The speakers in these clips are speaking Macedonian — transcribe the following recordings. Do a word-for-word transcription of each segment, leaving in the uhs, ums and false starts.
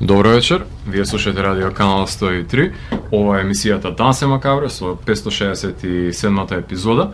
Добро вечер, вие слушате радио канал сто и три. Ова е емисијата Дансе Макабре со петстотини шеесет и седмата епизода,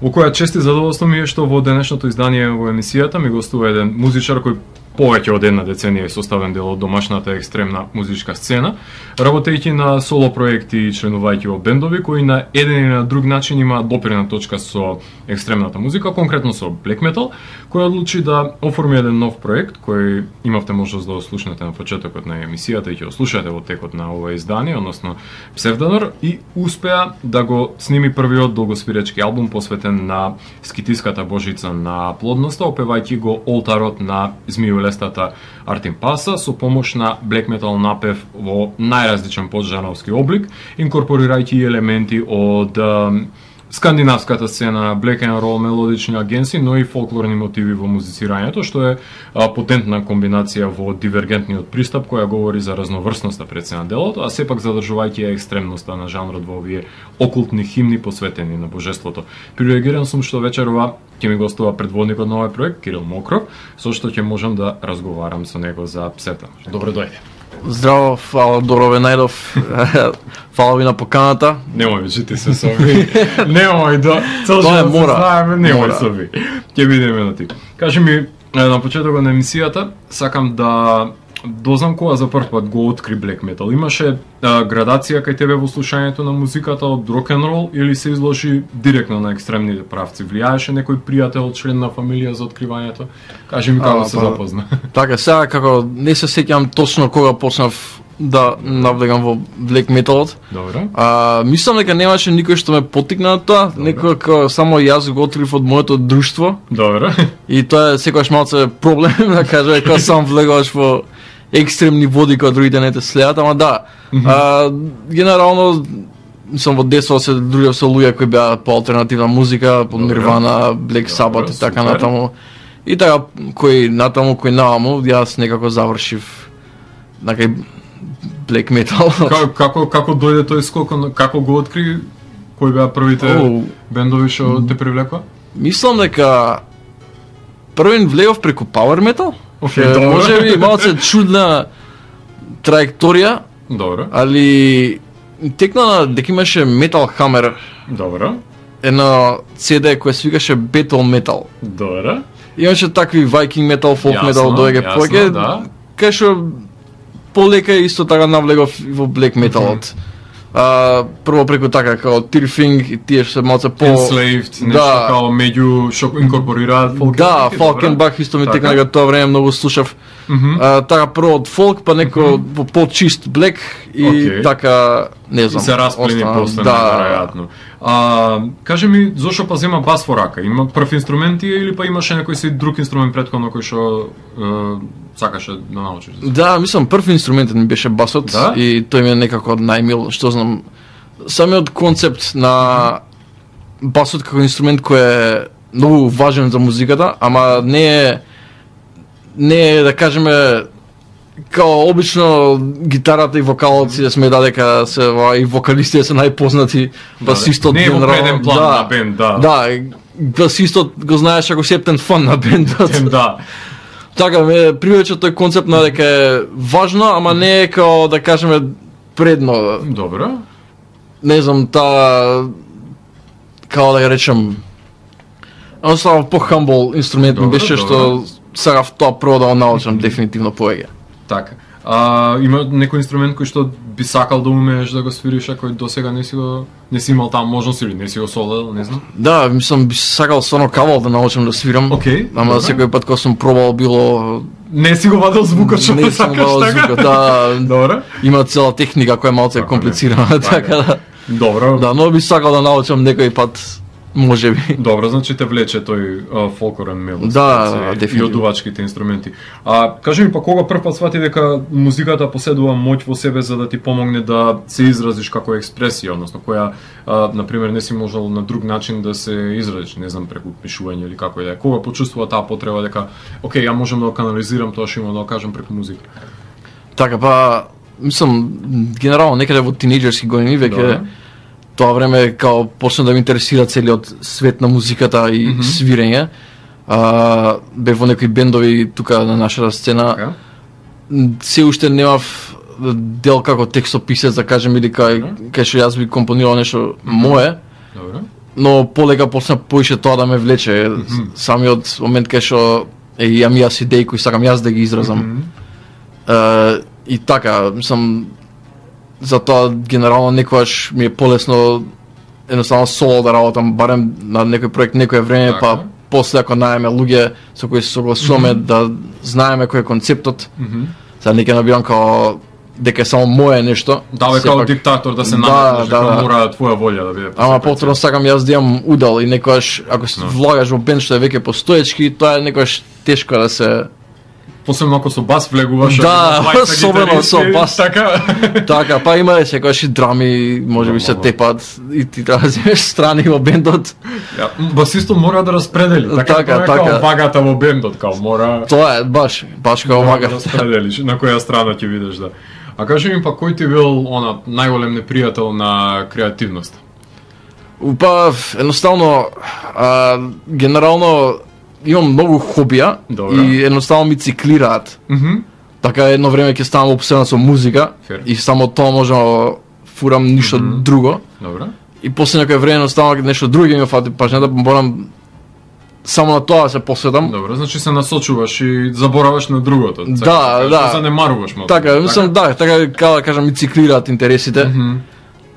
во која чести задоволство ми е што во денешното издание во емисијата ми гостува еден музичар кој повеќе од една деценија е составен дел од домашната екстремна музичка сцена, работејќи на соло проекти и членувајќи во бендови кои на еден или на друг начин има допирна точка со екстремната музика, конкретно со black metal, кој одлучи да оформи еден нов проект кој имавте можност да го слушнете на почетокот на емисијата и ќе го слушате во текот на ова издание, односно Псевдонор, и успеа да го сними првиот долгосвиречки албум посветен на скитиската божица на плодноста, опевајќи го олтарот на Змију лестата Артим Паса со помош на black metal напев во најразличен поджановски облик, инкорпорирајќи елементи од е, скандинавската сцена, black and roll мелодични агенси, но и фолклорни мотиви во музицирањето, што е а, потентна комбинација во дивергентниот пристап која говори за разноврсноста пред се на делото, а сепак задржувајќи екстремноста на жанрот во овие окултни химни посветени на божеството. Привилегиран сум што вечерова ќе ми гостува предводникот на овој проект, Кирил Мокров, со што ќе можам да разговарам со него за Псевдонор. Добро дојде. Здраво, фала Дорове Најдов. Фала ви на поканата. Немој вичите се со ви. Немој да цел живот се знаеме, немој со ви. Ќе бидеме на ти. Кажи ми на почетокот на емисијата, сакам да дознам кога за прв пат го откри black metal. Имаше а, градација кај тебе во слушањето на музиката од рок н рол или се изложи директно на екстремните правци? Влијаеше некој пријател, член на фамилија за откривањето? Кажи ми како а, се па, запозна. Така, сега како не се сеќам точно кога почнав да навлегам во black metalот. Добро. А, мислам дека немаше никој што ме поттикна на тоа, некој како само јас го открив од моето друштво. Добро. И тоа е секогаш малце проблем, да кажа, кога сам влегаш во екстремни води кои другите не те следат, ама да. Mm -hmm. а, генерално сум во детство се дружев со луѓе кои беа по алтернативна музика, по Нирвана, Black Sabbath и така натаму. И така кој натаму, кој наваму, јас некако завршив на кај black metal. Како како како дојде тој скок, како го откри? Кои беа првите oh. бендови што те привлекоа? Мислам дека првен влегов преку power metal. Okay, може би малце чудна траекторија. Добро. Али текна дека имаше Metal Hammer. Добро. Едно си ди кој се викаше Battle Metal. Добро. Имаше такви Viking Metal, Folk Metal, доаѓа повеќе. Да. Кај што полека исто така навлегов во Black Metalот. Mm -hmm. Uh, прво преку така како Tirfing и тие што се малце по Enslaved, нешто да. Као меѓу што инкорпорираат фолк. Да, Falkenbach исто ми текна дека тоа време многу слушав. Mm -hmm. uh, така прво од фолк, па неко mm -hmm. во по-чист блек и okay. така не знам. И се расплени после да. Најверојатно. А, кажи ми, зошто па зема бас во рака? Има прв инструменти или па имаше некој си друг инструмент претходно кој што е, сакаше да научиш? Да, мислам прв инструментот ми беше басот, да? И тој ми е некако најмил, што знам. Самиот концепт на басот како инструмент кој е многу важен за музиката, ама не е не е да кажеме као обично гитарата и вокалот си да сме дека се и вокалистите се најпознати, басистот не е во преден план да, на бенд, да. Да, басистот го знаеш ако септен фан на бендот. Да. Така ме привлече тој концепт на дека е важно, ама не е као да кажеме предно. Добро. Не знам, та како да ја речем оставам по-хамбл инструмент ми беше што сакав тоа прво да го научам дефинитивно повеќе. Така. А, има некој инструмент кој што би сакал да умееш да го свириш, а кој досега не си го не си имал таму можност или не си го солел, не знам. Да, мислам би сакал стварно кавал да научам да свирам. Okay, ама добре. Секој пат кога сум пробал било не си го вадел звукот што не сакаш така. Звукот, да. Добро. Има цела техника која е малце комплицирана, така да. Добро. Да, но би сакал да научам некој пат. Може би. Добро, значи те влече тој а, фолклорен мелод. Да, и одувачките инструменти. А кажи ми па кога прв пат свати дека музиката поседува моќ во себе за да ти помогне да се изразиш како експресија, односно која а, на пример не си можел на друг начин да се изразиш, не знам преку пишување или како е. Кога почувствува таа потреба дека окей, ја можам да го канализирам тоа што имам да го кажам преку музика. Така па мислам генерално некаде во тинејџерски години веќе тоа време као почна да ме интересира целиот свет на музиката и mm -hmm. свирење. А, бев во некои бендови тука на нашата сцена. Okay. се уште немав дел како текстописец, да кажем, или кај кај што јас би компонирал нешто мое. Добро. Но полека почна поише тоа да ме влече. Mm -hmm. Самиот момент кај што е, имам јас идеи кои сакам јас да ги изразам. Mm -hmm. е, и така, мислам, затоа генерално некогаш ми е полесно едноставно соло да работам, барем на некој проект некое време, така. Па после ако најаме луѓе со кои се согласуваме mm -hmm. да знаеме кој е концептот. Mm -hmm. Сега не ќе набирам као дека е само мое нешто. Да, бе, као диктатор да се наметнеш, дека да, мора твоја волја да биде. Ама повторно сакам јас да имам удел и некогаш ако се no. влагаш во бенд што е веќе постоечки, тоа е некогаш тешко да се посебно ако со бас влегуваш, да, особено со бас. Така. Така, па има секогаш и драми, можеби се тепат и ти треба да земеш страни во бендот. Ja, басистот мора да распредели, така, така, така. Као вагата во бендот, као мора. Тоа е баш, баш као вага. Да распределиш на која страна ќе видиш, да. А кажи ми па кој ти бил она најголем непријател на креативноста? Па едноставно а, генерално имам многу хобија. Добре. И едноставно ми циклираат. Mm -hmm. Така едно време ќе ставам обседнат со музика. Fair. И само тоа можам да фурам ништо mm -hmm. друго. Добре. И после некој време едноставно нешто друго ми фати пажна да морам само на тоа да се посветам. Добро, значи се насочуваш и забораваш на другото. Да, да. Да занемаруваш малку. Така, мислам да, така како да кажам ми циклираат интересите. Mm -hmm.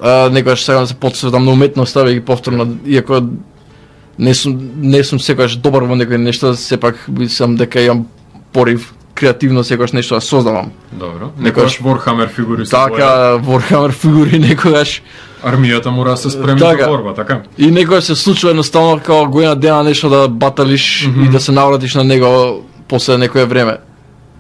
а, некогаш сакам да се посветам на уметноста, веќе повторно, иако не сум не сум секогаш добар во некои нешта, сепак мислам дека имам порив креативно секогаш нешто да создавам. Добро. Некогаш Warhammer фигури се така, Warhammer фигури некогаш армијата мора да се спремни за борба, така? И некогаш се случува едноставно како година дена нешто да баталиш mm -hmm. и да се навратиш на него после некое време.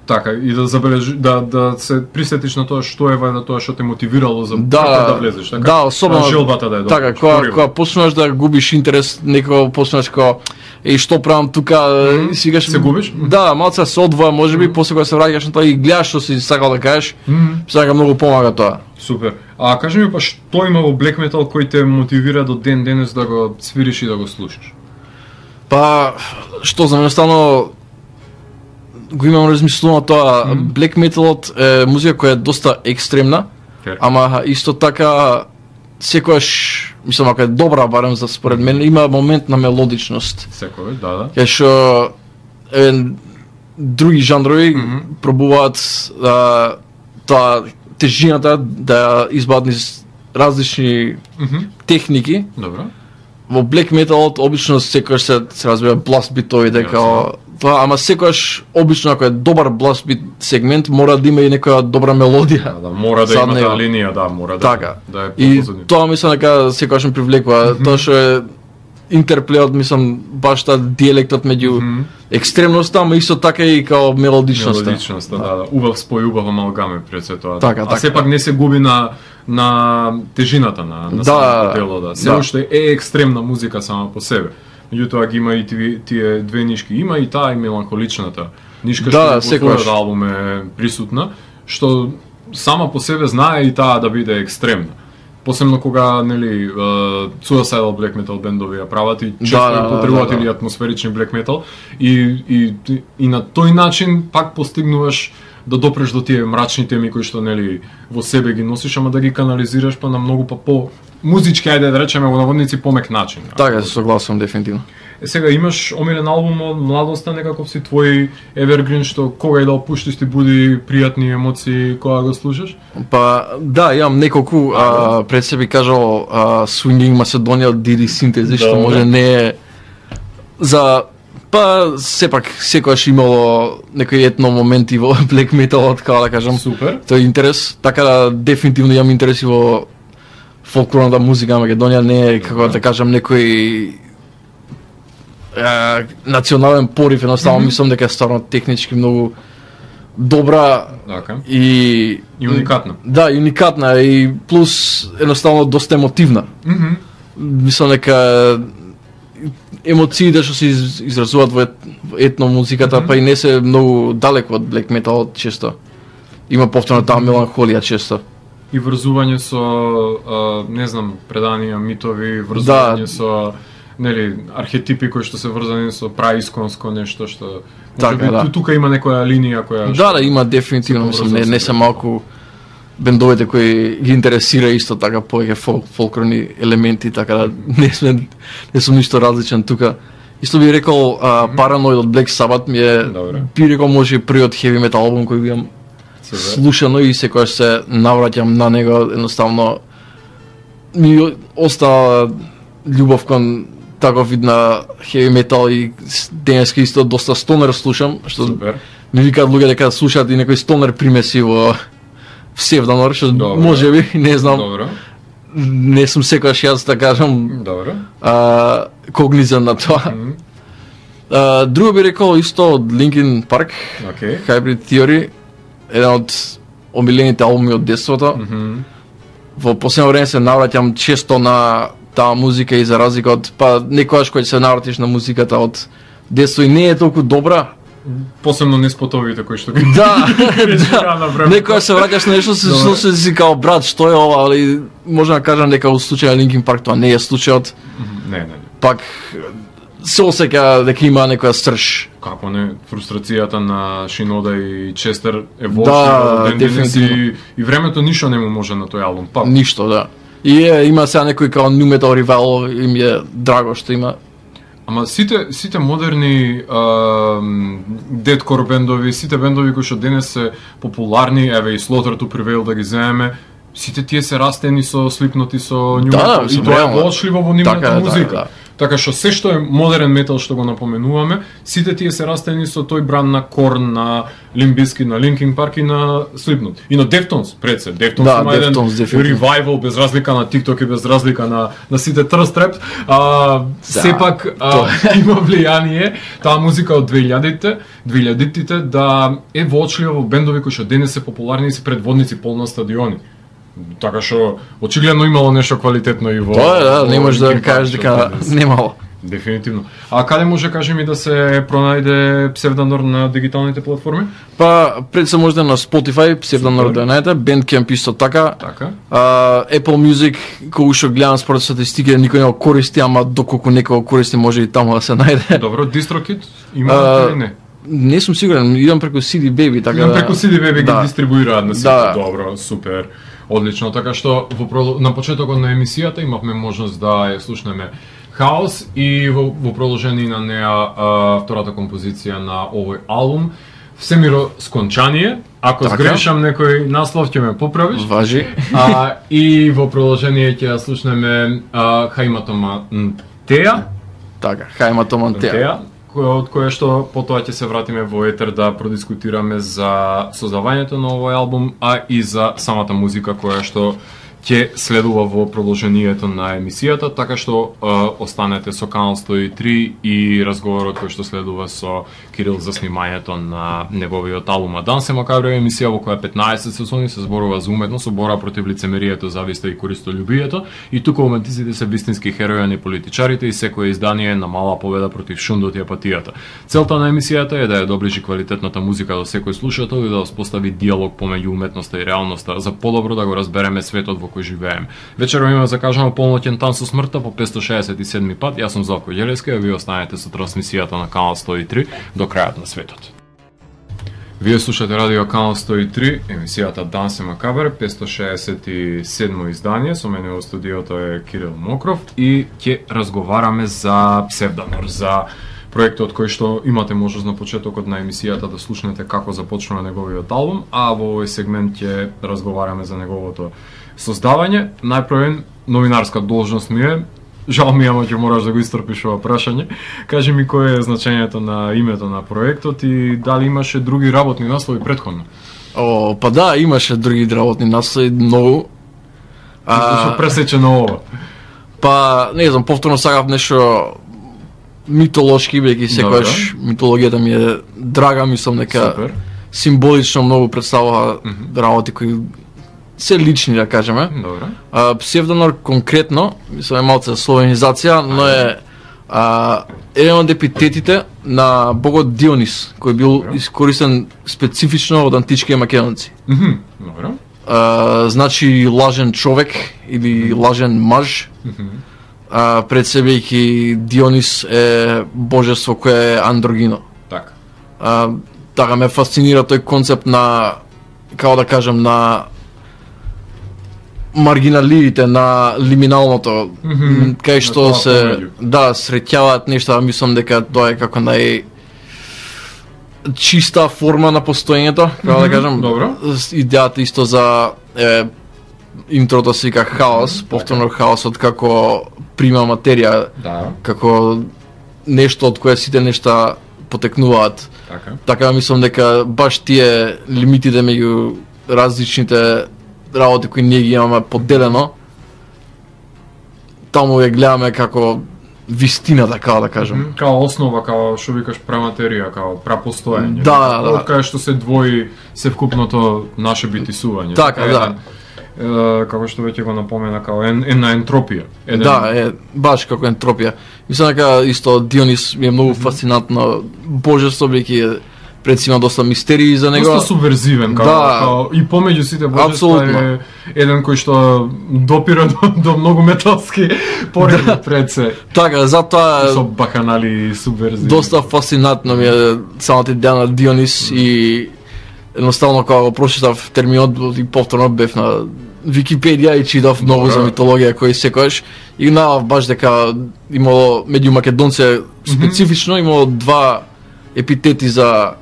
Така, и да забележи, да, да се присетиш на тоа што е вајда тоа што те мотивирало за да, да влезеш, така? Да, особено желбата да е добра. Така, кога кога почнеш да губиш интерес, некој почнеш како еј што правам тука, mm -hmm. си гаш се губиш? Да, малку се одвоја, можеби mm -hmm. после кога се враќаш на тоа и гледаш што си сакал да кажеш, mm -hmm. сега многу помага тоа. Супер. А кажи ми па што има во black metal кој те мотивира до ден денес да го свириш и да го слушаш? Па што за мене стано го имам размислувано тоа, mm -hmm. black metalот е музика која е доста екстремна, Fair. Ама исто така секогаш, мислам, ако е добра, барем за според мен, има момент на мелодичност. Секогаш, да, да. Кај што е, други жанрови mm -hmm. пробуваат а, таа тежината да избават низ различни mm -hmm. техники. Добро. Во black metalот обично секогаш се, се разбира blast битовите као тоа, ама секогаш обично ако е добар blast бит сегмент мора да има и некоја добра мелодија. Да, да мора да има таа линија, да, мора да. Така. Да е и тоа мислам дека секогаш ме привлекува, mm -hmm. тоа што е интерплеот, мислам, баш таа диелектот меѓу mm -hmm. екстремноста, ама исто така и као мелодичноста. Мелодичноста, да, да. Убав спој, убав амалгаме пред се тоа. Така, а така. сепак не се губи на на тежината на на да, самото дело, да. Се да. уште е екстремна музика сама по себе. Меѓутоа ги има и тие, тие две нишки, има и таа и меланхоличната нишка да, што во твојот албум е присутна, што сама по себе знае и таа да биде екстремна. Посебно кога, нели, uh, Suicidal black metal бендови ја прават и често да, да, потребуваат да, да, да. или атмосферични black metal и, и, и на тој начин пак постигнуваш да допреш до тие мрачни теми кои што, нели, во себе ги носиш, ама да ги канализираш па на многу па по музички, ајде да речеме во наводници, помек начин. Така, се согласувам дефинитивно. Е, сега имаш омилен албум од младоста, некаков си твој evergreen што кога и да опуштиш ти буди пријатни емоции кога го слушаш? Па да, имам неколку, а, пред себе кажал а, Swinging Macedonia од Didi Synthese, што да, може не е за па сепак секогаш имало некои етно моменти во black metal, како да кажам. Супер. Тој интерес, така да дефинитивно имам интерес и во фолклорната музика на Македонија, не е како да кажам некој е, национален порив, едноставно mm -hmm. мислам дека е стварно технички многу добра okay. и и уникатна. Да, и уникатна и плюс едноставно доста емотивна. Mm -hmm. Мислам дека емоциите што се изразуваат во етно музиката, mm -hmm. па и не се многу далеко од black metal често. Има повторно таа меланхолија често. И врзување со, а, не знам, преданија, митови, врзување да. со, нели, архетипи кои што се врзани со праисконско нешто што Така, Така, да. Тука има некоја линија која... Да, да, има дефинитивно, мислам, не, не се малку бендовите кои ги интересира исто така повеќе фол, фолклорни елементи, така да не сме не сум ништо различен тука. Исто би рекол, а, Paranoid од Black Sabbath ми е, Добре. би рекол може и првиот heavy metal албум кој го имам слушано и секогаш се навраќам на него, едноставно ми остава љубов кон таков вид на heavy metal и денеска исто доста стонер слушам, што Супер. ми викаат луѓе дека слушаат и некој стонер примеси во Псевдонор, што може би, не знам. Добро. Не сум секогаш јас да кажам Добро. а, когнизен на тоа. Mm -hmm. а, друго би рекол исто од Linkin Park, Okay. Hybrid Theory, еден од омилените албуми од детството. Mm -hmm. Во последно време се навраќам често на таа музика и за разлика од, па некогаш кога се навратиш на музиката од детство и не е толку добра. Посебно не спотовите кои што ги... Да, да. да. Некоја се враќаш на нешто, се што се си као брат, што е ова, али може да кажам дека во случајот на Linkin Park тоа не е случајот. Не, не, не. Пак се осеќа дека има некоја стрж. Како не, фрустрацијата на Шинода и Честер е волшебна Да, до ден денес дефинитивно. и, и времето ништо не му може на тој албум. Па, Ништо, да. И е, има сега некој као New Metal Revival и ми е драго што има. ама сите сите модерни дедкор бендови, сите бендови кои што денес се популарни, еве и Slaughter to Prevail да ги земеме, сите тие се растени со Slipknot и со New Да, Metal. мислам, И тоа е реално. воочливо во нивната Така е, музика. да, да. Така што се што е модерен метал што го напоменуваме, сите тие се растени со тој бранд на Korn, на Limp Bizkit, на Linkin Park и на Slipknot. И на Deftones, пред се. Deftones Да, има еден Deftones, дефинитивно. revival без разлика на TikTok и без разлика на на сите thirst rap. А, сепак а, има влијание таа музика од двеилјадите, двеилјадите да е воочливо во бендови кои што денес се популарни и се предводници полна стадиони. Така што очигледно имало нешто квалитетно и во... Тоа е, да, во не можеш да Linkin Park, кажеш што дека денес. немало. Дефинитивно. А каде може кажи ми да се пронајде Псевдонор на дигиталните платформи? Па пред се може на Spotify, Psevdonor да најдете, Bandcamp исто така. Така. А, Apple Music, кога што гледам според статистики, никој не го користи, ама доколку некој го користи може и таму да се најде. Добро, DistroKid има А, или не? Не сум сигурен, идам преку си ди Baby, така Идам да... преку си ди Baby да. ги дистрибуираат на сите. Да. Добро, супер. Одлично, така што во продол- на почетокот на емисијата имавме можност да ја слушнеме Хаос и во, во продолжение на неа а, втората композиција на овој албум Всемиро скончание. Ако Така. сгрешам некој наслов ќе ме поправиш. Важи. А, и во продолжение ќе ја слушнеме а, Хаиматома Теа, Така, Хајма Томантеа. Теа, која од кое што потоа ќе се вратиме во етер да продискутираме за создавањето на овој албум, а и за самата музика која што ќе следува во продолжението на емисијата, така што е, останете со Канал сто и три и разговорот кој што следува со Кирил за снимањето на неговиот албум. А Данс е макабра емисија во која петнаесет сезони се зборува за уметност, со бора против лицемерието, зависта и користолюбието, и тука уметниците се вистински херои, а не политичарите, и секое издание на мала победа против шундот и апатијата. Целта на емисијата е да ја доближи квалитетната музика до секој слушател и да успостави диалог помеѓу уметноста и реалноста, за подобро да го разбереме светот во кој живееме. Вечером има закажано полноќен тан со смртта по петстотини шеесет и седми пат. Јас сум Златко Ѓелевски, а вие останете со трансмисијата на Канал сто и три до крајот на светот. Вие слушате радио Канал сто и три, емисијата Данс е макабар, петстотини шеесет и седмо издание. Со мене во студиото е Кирил Мокров и ќе разговараме за Псевдонор, за проектот кој што имате можност на почетокот на емисијата да слушнете како започнува неговиот албум, а во овој сегмент ќе разговараме за неговото создавање. Најпрвен новинарска должност ми е, жал ми е, ама ќе мораш да го истрпиш ова прашање. Кажи ми кој е значењето на името на проектот и дали имаше други работни наслови претходно? О, па да, имаше други работни наслови, многу. Зашто пресечено ова? Па, не знам, повторно сакав нешто митолошки, бидејќи секогаш митологијата ми е драга, мислам дека Супер. символично многу представува mm -hmm. работи кои се лични, да кажеме. Добро. А, Псевдонор конкретно, мислам е малце словенизација, но е а, еден од епитетите на богот Дионис, кој бил Добро. искористен специфично од античките македонци. Мгм. Добро. А, значи лажен човек или лажен маж. Мгм. А, пред себе и Дионис е божество кое е андрогино. Така. А, така ме фасцинира тој концепт на, како да кажем, на маргиналиите, на лиминалното, mm -hmm. кај што се помеѓу. Да среќаваат нешта, мислам дека тоа е како нај чиста форма на постоењето, како mm -hmm. да кажем. Добро. Идејата исто за е, интрото се вика хаос, повторно хаосот како прима материја, да. Како нешто од кое сите нешта потекнуваат. Така. Така мислам дека баш тие лимитите меѓу различните работи кои ние ги имаме поделено, таму ја гледаме како вистината, така да кажем. Mm -hmm. Као основа, као што викаш праматерија, као прапостоење. Да, да. Од кај што се двои севкупното наше битисување. Така, еден, да. Е, како што веќе го напомена, као ен, една ентропија. Еден... Да, е, баш како ентропија. Мислам дека исто Дионис ми е многу фасцинантно божество, бидејќи пред си има доста мистерии за него. Доста субверзивен, као, да, као и помеѓу сите божества е еден кој што допира до, до многу металски пореди да. Пред се. Така, затоа со баканали и субверзиви. Доста фасцинантно ми е самата идеја на Дионис mm. и едноставно кога го прочитав терминот и повторно бев на Википедија и читав многу Добра. За митологија кој секојаш и наав баш дека имало меѓу македонци специфично mm -hmm. имало два епитети за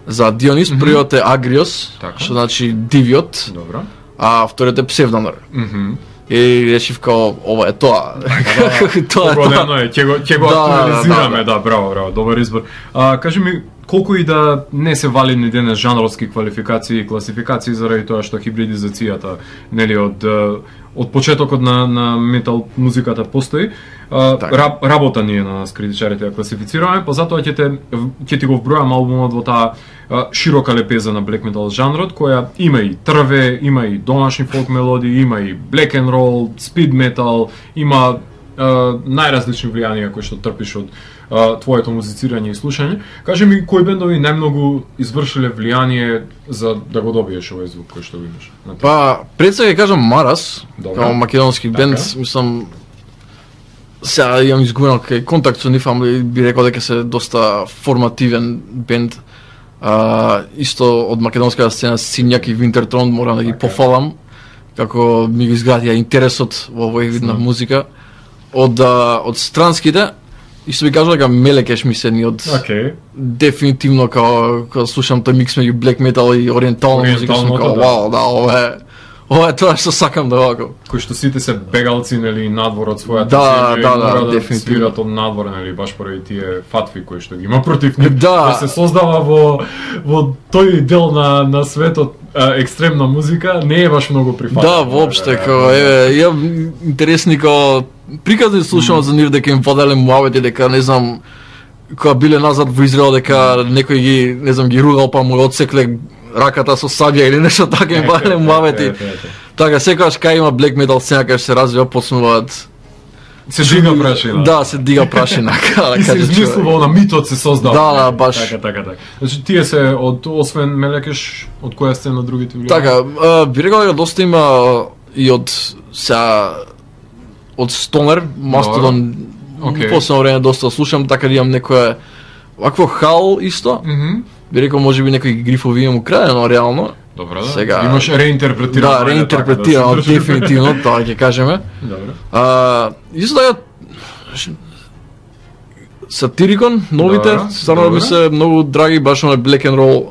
за Дионис, mm -hmm. првиот е Агриос, така. Што значи дивиот. Добро. А вториот е Псевдонор. Mm -hmm. И решив као ова е тоа. Тоа е тоа. Е, ќе го ќе го да, актуализираме, да, да. да, браво, браво, добар избор. А кажи ми колку и да не се валидни денес жанровски квалификации и класификации заради тоа што хибридизацијата, нели од од почетокот на на метал музиката постои, а, раб, работа ние на нас критичарите ја класифицираме, па затоа ќе те ќе ти го вбројам албумот во таа а, широка лепеза на black metal жанрот, која има и трве, има и домашни фолк мелодии, има и black and roll, speed metal, има а, најразлични влијанија кои што трпиш од а, твоето музицирање и слушање. Кажи ми кои бендови најмногу извршиле влијание за да го добиеш овој звук кој што го имаш? Па, пред сега ќе кажам Марас, како македонски така. бенд, мислам сега имам изгубен кај контакт со нив, ама би рекол дека се доста формативен бенд. А, исто од македонската сцена Синјак и Винтертрон морам да ги така. Пофалам како ми го изградија интересот во овој вид на музика. Од од странските исто би кажал дека Мелекеш ми се ни од okay. дефинитивно као кога слушам тој микс меѓу black metal и ориентална музика сум као да. вау, да, ова е ова е тоа што сакам да вакам. Кој што сите се бегалци нели надвор од својата да, земја да, да, да дефинитивно свират од надвор нели баш поради тие фатви кои што ги има против нив. Да. Да се создава во во тој дел на на светот а, екстремна музика не е баш многу прифаќања. Да, воопште као е ја интересни као приказни слушам mm. за нив дека им поделе муавети дека не знам кога биле назад во Израел дека некој ги не знам ги ругал па му одсекле раката со сабја или нешто така им поделе муавети. Така секогаш кај има black metal сцена кај се развива почнуваат се дига прашина. Да, се дига прашина, како да кажа. И се измислува на митот се создава. Да, да, баш. Така, така, така. Значи тие се од освен Мелекеш, од која сцена другите влијања? Така, а, би рекол дека доста има и од сега од Стонер, Мастодон, okay. Последно време доста слушам, така да имам некоја вакво хал исто. Mm -hmm. Би рекол може би некои грифови имам украдено реално. Добро, да. Сега имаш реинтерпретирано. Да, реинтерпретирано така, да дефинитивно, тоа ќе кажеме. Добро. А, исто така Сатирикон, новите, стварно ми се многу драги, баш на black and roll.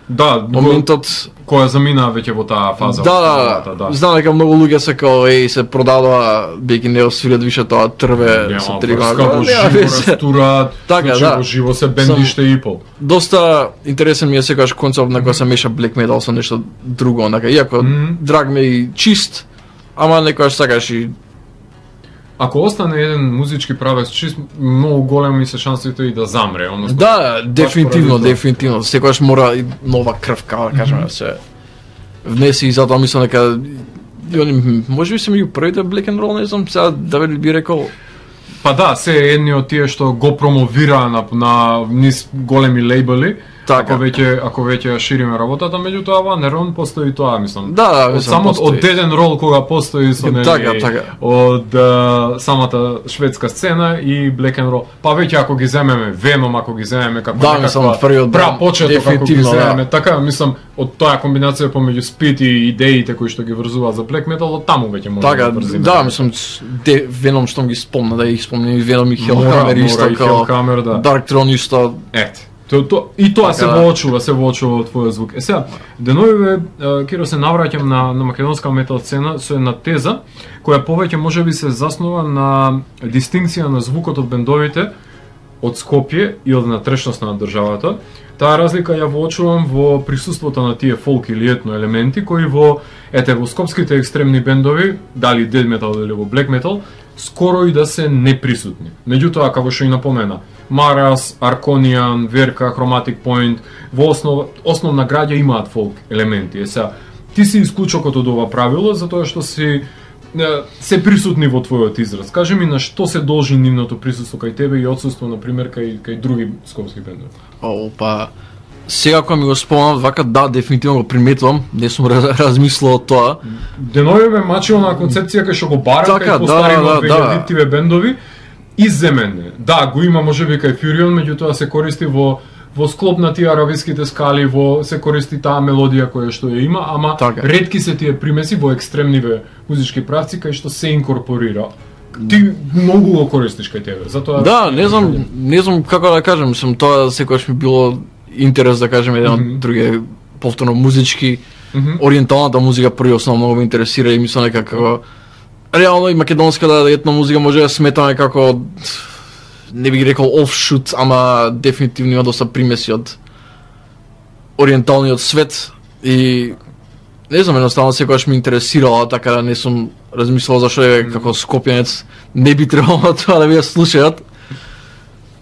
Да, моментот која замина веќе во таа фаза. Да, да, да. Знам дека многу луѓе се као еј се продадува бидејќи не освират више тоа трве со три години. Како живо растураат, така, значи да. во живо се бендиште и пол. Доста интересен ми е секогаш концепт на кој се меша black metal со нешто друго, онака иако mm -hmm. драг ми и чист, ама некогаш сакаш и ако остане еден музички правец чист, многу големи се шансите и да замре, односно. Да, дефинитивно, дефинитивно. Секогаш мора и нова крв, како да кажеме, mm -hmm. се внеси и затоа мислам дека може би се меѓу првите black and roll, не знам, сега да би рекол. Па да, се едни од тие што го промовира на, на низ големи лейбли, Така. Ако веќе ако веќе ја шириме работата, меѓутоа Ванерон постои тоа, мислам. Да, да, од мислам, само постои. од еден рол кога постои со нели Така, така. од а, самата шведска сцена и Black and Roll. Па веќе ако ги земеме Venom, ако ги земеме како Да, мислам, првиот пра почеток ако ги дефинитивно, да. земеме, така мислам од тоа комбинација помеѓу Speed и идеите кои што ги врзуваат за Black Metal, од таму веќе може Така, да врзиме. да, мислам, де, Venom штом ги спомна, да ги спомнем и Venom и Мора, Hellhammer мора исто, и као Hellhammer, да. Dark Throne исто. Ете. То, то, и тоа Така, се да. воочува, се воочува од твојот звук. Е сега, деновиве, Киро, се навраќам на, на македонска метал сцена со една теза, која повеќе можеби се заснова на дистинкција на звукот од бендовите од Скопје и од натрешноста на државата. Таа разлика ја воочувам во присуството на тие фолк или етно елементи, кои во, ете, во скопските екстремни бендови, дали дед метал или во блек метал, скоро и да се неприсутни. Меѓутоа, како што и напомена, Марас, Аркониан, Верка, Chromatic Point, во основа, основна граѓа имаат фолк елементи. Е сега, ти си исклучокот од ова правило, затоа што си се присутни во твојот израз. Кажи ми на што се должи нивното присуство кај тебе и отсуство, на пример, кај, кај други скопски бендови? О, па, сега кога ми го спомнам, вака да, дефинитивно го приметувам, не сум раз, размислил од тоа. Деновиве мачилна концепција кај што го бара Така, кај постари да, во да, да. две илјадитиве бендови, изземене. Да, го има можеби кај Фюрион, меѓутоа се користи во во склоп на тие арабиските скали, во се користи таа мелодија која што ја има, ама Така. ретки се тие примеси во екстремниве музички правци кај што се инкорпорира. Ти многу го користиш кај тебе, затоа Да, не знам, не знам како да кажам, сум тоа секогаш ми било интерес да кажем еден Мгм. од други повторно музички, Мгм. ориенталната музика први основно многу ме интересира и мислам дека како реално и македонската етно музика може да сметаме како не би ги рекол офшут, ама дефинитивно има доста примеси од ориенталниот свет и не знам, едноставно секогаш ме интересирала, така да не сум размислувал зашто е како скопјанец не би требало тоа да ви ја слушаат.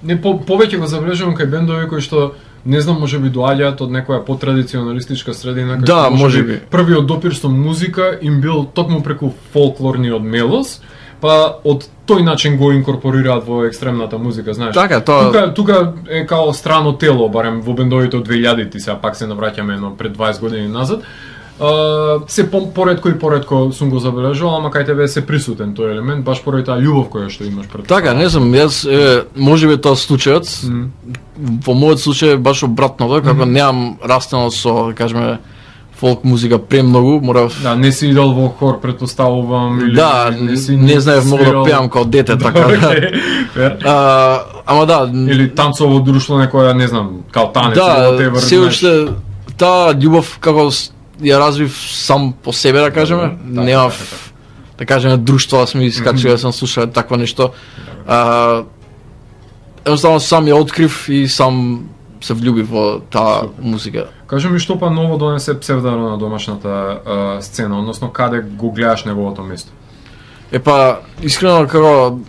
Не, по, повеќе го забележувам кај бендови кои што не знам, можеби доаѓаат од некоја потрадиционалистичка средина, кај Да, што можеби. првиот допир со музика им бил токму преку фолклорниот мелос, па од тој начин го инкорпорираат во екстремната музика, знаеш. Така, тоа- Тука, тука е као страно тело, барем во бендовите од две илјадити, сега пак се навраќаме едно пред дваесет години назад. Uh, се по, поредко и поредко сум го забележал, ама кај тебе се присутен тој елемент, баш поради таа љубов која што имаш пред. Така, не знам, јас е, можеби тоа случајот. Мгм. Во мојот случај е баш обратното, како немам растено со, да кажеме, фолк музика премногу, морав Да, не си идол во хор, предпоставувам, или Да, не си не знаев многу да свирал- пеам како дете, така да. Океј, фер. А, ама да, Или танцово друштво некоја, не знам, као танец, да, whatever, се знаеш. уште таа љубов како с- ја развив сам по себе, да кажеме, Добро, така, немав така, да кажеме друштво, да сме искачили да сам слушал такво нешто. А, едноставно сам ја открив и сам се влюбив во таа Супер. музика. Кажи ми што па ново донесе Псевдаро на домашната а, сцена, односно каде го гледаш неговото место? Епа, искрено како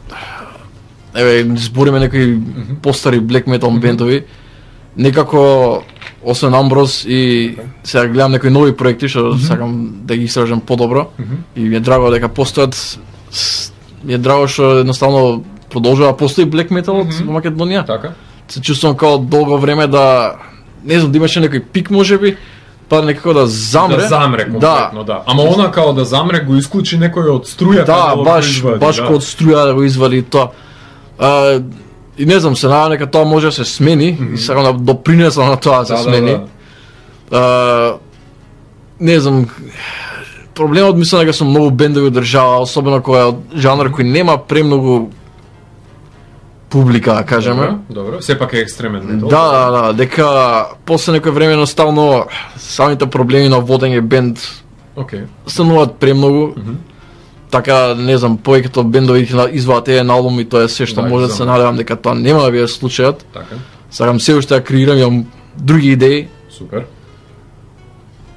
еве збориме некои постари black metal бендови, некако освен Амброз и сега гледам некои нови проекти што сакам да ги истражам подобро и ми е драго дека постојат с- ми е драго што едноставно продолжува да постои black metal од Мгм. во Македонија. Така? Се чувствувам како долго време да не знам да имаше некој пик можеби, па некако да замре. Да замре конкретно, да. Ама она као да замре го исклучи некој од струјата Да, го баш производи, баш да. кога од струја да го извади тоа. А, и не знам, се надевам дека тоа може да се смени и сакам да допринесам на тоа да се Да, да, смени. да. А, не знам, проблемот мислам дека се многу бендови од држава, особено кој е од жанр кој нема премногу публика, да кажеме. Добро, добро. Сепак е екстремен метал. Да, да, да, дека после некој време едноставно самите проблеми на водење бенд Океј. стануваат премногу. Така, не знам, повеќето бендови ќе извадат еден албум и тоа е се што Да, може да се знам. надевам дека тоа нема да биде случајот. Така. Сакам се уште да креирам, имам други идеи. Супер.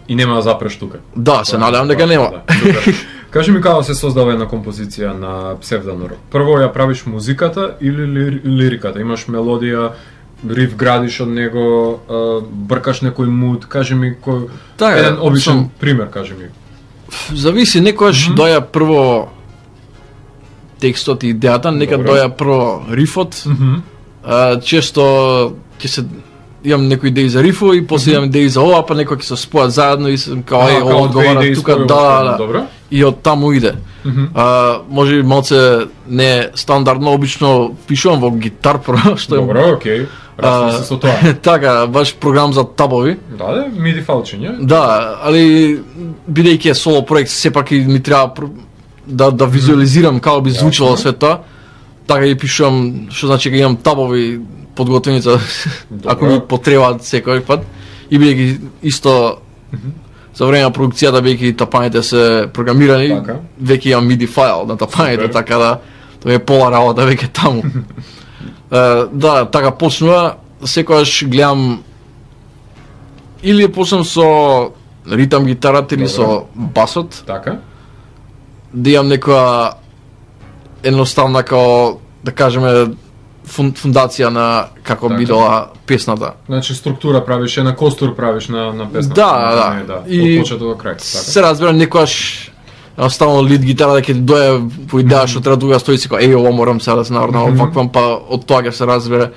И нема да запреш тука. Да, се Тоа, надевам дека тоа, нема. да, супер. Кажи ми како се создава една композиција на Псевданор. Прво ја правиш музиката или лир, лириката? Имаш мелодија, риф градиш од него, а, бркаш некој муд, кажи ми кој Така, еден обичен сум- пример, кажи ми. Зависи, некојаш доја прво текстот и идејата, нека Добро. доја прво рифот. Мгм. А, често ќе се имам некои идеи за рифо и после имам идеи за ова, па некои ќе се спојат заедно и сум као е ова одговара тука, да, да. И од таму иде. А, може би малце не стандардно, обично пишувам во Guitar Pro, што е добро, окей. Расти се со тоа. Така, баш програм за табови. Да, да, миди фалчиња. Да, али бидејќи е соло проект, сепак и ми треба да да визуализирам како би звучало све тоа. Така и пишувам, што значи кога имам табови подготвени за ако ми потребаат секој пат. И бидејќи исто за време на продукцијата, бидејќи тапаните се програмирани, така. Веќе имам миди файл на тапаните, супер. Така да тоа е пола работа веќе таму. Uh, да, така почнува, секогаш гледам или почнам со ритам гитарата или со басот. Така. Да имам некоја едноставна као, да кажеме, фундација на како така. Бидела песната. Значи структура правиш, една костур правиш на на песната. Да, да. да. И од почеток до крај, така. Се разбира некојаш ставно лид гитара да ќе дое по идеја што треба друга стои си као еј ова морам сега да се наврнам оваквам, па од тоа ќе се разбере.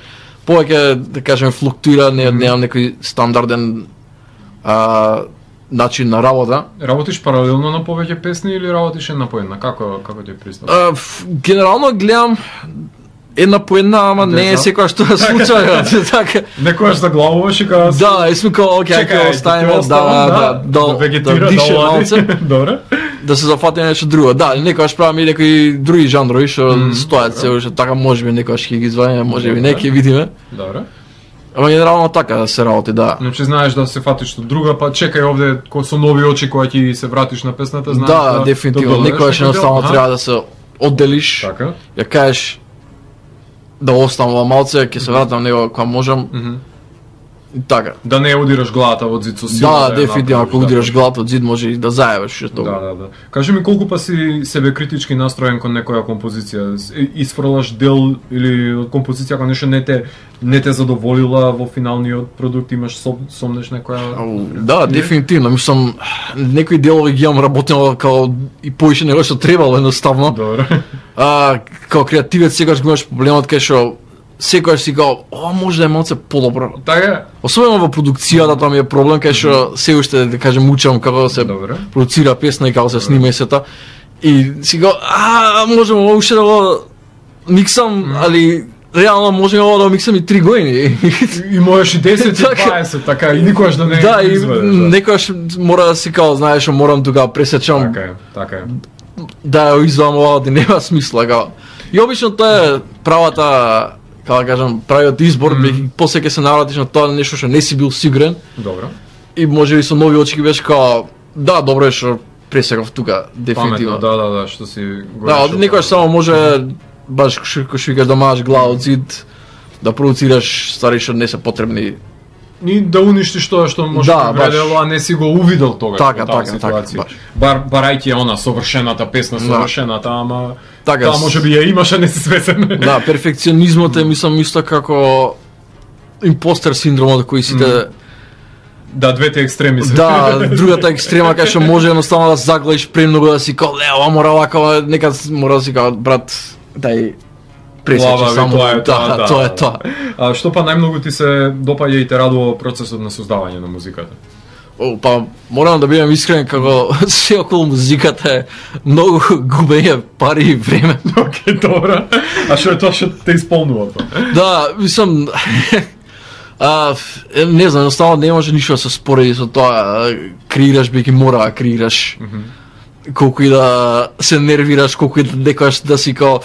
Повеќе да кажеме флуктуира, не немам некој стандарден а, начин на работа. Работиш паралелно на повеќе песни или работиш една по една? Како како ти е пристап? А, генерално гледам една по една, ама не е секоја што е случајот, така. Некојаш заглавуваш и кажа да, и сме као окей, ќе оставиме да да да да дише малце. Добре. Да се зафатиме нешто друго. Да, некојаш правиме и некои други жанрови што стојат се уште така, можеби некојаш ќе ги извадиме, можеби не ќе видиме. Добре. Ама генерално така се работи, да. Значи знаеш да се фатиш од друга, па чекај овде со нови очи кога ќе се вратиш на песната, знаеш. Да, да дефинитивно. Некојаш едноставно треба да се одделиш. Така. Ја кажеш да оставам малце, ќе се вратам него кога можам. Така. Да не удираш главата во зид со сила. Да, дефинитивно, ако удираш главата од зид може и да заебеш што. Да, да, да. Кажи ми колку па си себе критички настроен кон некоја композиција? Исфрлаш дел или од композиција кога нешто не те не те задоволила во финалниот продукт, имаш сом, сомнеш некоја? Да, дефинитивно, мислам некои делови ги имам работено како и поише него што требало едноставно. Добро. А како креативец секогаш го имаш проблемот кај што секогаш си као, ова може да е малце подобро. Така. Особено во продукцијата тоа ми е проблем кај што се уште да кажем учам како да се Добре. продуцира песна и како се снима и сета. И си као, а можеме уште да го миксам, mm. али реално можеме ова да го миксам и три години. И можеш и десет и дваесет, така и никогаш да не да, и изведеш. Да, некогаш мора да си као, знаеш, морам тука пресечам. Така е, така е. Да ја извадам ова, да нема смисла као. И обично тоа е правата, како да кажам, правиот избор, mm. после ќе се навратиш на тоа нешто што не си бил сигурен. Добро. И може би со нови очи ќе беше као, да, добро е што пресекав тука, дефинитивно. Паметно, да, да, да, што си го да, некојаш само може баш што што викаш да маш глава од зид, да продуцираш ствари што не се потребни. Ни да уништиш тоа што може да вредело, а не си го увидел тогаш. Така, така, така, баш. Бар барајќи она совршената песна, совршената, да. Ама така, таа може би ја имаш, а не си свесен. Да, перфекционизмот е, мислам, исто како импостер синдромот кој сите mm. Да, двете екстреми се. Да, другата екстрема кај што може едноставно да загледиш премногу да си као, ле, ова мора вака, некад мора да си као, брат, дај пресечи само, тоа е тоа, да, тоа е тоа. А што па најмногу ти се допаѓа и те радува процесот на создавање на музиката? О, па морам да бидам искрен како се околу музиката е многу губење пари и време. Океј, добра. А што е тоа што те исполнува тоа? Да, мислам а, не знам, едноставно не може ништо да се спореди со тоа, креираш бејќи мора да креираш. Mm -hmm. Колку и да се нервираш, колку и да некојаш да си као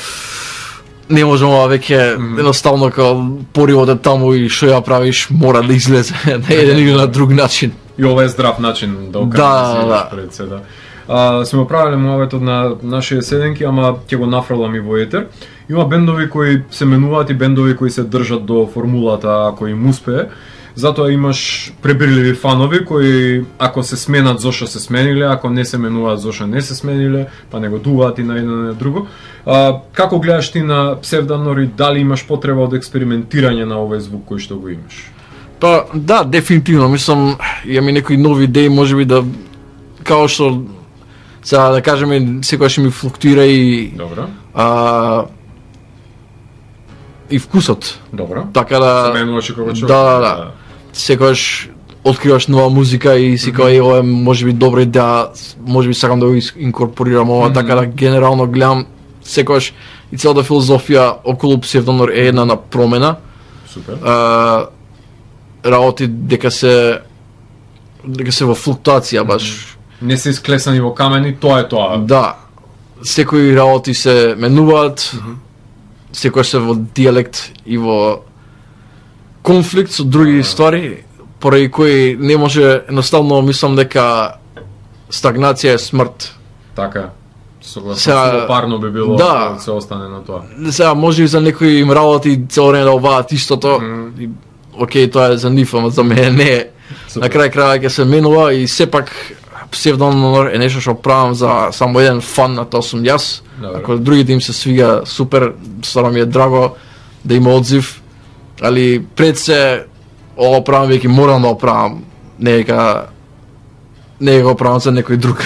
не можам ова веќе, mm -hmm. едноставно као поривот е таму и што ја правиш мора да излезе на еден или на друг начин. И ова е здрав начин да окажеш да, да. пред се, да. А, сме правиле муаветот на нашите седенки, ама ќе го нафрлам и во етер. Има бендови кои се менуваат и бендови кои се држат до формулата ако им успее. Затоа имаш пребирливи фанови кои ако се сменат зошто се смениле, ако не се менуваат зошто не се смениле, па не го дуваат и на едно на друго. А, како гледаш ти на Псевданор, дали имаш потреба од експериментирање на овој звук кој што го имаш? Па да, дефинитивно, мислам, имам и некои нови идеи, можеби да као што сега да кажеме секогаш ми флуктуира и Добро. А, и вкусот. Добро. Така да се менуваш и кога човек. Да, да, да. секогаш откриваш нова музика и си кажа, ова е можеби добра идеја, можеби сакам да го инкорпорирам ова, mm -hmm. така да генерално гледам секогаш и целата филозофија околу Псевдонор е една на промена. Супер. А, работи дека се дека се во флуктуација баш. Mm -hmm. Не се исклесани во камени, тоа е тоа. Да. Секои работи се менуваат, mm -hmm. секојаш се во дијалект и во конфликт со други ствари, поради кои не може, едноставно мислам дека стагнација е смрт. Така. Согласно, парно би било да, да се остане на тоа. Сега може и за некои им работи цело време да обаат истото. Mm. И, окей, тоа е за нив, ама за мене не е. На крај крај ќе се менува и сепак Псевдонор е нешто што правам за само еден фан, на тоа сум јас. Добре. Ако другите им се свига, супер, стварно ми е драго да има одзив, али пред се ова правам веќе морам да го правам, не дека не го правам за некој друг.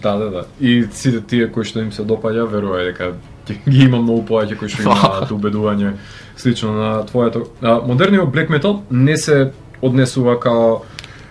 Да, да, да. И сите тие кои што им се допаѓа, верувај дека ги има многу повеќе кои што имаат убедување слично на твоето. А, модерниот black metal не се однесува као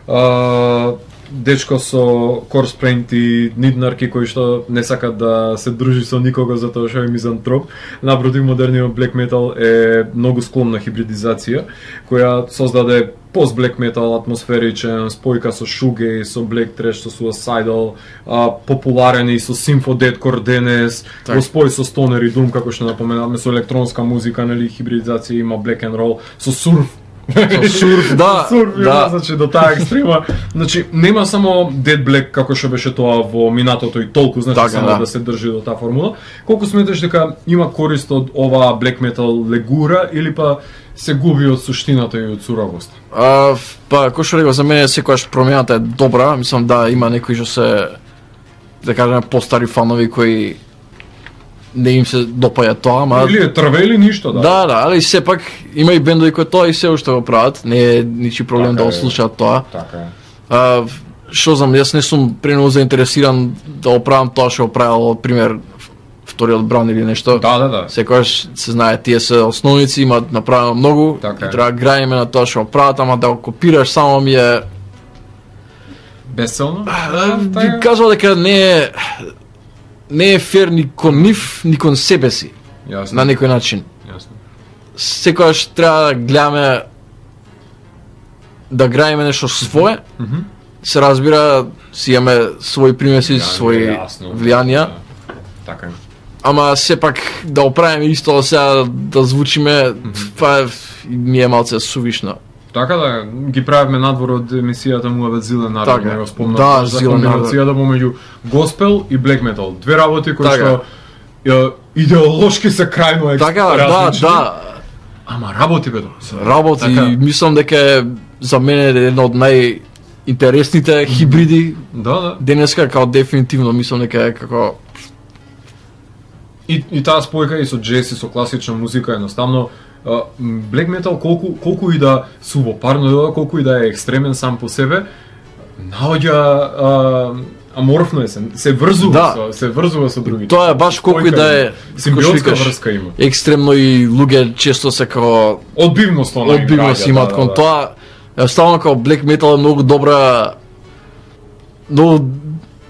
а, дечко со корспренти, ниднарки кои што не сакат да се дружи со никого затоа што е мизантроп. Напротив, модерниот black metal е многу склон на хибридизација, која создаде пост-black metal атмосферичен, спојка со shoegaze, со black trash, со suicidal, а, популарен и со symphondeathcore денес, во спој со stoner и doom, како што напоменавме, со електронска музика, нели, хибридизација има black and roll, со surf. Со сурф, да, сурф, да. Значи до таа екстрема. Значи нема само Dead Black како што беше тоа во минатото и толку, значи така, само да. да се држи до таа формула. Колку сметаш дека има корист од ова black metal легура или па се губи од суштината и од суровост? А, па кој што рекол, за мене секогаш промената е добра, мислам да има некои што се, да кажеме, постари фанови кои не им се допаѓа тоа, ама или е трве или ништо, да. Да, да, али сепак има и бендови кои тоа и се уште го прават, не е ничи проблем така да го слушаат тоа. Така е. А, што знам, јас не сум премногу заинтересиран да го правам тоа што го правил, пример, вториот бран или нешто. Да, да, да. Секогаш се знае, тие се основници, имаат направено многу, така и треба да граиме на тоа што го прават, ама да го копираш само ми е безцелно. Би кажал дека не е не е фер ни кон нив, ни кон себе си. Јасно. На некој начин. Јасно. Секогаш треба да гледаме да граиме нешто свое. Mm -hmm. Се разбира, си имаме своји примеси, своји влијанија. Да. Така е. Ама сепак да оправиме исто сега да звучиме, mm -hmm. па ми е малце сувишно. Така да, ги правиме надвор од емисијата Муавет Зилен народ, така, не го спомнав, да, за комбинацијата помеѓу госпел и black metal. Две работи кои така. што ја, идеолошки се крајно така, различни. Да, да. Ама работи бе. Работи, така. Мислам дека е за мене една од најинтересните хибриди. Да, да. Денеска како дефинитивно мислам дека е како и, и таа спојка и со джез и со класична музика едноставно. Uh, black metal колку колку и да субопарно, колку и да е екстремен сам по себе, наоѓа uh, аморфно е се, се врзува да. со, се врзува со другите. Тоа е баш колку и да е симбиотска врска има. Екстремно и луѓе често се како одбивност она. Одбивност имаат да, кон да, тоа. Ставно како black metal е многу добра многу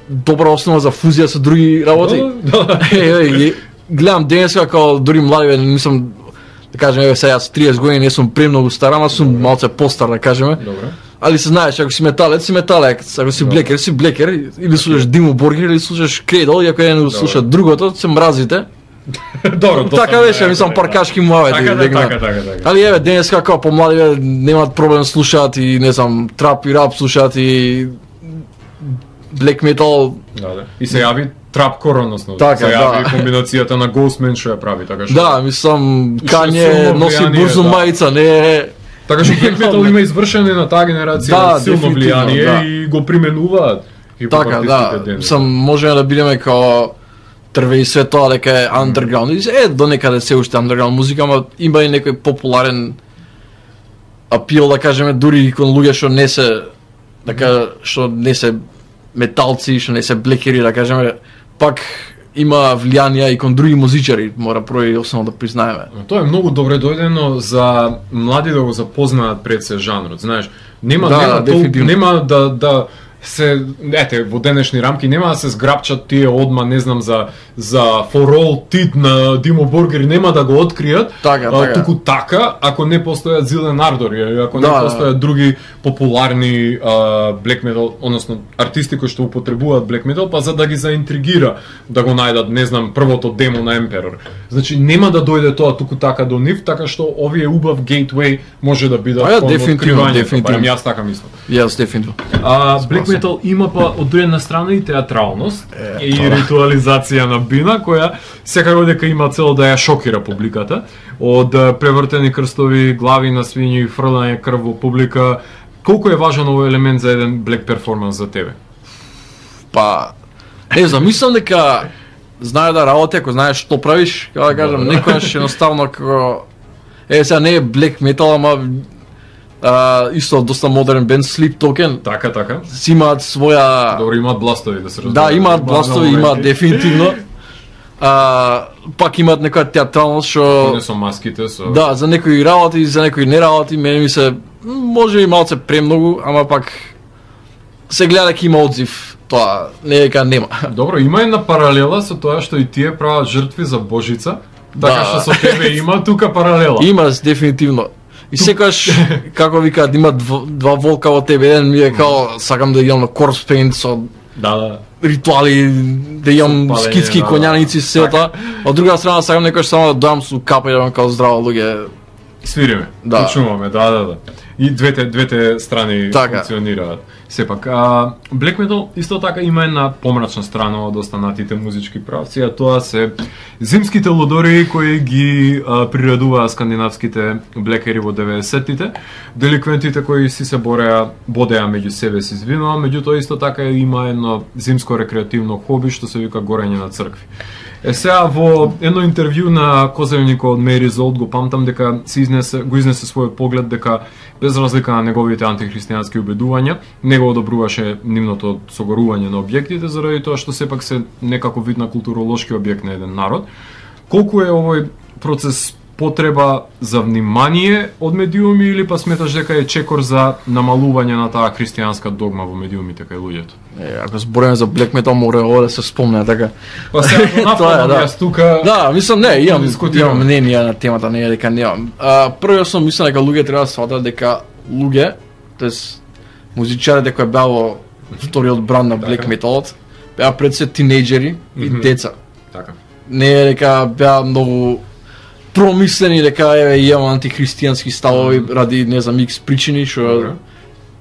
добра основа за фузија со други работи. Да, да. е, е, гледам денес како дури млади, мислам да кажеме, еве сега со триесет години не сум премногу стар, ама сум малце постар, да кажеме. Добре. Али се знаеш, ако си металец, си металец, ако си блекер, си блекер, или слушаш Димо Боргер, или слушаш Кредол, и ако еден слушат другото, се мразите. Добро, така беше, мислам паркашки муавет. Така, така, така, така. Али еве денес како помлади немаат проблем слушаат и не знам, трап и рап слушаат и black metal. Да, да. И се јави трапкор, односно така, се јави да. комбинацијата на Ghostman што ја прави, така што. Да, мислам Кање носи бурзу да. мајца, не е. Така што black metal има извршене на таа генерација да, силно влијание да. и го применуваат. И така, да. Мислам можеме да бидеме као трве и све тоа дека е underground. И е до некаде се уште underground музика, ама има и некој популарен апил, да кажеме, дури и кон луѓе што не се така што не се металци, што не се блекери, да кажеме, пак има влијанија и кон други музичари, мора прво и основно да признаеме. Тоа е многу добре дојдено за млади да го запознаат пред се жанрот, знаеш. Нема Да, нема, тол, дефинитивно. нема да да се ете во денешни рамки нема да се зграпчат тие одма, не знам, за за For All Tit на Димо Боргер, нема да го откријат. Така, а, така. туку така, ако не постојат Зилен Ардор, или ако Да, не да. постојат други популарни а, black metal, односно артисти кои што употребуваат black metal, па за да ги заинтригира да го најдат, не знам, првото демо на Emperor. Значи нема да дојде тоа туку така до нив, така што овие убав gateway може да бидат А, ја, кон дефинитивно, откривањето, дефинитивно. барем јас така мислам. Јас дефинитивно. А black metal има па од една страна и театралност Е, и тоа. ритуализација на бина која секако дека има цел да ја шокира публиката, од а, превртени крстови, глави на свињи, фрлање крв во публика. Колку е важен овој елемент за еден black перформанс за тебе? Па, не знам, мислам дека знае да работи, ако знаеш што правиш, како да кажам, некојаш едноставно како е сега не е black metal, ама а, исто доста модерен бенд Sleep Token Така, така. си имаат своја Добро, имаат бластови да се разбере. да, имаат бластови, имаат дефинитивно. А, пак имаат некоја театралност што Не со маските, со... да, за некои работи, за некои не работи, мене ми се м, може и малце премногу, ама пак се гледа дека има одзив. Тоа не е дека нема. Добро, има една паралела со тоа што и тие прават жртви за Божица, така Да. што со тебе има тука паралела. Има дефинитивно. И секогаш како викаат има дв, два волка во тебе, еден ми е као сакам да идам на corpse paint со Да, да. ритуали, да имам Со палење, скитски да, коњаници да. се тоа. Од друга страна сакам некој само да дојам со капа и да као здраво луѓе. Свириме, Да. почнуваме, да, да, да. И двете двете страни Така. функционираат. Сепак, а black metal исто така има една помрачна страна од останатите музички правци, а тоа се зимските лудори кои ги а, приредуваа скандинавските блекери во деветдесеттите, деликвентите кои си се бореа, бодеа меѓу себе си звино, меѓутоа исто така има едно зимско рекреативно хоби што се вика горење на цркви. Е сега во едно интервју на Козевникот од Мери Золт го памтам дека си изнесе, го изнесе својот поглед дека без разлика на неговите антихристијански убедувања, не го одобруваше нивното согорување на објектите заради тоа што сепак се некако вид на културолошки објект на еден народ. Колку е овој процес потреба за внимание од медиуми или па сметаш дека е чекор за намалување на таа христијанска догма во медиумите кај луѓето? Е, ако збориме за black metal мора ова да се спомне така. Па сега го нафатам да. јас тука. Да, мислам не, имам Дискутираме. имам мнение на темата, не е дека немам. А, прво сум мислам дека луѓе треба да сватат дека луѓе, тоест музичарите кои беа во вториот бранд на black Така. metalот, беа пред се тинејџери и Мгм. деца. Така. Не е дека беа многу промислени дека еве имам антихристијански ставови ради не знам икс причини што Добре.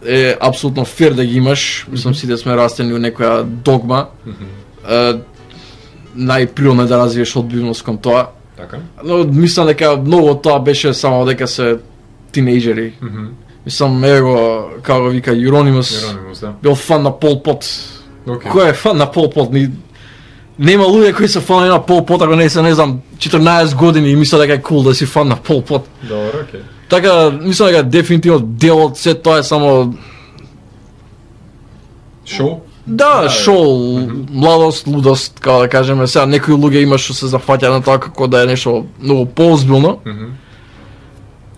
е апсолутно фер да ги имаш. Мислам сите сме растени во некоја догма. Мгм. Е, најприродно е да развиеш одбивност кон тоа. Така. Но мислам дека многу од тоа беше само дека се тинејџери. Мгм. Мислам ево го како го вика Euronymous Еронимус, да. бил фан на Пол Пот. Океј. Кој е фан на Пол Пот? Ни нема луѓе кои се фанови на Пол Пот ако не се не знам четрнаесет години и мислат дека е кул да си фан на Пол Пот. Добро, окей. Така мислам дека дефинитивно дел од се тоа е само Шоу? да, Да, шоу, младост, лудост, како да кажеме. Сега некои луѓе има што се зафаќаат на тоа како да е нешто многу поозбилно. Мгм.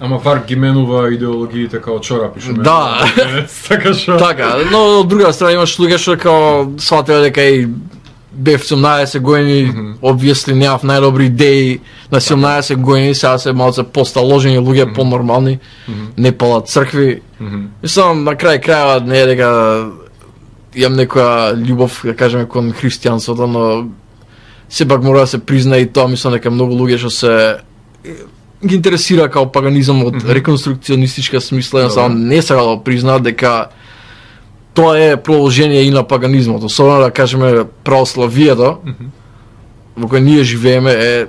Ама Варк ги менува идеологиите као чорапи што Да. менува. Така што. Така, но од друга страна имаш луѓе што као сватиле дека и бев седумнаесет години, Мгм. obviously немав најдобри идеи на седумнаесет години, сега се малце посталожени луѓе, Мгм. понормални, Мгм. не палат цркви. Мгм. Мислам, на крај крајава не е дека имам некоја љубов, да кажеме, кон христијанството, но сепак мора да се призна и тоа, мислам дека многу луѓе што се ги интересира као паганизам од Мгм. реконструкционистичка смисла, Добре. само не сака да го признаат дека тоа е продолжение и на паганизмот, особено да кажеме православието, Мгм. во кој ние живееме е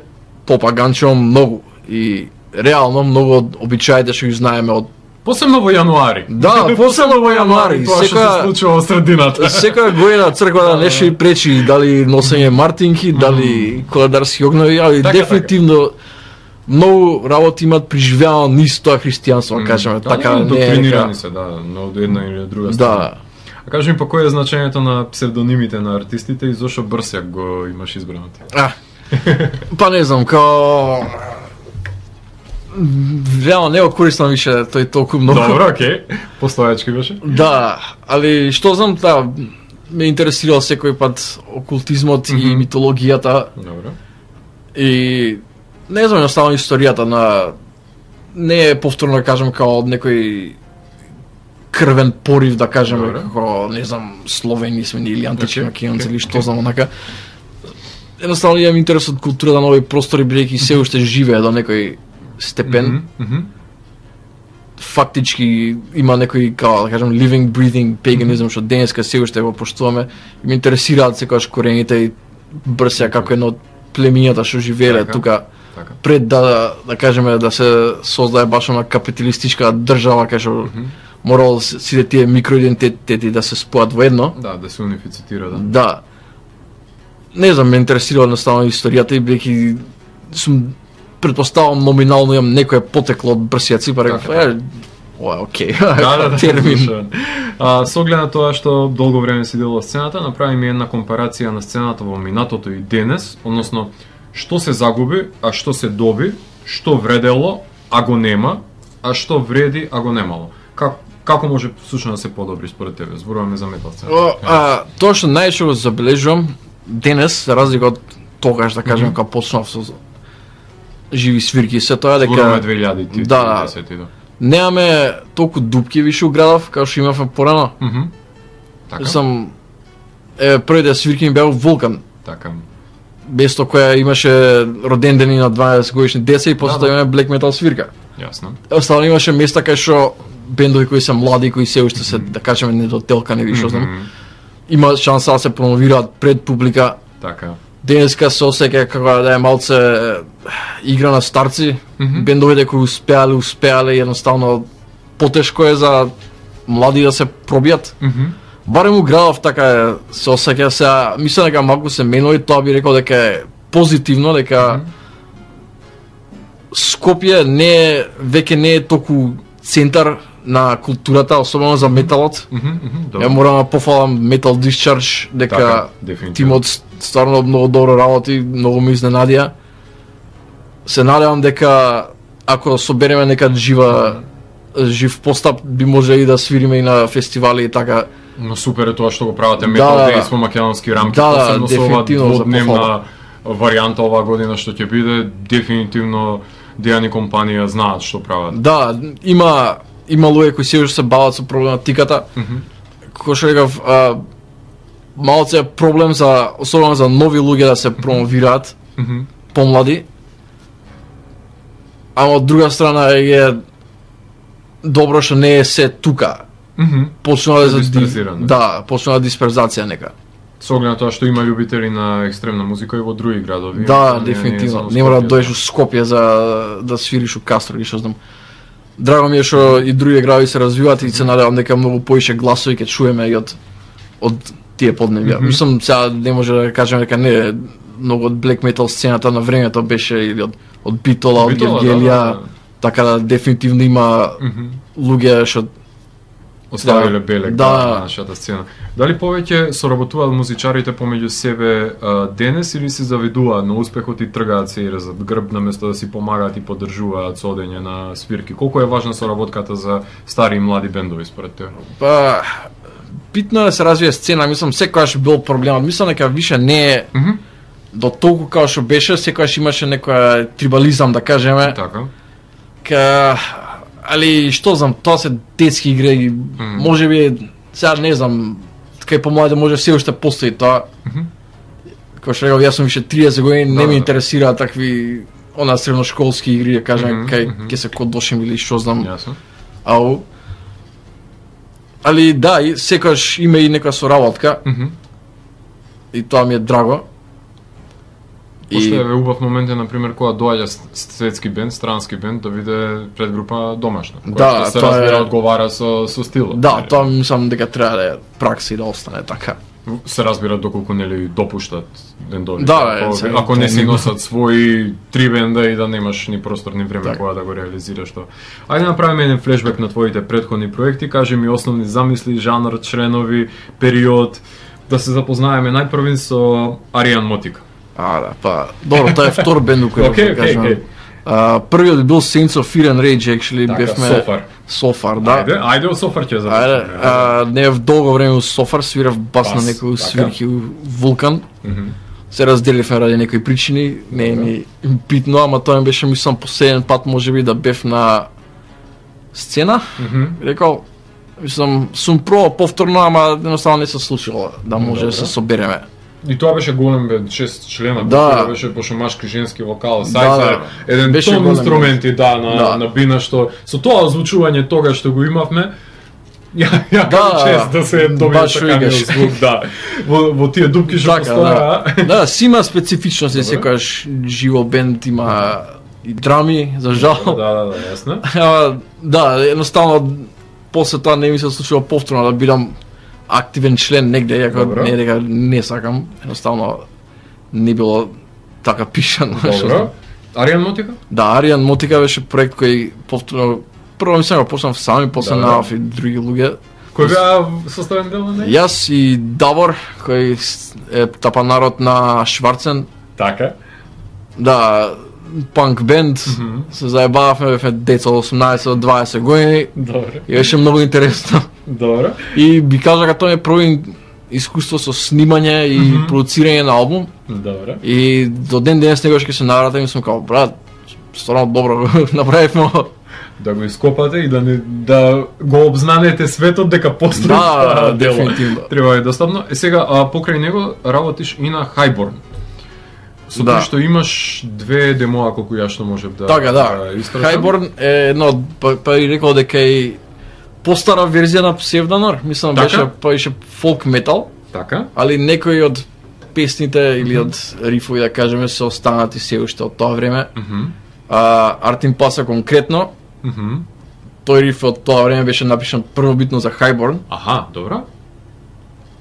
попаганчено многу и реално многу од обичаите што ги знаеме од Посебно во јануари. Да, посебно во јануари. Тоа што Секоја- се случува во средината. секоја година црквата нешто и пречи, дали носење мартинки, дали коледарски огнови, али Така, дефинитивно многу работи имаат преживеано низ тоа христијанство, да кажеме, така не е дека... Доктrinирани се, да, но од една или од друга страна. Да. А кажи ми, па кој е значењето на псевдонимите на артистите и зошто Брсјак го имаш избрано ти? А, па не знам, као... Реално не го користам више тој толку многу. Добро, окей. Постојачки беше? Да, али што знам, да, ме интересирал секој пат окултизмот mm -hmm. и митологијата. Добро. И не знам, едноставно историјата на не е повторно да кажам као од некој крвен порив да кажеме како не знам словени сме или антички okay, македонци okay, или што okay. знам онака. Едноставно имам интерес од култура на нови простори бидејќи се уште живее до некој степен. Mm -hmm. Фактички има некој као да кажам living breathing paganism што денеска се уште го поштуваме. И ме интересираат секогаш корените и Брсјак како едно од племињата што живееле така, тука така. Пред да да кажеме да се создае баш на капиталистичка држава кај што mm -hmm. морал сите тие микроидентитети да се спојат во едно. Да, да се унифицира, да. Да. Не знам, ме интересира едноставно историјата и бидејќи сум претпоставам номинално имам некое потекло од Брсјаци, па реков, е, ова е окей. Да, да, да. Термин. А, со оглед на тоа што долго време си дело сцената, направи ми една компарација на сцената во минатото и денес, односно што се загуби, а што се доби, што вредело, а го нема, а што вреди, а го немало. Как Како може всушно да се подобри според тебе? Зборуваме за метал сцена. О, а, тоа што најче го забележувам денес, за разлика од тогаш да кажем mm -hmm. кога почнав со живи свирки, се тоа дека зборуваме две илјади да, десети, да. Немаме толку дупки више у градов како што имавме порано. Mm -hmm. Така. Сам е првите свирки ми беа Вулкан. Така. Место која имаше роден дени на дваесет годишни деца и после тоа имаме black metal свирка. Јасно. Останало имаше места кај што бендови кои се млади, кои се уште се, да кажеме, недотелкани или што знам, mm -hmm. има шанса да се промовираат пред публика. Така. Денеска се осеќа како да е малце игра на старци. Mm -hmm. Бендовите кои успеале, успеале, едноставно потешко е за млади да се пробијат. Mm -hmm. Барем у градов така е, се осеќа сега, мислам дека малку се менува и тоа би рекол дека е позитивно, дека mm -hmm. Скопје не е, веќе не е толку центар на културата, особено за металот. Mm -hmm, Ја морам да пофалам Metal Discharge, дека така, тимот стварно многу добро работи, многу ме изненадија. Се надевам дека ако собереме нека жива жив постап би можеле и да свириме и на фестивали и така. Но супер е тоа што го правите Metal да, Days во македонски рамки, да, посебно со ова дводневна за варијанта оваа година што ќе биде, дефинитивно дејани компанија знаат што прават. Да, има има луѓе кои се уште се бават со проблематиката. Mm -hmm. Кој што рекав, малце е проблем за особено за нови луѓе да се промовираат, mm -hmm. помлади. Ама од друга страна е добро што не е се тука. Mm -hmm. Почнува да дисперзирано. Да, почнува дисперзација нека. Со оглед на тоа што има љубители на екстремна музика и во други градови. Да, дефинитивно. Не мора да дојдеш у Скопје за да свириш у Кастро или што знам. Драго ми е што и други градови се развиваат и се надевам дека многу поише гласови ќе чуеме и од од тие подневја. Mm -hmm. Мислам сега не може да кажеме дека не многу од black metal сцената на времето беше или од од Битола, од Гевгелија, да, да. Така да дефинитивно има mm -hmm. луѓе што оставиле белег да. на нашата сцена. Дали повеќе соработуваат музичарите помеѓу себе а, денес или се завидуваат на успехот и тргаат се и резат грб наместо да си помагаат и поддржуваат со одење на свирки? Колку е важна соработката за стари и млади бендови според тебе? Па битно е да се развие сцена, мислам секогаш бил проблемот. Мислам дека више не е mm -hmm. до толку како што беше, секогаш имаше некоја трибализам да кажеме. Така. Ка али што знам, тоа се детски игри, mm. можеби сега не знам, кај помладите може се уште постои тоа. Mm -hmm. Кој што реков, јас сум више триесет години, не да, ме да. интересира такви она средношколски игри, да кажем, mm -hmm, кај ќе mm -hmm. се кодошим или што знам. Јасно. Ау. Али да, и секогаш има и некоја соработка. Mm -hmm. И тоа ми е драго. Пошто е убав момент е, например, кога доаѓа светски бенд, странски бенд, да биде пред група домашна. Која Да, се тоа разбира е... одговара со, со стилот. Да, тоа мислам дека треба да е пракса и да остане така. Се разбира доколку нели допуштат бендовите. Да, ако, се, ако не си не- носат свои три бенда и да немаш ни простор ни време Так. кога да го реализираш тоа. Ајде направиме еден флешбек на твоите претходни проекти, кажи ми основни замисли, жанр, членови, период, да се запознаеме најпрвин со Аријан Мотика. А, да, па, добро, тоа е втор бенд кој Окей, okay, окей, кажам. окей. А, првиот бил Saints of Fear and Rage, actually, Така, бевме... Софар. Софар, да. Ајде, ајде од Софар ќе Ајде, започнеме. а, не в долго време у Софар, свирав бас, Бас, на некој така. свирки у Вулкан. Мгм. Се разделивме ради некои причини, не е ни битно, ама тоа ми беше, мислам, последен пат можеби да бев на сцена. Мгм. Рекол, мислам, сум пробал повторно, ама едноставно не се случило да може Добро. да се собереме. И тоа беше голем бенд, шест члена, Да. тоа беше пошумашки женски вокал, Да, сајце, да. еден Беше тон голем инструменти, да, на, Да. на бина, што со тоа озвучување тога што го имавме, ја, ја Да, да, чест да се добие баш саканиот викаш. звук, да, во, во тие дупки што Така, да. постоја. Да, си има специфичности, Добро. секојаш живо бенд има и драми, за жал. Да, да, да, јасно. Ама, да, едноставно после тоа не ми се случило повторно да бидам активен член негде, иако Добро. не е дека не сакам, едноставно не било така пишано. Добро. Аријан Мотика? Да, Аријан Мотика беше проект кој повторно прво мислам го почнав сам и после Да, да. наав и други луѓе. Кој беа составен дел на неј? Јас и Давор, кој с- е тапанарот на Шварцен, Така. да, панк бенд, Мгм. се заебававме, бевме деца од осумнаесет до дваесет години Добро. и беше многу интересно. Добро. И би кажа дека тоа е прво искуство со снимање и Мгм. продуцирање на албум. Добро. И до ден денес негош ќе се навратам и сум као, брат, стварно добро направивме. Да го ископате и да не да го обзнанете светот дека постои Да, тоа дело. дефинитивно. Треба е достапно. Е сега, а, покрај него работиш и на Highborn. Со Да. тој што имаш две демоа колку ја што можев да Така, да. истражам. Highborn е едно, од- па, па и рекол дека е постара верзија на Псевдонор, мислам Така? беше, па беше фолк метал, Така? али некои од песните или од рифови, да кажеме, се останати се уште од тоа време. Мгм. А, Артин Паса конкретно, Мгм. тој риф од тоа време беше напишан првобитно за Highborn. Аха, добро.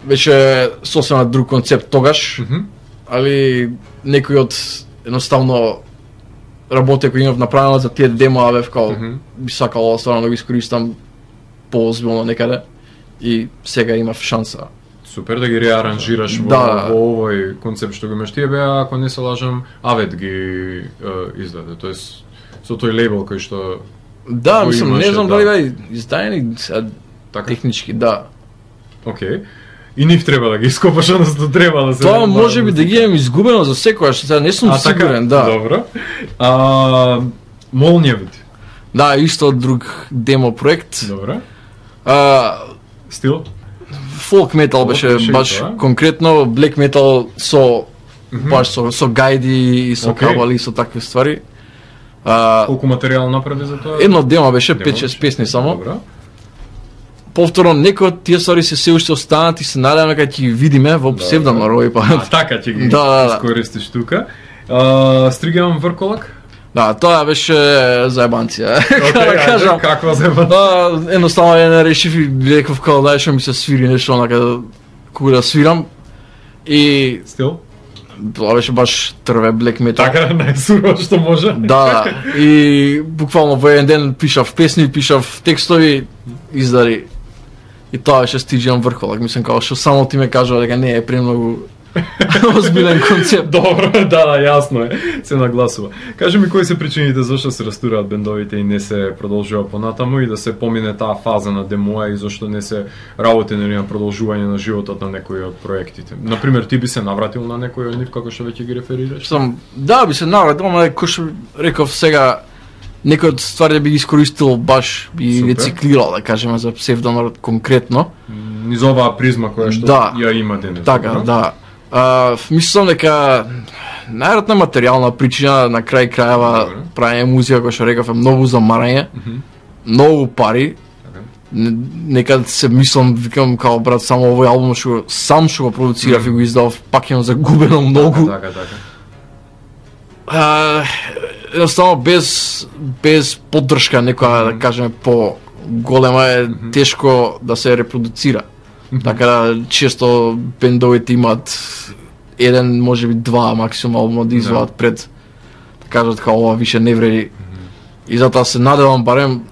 Беше сосема друг концепт тогаш, Мгм. али некои од едноставно работи кои имав направено за тие демоа бев као Мгм. би сакал ова стварно да го искористам поозбилно некаде и сега имав шанса. Супер да ги реаранжираш во, Да. во овој концепт што го имаш. Тие беа, ако не се лажам, Авет ги е, издаде, тоест со тој лейбл кој што Да, Го мислам, не имаше, знам да. дали бе издаени сега така. технички, да. Окей. И нив треба да ги ископаш, односно треба да се Тоа може би да ги имам изгубено за секојаш, сега не сум А, така? сигурен, да. Добро. А, Молњевите. Да, исто друг демо проект. Добро. А, Стил? фолк метал беше беше и баш тоа. конкретно, блек метал со баш со со гајди и со Окей. кабали и со такви ствари. А, Колку материјал направи за тоа? едно демо беше Демо пет-шест беше? песни само. Добро. Повторно некои од тие ствари се се уште останат и се надеваме кога ќе ги видиме во Псевдонор овој А пат. така ќе ги Да, да, да. искористиш тука. А, Стригам Врколак? Да, тоа беше заебанција. Окей, Како да кажам. ајде, каква зема? Да, едноставно ја не решив и реков као дај што ми се свири нешто онака кога да свирам. И Стил? тоа беше баш трве блек метал. Така, најсурово што може. Да, и буквално во еден ден пишав песни, пишав текстови, издари. И тоа беше стиџам Врколак, мислам као што само ти ме кажува дека не е премногу озбилен концепт. Добро, да, да, јасно е. Се нагласува. Кажи ми кои се причините зашто се растураат бендовите и не се продолжува понатаму и да се помине таа фаза на демоа и зашто не се работи нели на продолжување на животот на некои од проектите. Например, ти би се навратил на некој од нив како што веќе ги реферираш? Сам, да, би се навратил, ама кој што реков сега, некои од ствари би ги искористил баш, би Супер. рециклирал, да кажеме, за Псевдонор конкретно. Низ оваа призма која што Да. ја има денес. Така, добро? да. А, мислам дека најверојатно материјална причина на крај крајава Добро. правење музика која што реков е многу замарање, Мгм. многу пари. Така. Не- Некад се мислам, викам као брат, само овој албум што го- сам што го продуцирав Мгм. и го издав, пак имам загубено многу. Така, така. А, едноставно без без поддршка некоја да кажеме по голема е тешко да се репродуцира. Така да често бендовите имаат еден, можеби два максимално да извадат да. Пред да кажат како ова више не вреди. Mm-hmm. И затоа се надевам барем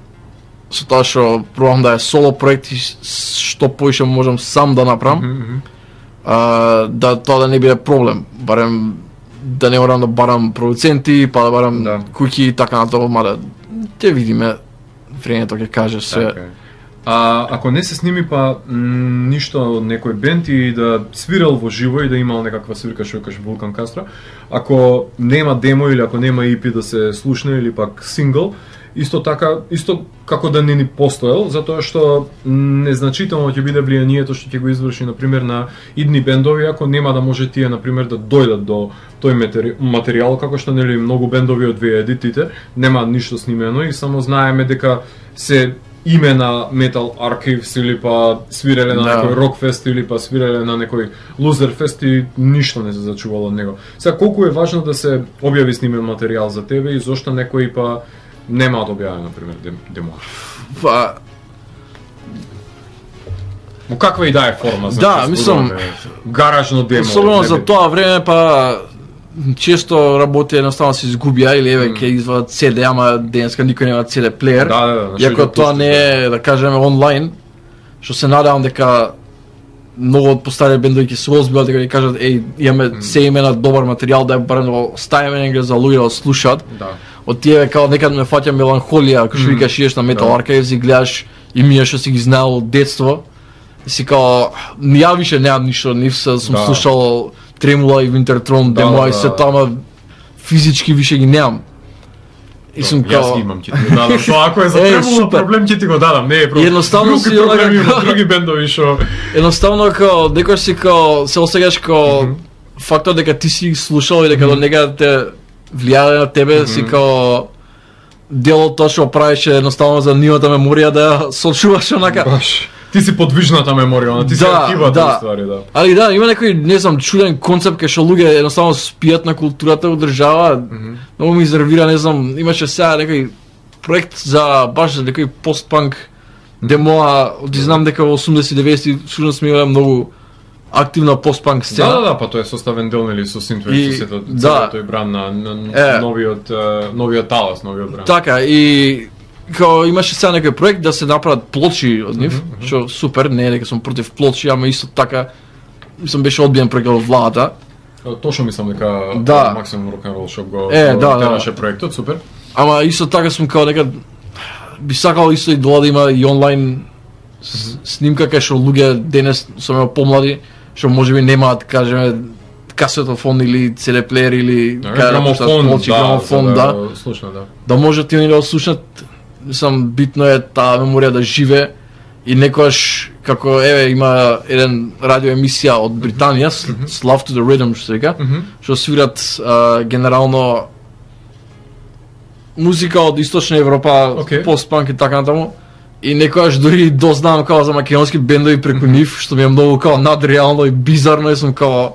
со тоа што пробам да е соло проект и што поише можам сам да направам. Mm-hmm. А, да тоа да не биде проблем. Барем да не морам да барам продуценти, па да барам да. Куки и така натаму, мада ќе видиме, времето ќе каже се. Okay. А ако не се сними па м, ништо од некој бенд и да свирал во живо и да имал некаква свирка што викаш Вулкан Кастро, ако нема демо или ако нема и пи да се слушне или пак сингл, исто така, исто како да не ни постоел, затоа што незначително ќе биде влијанието што ќе го изврши на пример на идни бендови, ако нема да може тие на пример да дојдат до тој матери... материјал, како што нели многу бендови од две едитите нема ништо снимено и само знаеме дека се име на Metal Archives или па свиреле на да. Некој рок фест или па свиреле на некој лузер фест и ништо не се зачувало од него. Сега колку е важно да се објави снимен материјал за тебе и зошто некои па нема да објави на пример демо? Па во каква и да е форма, значи да, мислам гаражно демо. Особено за тоа време па често работи едноставно се изгубија или еве ќе извадат си ди, ама денеска никој нема си ди плеер. Да, да, да. Иако тоа не е, да кажеме, онлайн, што се надевам дека многу од постари бендови ќе се озбилат дека ќе кажат еј имаме mm. се имена добар материјал да барем да го ставиме негде за луѓе да слушаат. Да. Од тие као некад ме фаќа меланхолија, кога што mm. викаш идеш на Metal да. Archives и гледаш и мија што си ги знаел од детство. И си као ја више немам ништо, нив се сум да. Слушал Тремула и Винтертрон, да, демо и се тама физички више ги немам. И сум као... Јас ги имам, ќе ти го дадам. Тоа ако е за Тремула проблем, ќе ти го дадам. Не е проблем. Едноставно си проблеми има, други бендови шо... Едноставно као, некој си као, се осеќаш као фактот дека ти си слушал и дека до некаде те влијае на тебе, си као дел од тоа што правиш едноставно за нивната меморија да сочуваш онака. Баш. Ти си подвижната меморија, ти си да, архивата да. Ствари, да. Али да, има некој, не знам, чуден концепт кај што луѓе едноставно спијат на културата во држава. Mm -hmm. Многу ми изервира, не знам, имаше сега некој проект за баш за некој постпанк демоа, ти знам дека во осумдесети деветдесети всушност сме имале многу активна постпанк сцена. Да, да, да, па тоа е составен дел нели со синтве со сето да. Тој бран на, на е, новиот новиот талас, новиот бран. Така и као имаше сега некој проект да се направат плочи од нив, mm-hmm. што супер, не е дека сум против плочи, ама исто така мислам беше одбиен проект од владата. Точно мислам дека да. Максимум рок н рол што го е, да, тераше да. Проектот, супер. Ама исто така сум као дека би сакал исто и да има и онлайн снимка кај што луѓе денес со помлади што можеби немаат, кажеме, касетофон или си ди плеер или грамофон, да, грамофон, да, да, слушна, да. Да можат и да слушнат. Мислам, битно е таа меморија да живе и некојаш, како еве има еден радио емисија од Британија, mm-hmm. Love to the Rhythm, што се вика, mm-hmm. што свират а, генерално музика од Источна Европа, okay. постпанк и така натаму. И некојаш дури дознавам као за македонски бендови преку нив, што ми е многу као надреално и бизарно и сум као...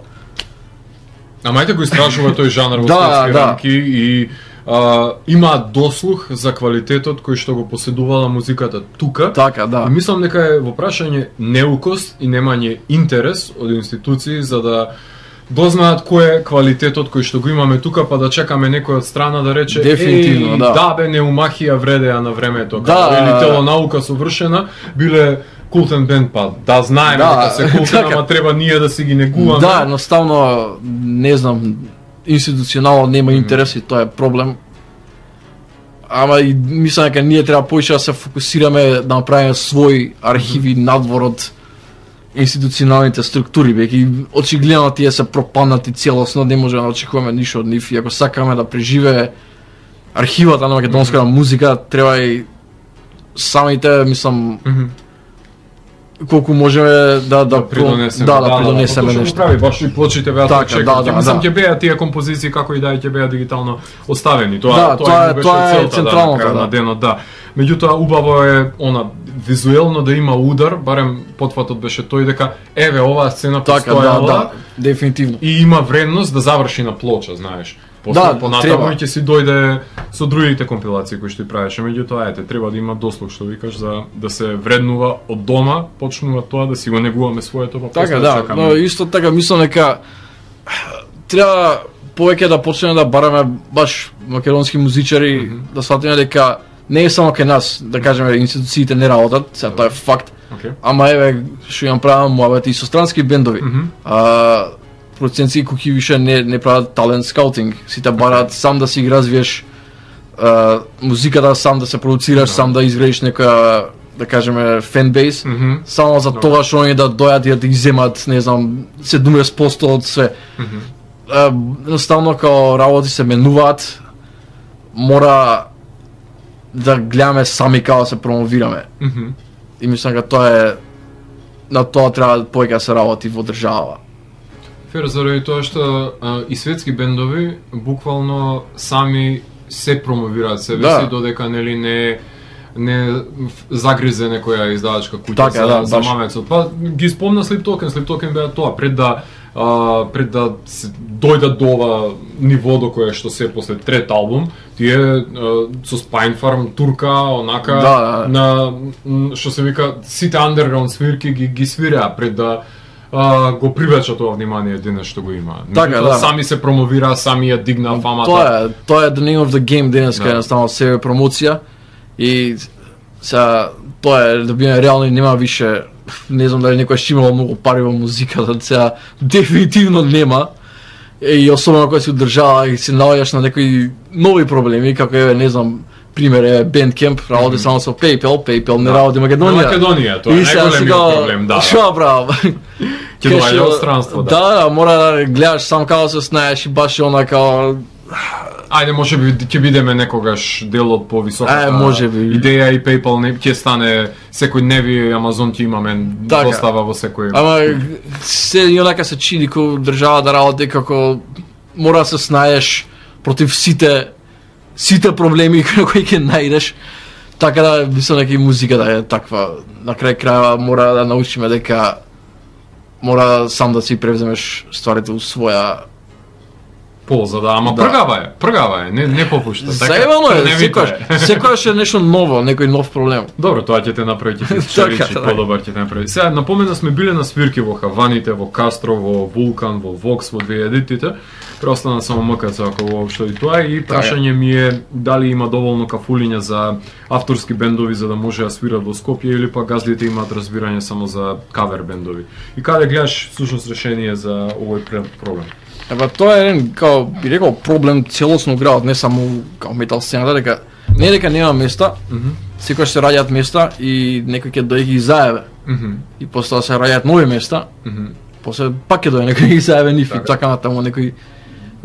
Ама ајде го истражува тој жанр во светски да, рамки и а, има дослух за квалитетот кој што го поседувала музиката тука. Така, да. И мислам дека е во прашање неукост и немање интерес од институции за да дознаат кој е квалитетот кој што го имаме тука, па да чекаме некој од страна да рече дефинитивно, да. Да бе, неумахија вредеа на времето, да, или телонаука совршена, биле култен бенд, па да знаеме да, дека се култен, ама треба ние да си ги негуваме. Да, едноставно, не знам, институционално нема интерес и тоа е проблем. Ама и мислам дека ние треба поише да се фокусираме да направиме свој архиви mm-hmm. надвор од институционалните структури, веќе очигледно тие се пропаднати целосно, не можеме да очекуваме ништо од нив и ако сакаме да преживее архивата на македонската mm-hmm. музика, треба и самите, мислам, mm-hmm. колку можеме да да да придонесеме, да, да, да придонесеме да, нешто. Прави баш и плочите беа така, чекаат. да, да, мислам да. ќе беа тие композиции како и да ќе беа дигитално оставени. Тоа да, тоа, тоа, тоа е централното да, да. на денот, да. Меѓутоа убаво е она визуелно да има удар, барем потфатот беше тој дека еве оваа сцена така, постојала. Да, да, дефинитивно. И има вредност да заврши на плоча, знаеш. После Да, понатаму треба. ќе си дојде со другите компилации кои што ти правиш, меѓутоа ете треба да има дослух што викаш за да се вреднува од дома, почнува тоа да си го негуваме своето па после Така, да, чакаме. но исто така мислам дека треба повеќе да почнеме да бараме баш македонски музичари, mm -hmm. да сватиме дека не е само кај нас, да кажеме институциите не работат, сега тоа е факт. Okay. Ама еве што имам правам муабет и со странски бендови. Mm -hmm. А продуценци кои више не не прават талент скаутинг, сите бараат сам да си ги развиеш а, музиката, сам да се продуцираш, No. сам да изградиш некоја да кажеме фенбейс, Mm -hmm. само за No. тоа што они да дојдат и да ги земат, не знам, седумдесет проценти од све. Mm -hmm. А, едноставно као работи се менуваат, мора да гледаме сами како да се промовираме. Mm -hmm. И мислам дека тоа е на тоа треба повеќе да се работи во држава. Фер, заради тоа што а, и светски бендови буквално сами се промовираат себе Да. си додека нели не не загризе некоја издавачка куќа Така, за, да, за баш. мамецот. Па ги спомна Sleep Token, Sleep Token беа тоа пред да а, пред да се дојдат до ова ниво до кое што се после трет албум, тие а, со Spine Farm турка, онака Да, да. на м, што се вика сите underground свирки ги ги свираа пред да а, го привлеча тоа внимание денес што го има. Така, Меѓутоа, да. сами се промовира, сами ја дигна фамата. Тоа е, тоа е the name of the game денеска, Да. едноставно себе промоција и сега тоа е да биме реални, нема више, не знам дали некој ќе имало многу пари во музиката, сега дефинитивно нема. И особено кога си одржава и се наоѓаш на некои нови проблеми, како е, не знам, пример е Bandcamp, работи Мгм. само со PayPal, PayPal не Да. работи Македонија. На Македонија, тоа е И сега си најголемиот го- проблем, да. Шо правам? Ќе доаѓа од странство, да. Да, да, мора да гледаш сам како да се снаеш и баш онака. Ајде, може би ќе бидеме некогаш дел од повисоката Е, може би. идеја и PayPal не ќе стане секој дневи Амазон ќе имаме Така. достава во секој. Ама се и онака се чини како држава да работи како мора да се снаеш против сите сите проблеми кои ќе најдеш. Така да мислам дека и музиката е таква. На крај крајава мора да научиме дека мора сам да си превземеш стварите у своја. полза, да, ама Да. пргава е, пргава е, не не попушта, така. Заебано е, трневито секојаш, секојаш е нешто ново, некој нов проблем. Добро, тоа ќе те направи, ќе ти чаричи, Така, да. подобар ќе те направи. Сега, напомена сме биле на свирки во Хаваните, во Кастро, во Вулкан, во Вокс, во две хилядите. Преостана само МКЦ ако воопшто и тоа и прашање ми е дали има доволно кафулиња за авторски бендови за да може да свират во Скопје или па газдите имаат разбирање само за кавер бендови. И каде гледаш всушност решение за овој пре- проблем? Еба тоа е еден, као би рекол, проблем целосно у градот, не само као метал сцената, дека не дека нема места, Мгм. секогаш се раѓаат места и некој ќе дојде ги заебе. Мгм. И после тоа се раѓаат нови места, Мгм. после пак ќе дојде некој ги заебе нив и Така. така натаму некој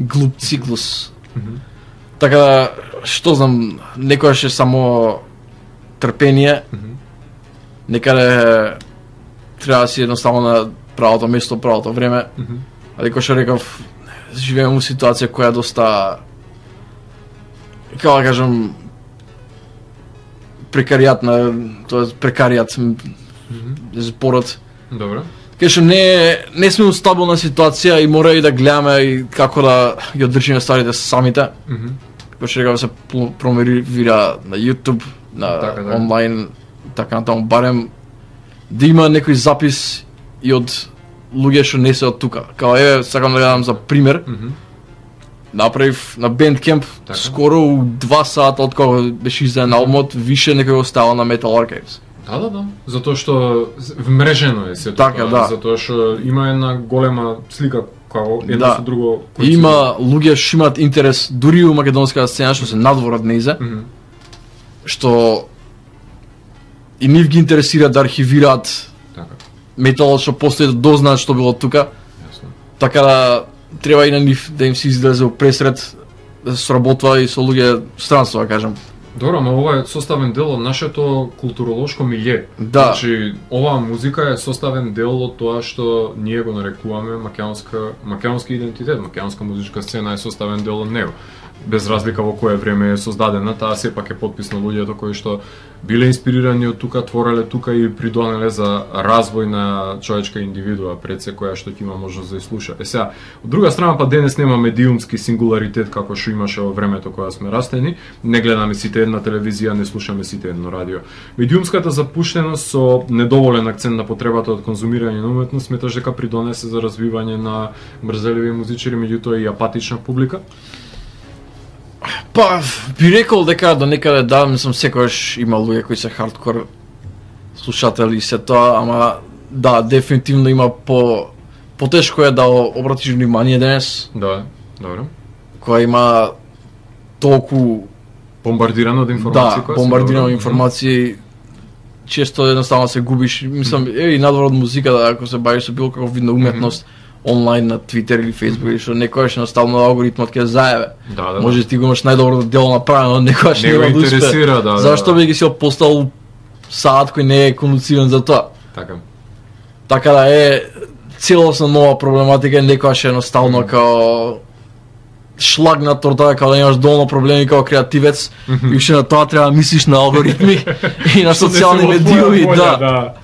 глуп циклус. Мгм. Така да, што знам, некојаш е само трпение, Мгм. некаде треба да си едноставно на правото место, правото време. Мгм. Ali ko što rekav, živimo u situaciji koja je dosta, kako da kažem, prekarijatna, to je prekarijat зборот. Добро. Кај што не не сме у стабилна ситуација и мора и да гледаме и како да ги одржиме стварите самите. Мгм. Како што рекав се пл- промовира на YouTube, на Така, да. онлайн, така натаму, барем да има некој запис и од луѓе што не се од тука. Као еве, сакам да ја дам за пример, Мгм. направив на Bandcamp Така. скоро у два сата од кога беше издаден албумот, више некој го ставил на Metal Archives. Да, да, да. Затоа што вмрежено е сето Така, тоа, да. затоа што има една голема слика како едно Да. со друго. И има луѓе што имаат интерес дури и у македонската сцена што се надвор од нејзе, Мгм. што и нив ги интересира да архивираат Така, металот што постои, да дознаат што било тука, јасно. така да треба и на нив да им се излезе у пресред, да се сработува и со луѓе странство, да кажем. Добро, ама ова е составен дел од нашето културолошко милје. Да. Значи, оваа музика е составен дел од тоа што ние го нарекуваме македонска, македонски идентитет, македонска музичка сцена е составен дел од него. Без разлика во кое време е создадена, таа сепак е подпис на луѓето кои што биле инспирирани од тука, твореле тука и придонеле за развој на човечка индивидуа пред се која што ќе има можност да ја слуша. Е сега, од друга страна па денес нема медиумски сингуларитет како што имаше во времето кога сме растени, не гледаме сите една телевизија, не слушаме сите едно радио. Медиумската запуштеност со недоволен акцент на потребата од конзумирање на уметност сметаш дека придонесе за развивање на мрзеливи музичари, меѓутоа и апатична публика? Па, би рекол дека до некаде да, мислам секогаш има луѓе кои се хардкор слушатели и се тоа, ама да, дефинитивно има по потешко е да обратиш внимание денес. Да, добро. Која има толку бомбардирано од информации, да, бомбардирано од информации, често едноставно се губиш, мислам, mm-hmm. е и надвор од музиката, ако се бавиш со било како видна уметност, mm-hmm. онлайн на Твитер или Фејсбук, или што некојаш наставно алгоритмот ќе заебе. Да, да, може ти го имаш најдобро дело направено, некојаш не го интересира, да. Зашто да, би ги си опостал саат кој не е конуциран за тоа? Така. Така да е целосно нова проблематика, некојаш едноставно mm-hmm. као шлаг на тортата, као да имаш долно проблеми као креативец, mm-hmm. и уште на тоа треба да мислиш на алгоритми и на социјални медиуми, да. да.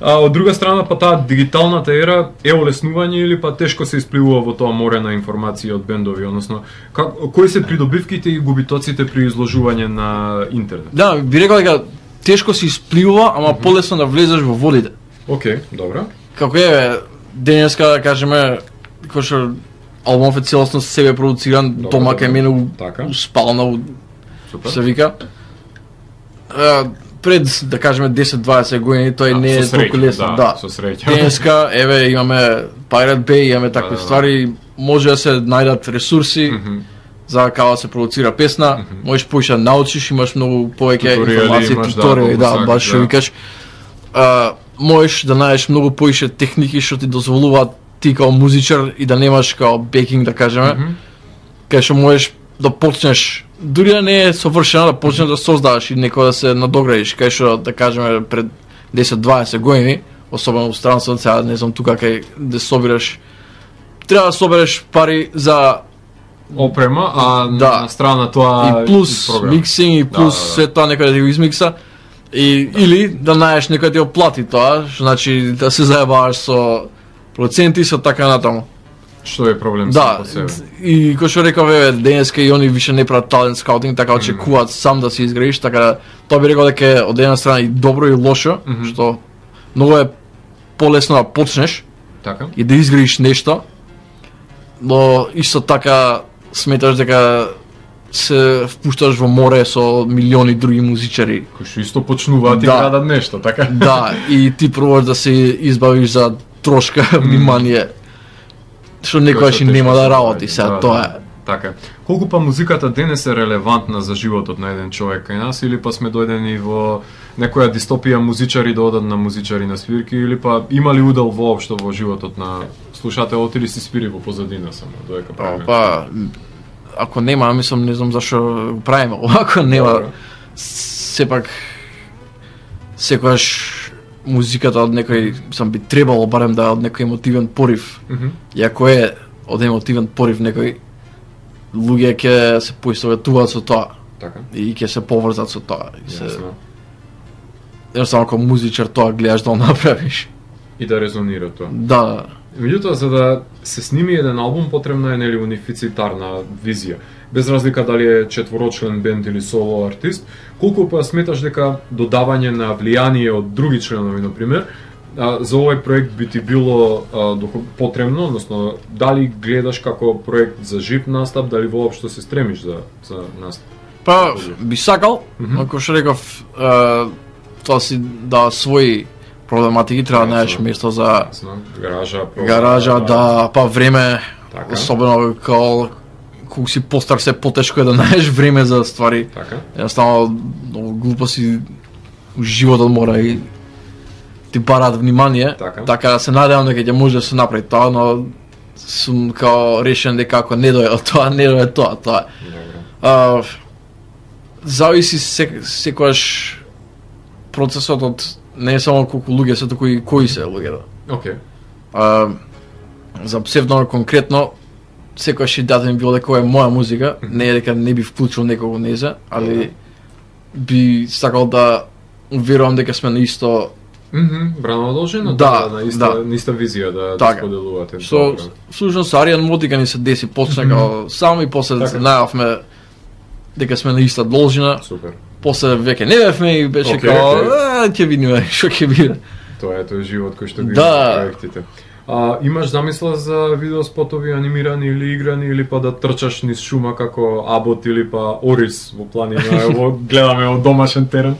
А од друга страна, па таа дигиталната ера е олеснување или па тешко се испливува во тоа море на информации од бендови, односно как, кои се придобивките и губитоците при изложување на интернет? Да, би рекол дека тешко се испливува, ама mm-hmm. полесно да влезеш во водите. Окей, okay, добро. Како е денеска, да кажеме, кој што албумов е целосно себе продуциран, дома кај мене у, у спална, у, се вика. А, пред, да кажеме, десет-дваесет години, тој да, не е толку лесно. Да, со среќа. Денеска, еве, имаме Pirate Bay, имаме такви да, ствари, може да се најдат ресурси, mm-hmm. за како да се продуцира песна, mm-hmm. можеш поише да научиш, имаш многу повеќе информации, туторијали, да, да, баш што викаш. А, можеш да најдеш многу поише техники што ти дозволуваат ти као музичар и да немаш као бекинг, да кажеме, mm-hmm. кај што можеш да почнеш, дури да не е совршено, да почнеш да создаваш и некој да се надоградиш, кај што, да кажеме, пред десет-дваесет години, особено во странството, сега не знам тука кај да собираш, треба да собереш пари за опрема, а да. На страна тоа и плюс миксинг и плюс да, да, да. Све тоа некој да ти го измикса и да. Или да најдеш некој да ти оплати тоа, што значи да се заебаваш со проценти со така натаму. Што е проблем да, по себе. И кој што реков еве денеска и они више не прават талент скаутинг, така очекуваат mm-hmm. сам да се изградиш, така тоа би рекол дека е од една страна и добро и лошо, mm-hmm. што многу е полесно да почнеш така и да изградиш нешто, но исто така сметаш дека се впушташ во море со милиони други музичари кои што исто почнуваат и да. Градат нешто, така? Да, и ти пробуваш да се избавиш за трошка внимание што некојаш и нема да работи сега, да, тоа е. Така. Колку па музиката денес е релевантна за животот на еден човек кај нас, или па сме дојдени во некоја дистопија музичари да одат на музичари на свирки, или па има ли удел воопшто во животот на слушателот или си спири во позадина само, додека правиме? Па, ако нема, мислам, не знам зашо го правиме, ако нема, сепак, секојаш музиката од некој, мислам, би требало барем да од некој емотивен порив. Mm-hmm. И ако е од емотивен порив некој, луѓе ќе се поистоветуваат со тоа. Така. И ќе се поврзат со тоа. И се... Ясно. Едноставно како музичар тоа гледаш да го направиш. И да резонира тоа. Да. Меѓутоа, за да се сними еден албум, потребна е нели унифицитарна визија. Без разлика дали е четворочлен бенд или соло артист, колку па сметаш дека додавање на влијание од други членови, например, за овој проект би ти било а, потребно, односно дали гледаш како проект за жив настап, дали воопшто се стремиш за за настап? Па би сакал, mm-hmm. ако што реков, а, тоа си да своји проблематики, треба да најдеш место за гаража, програма, гаража, да, да, па време, така. Особено као кога си постар се потешко е да најдеш време за ствари. Така. Едноставно многу глупо си животот мора и ти бараат внимание, така, така да се надевам дека ќе може да се направи тоа, но сум као решен дека ако не дојде тоа, не дојде тоа, тоа. Добро. А, зависи сек, секојаш процесот од не само колку луѓе се, туку и кои се луѓето. Океј. А, за псевдо конкретно, секојаш идејата ми било дека ова е моја музика, не е дека не би вклучил некого незе, али би сакал да уверувам дека сме на исто. Мгм, брано должено Да, да, на иста, да. на иста визија да, да Така. споделувате. Со Добро. слушно со Аријан Мотика ни се деси почна како само и после Така. најавме дека сме на иста должина. Супер. После веќе не бевме и беше Океј, као, океј. а, ќе видиме што ќе биде. Тоа е тој живот кој што ги Да. има проектите. А, имаш замисла за видеоспотови анимирани или играни или па да трчаш низ шума како Абот или па Орис во планина, ево гледаме од домашен терен.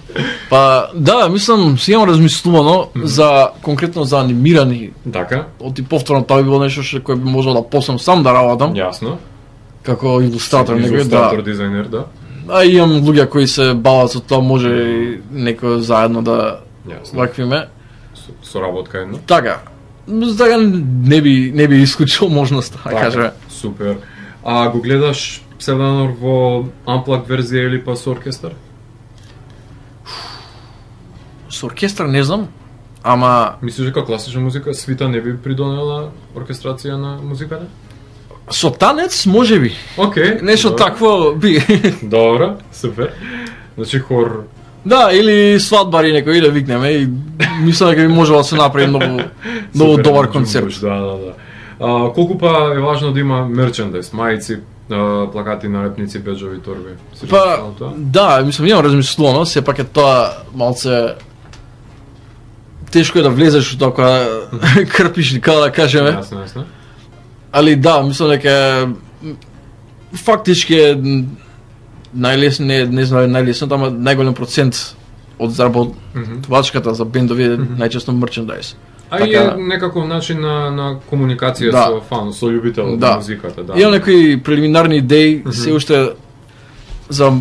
Па да, мислам, си имам размислувано за конкретно за анимирани. Така, Оти повторно тоа би било нешто што кој би можел да почнам сам да работам јасно. како илустратор, некој Илустратор, да. дизајнер, да. А имам луѓе кои се бават со тоа, може и некој заедно да Јасно. ваквиме. Со, соработка една. Така. Така не би не би исклучил можноста, да кажеме. Супер. А го гледаш Псевдонор во Unplugged верзија или па со оркестар? Со оркестар не знам, ама Мислиш дека класична музика свита не би придонела оркестрација на музиката? со танец можеби. Океј. Нешто добро. такво би. Добро, супер. Значи хор. Да, или свадбари некој да викнеме и мислам дека би можело да се направи многу многу супер, добар джумбуш, концерт. Да, да, да. А, колку па е важно да има мерчендайз, мајци, а, плакати, налепници, беџови, торби? Си Па, размислувал тоа? да, мислам, имам размислувано, сепак е тоа малце тешко е да влезеш во тоа кога крпиш, како да кажеме. Јасно, јасно. Али да, мислам дека е, фактички е најлесно, не, не знам најлесно, ама најголем процент од заработвачката за бендови е најчесто мерчендайз. А и Така- е некаков начин на, на комуникација Да. со фан, со љубител Да. на музиката. Да. Имам некои прелиминарни идеи, се уште за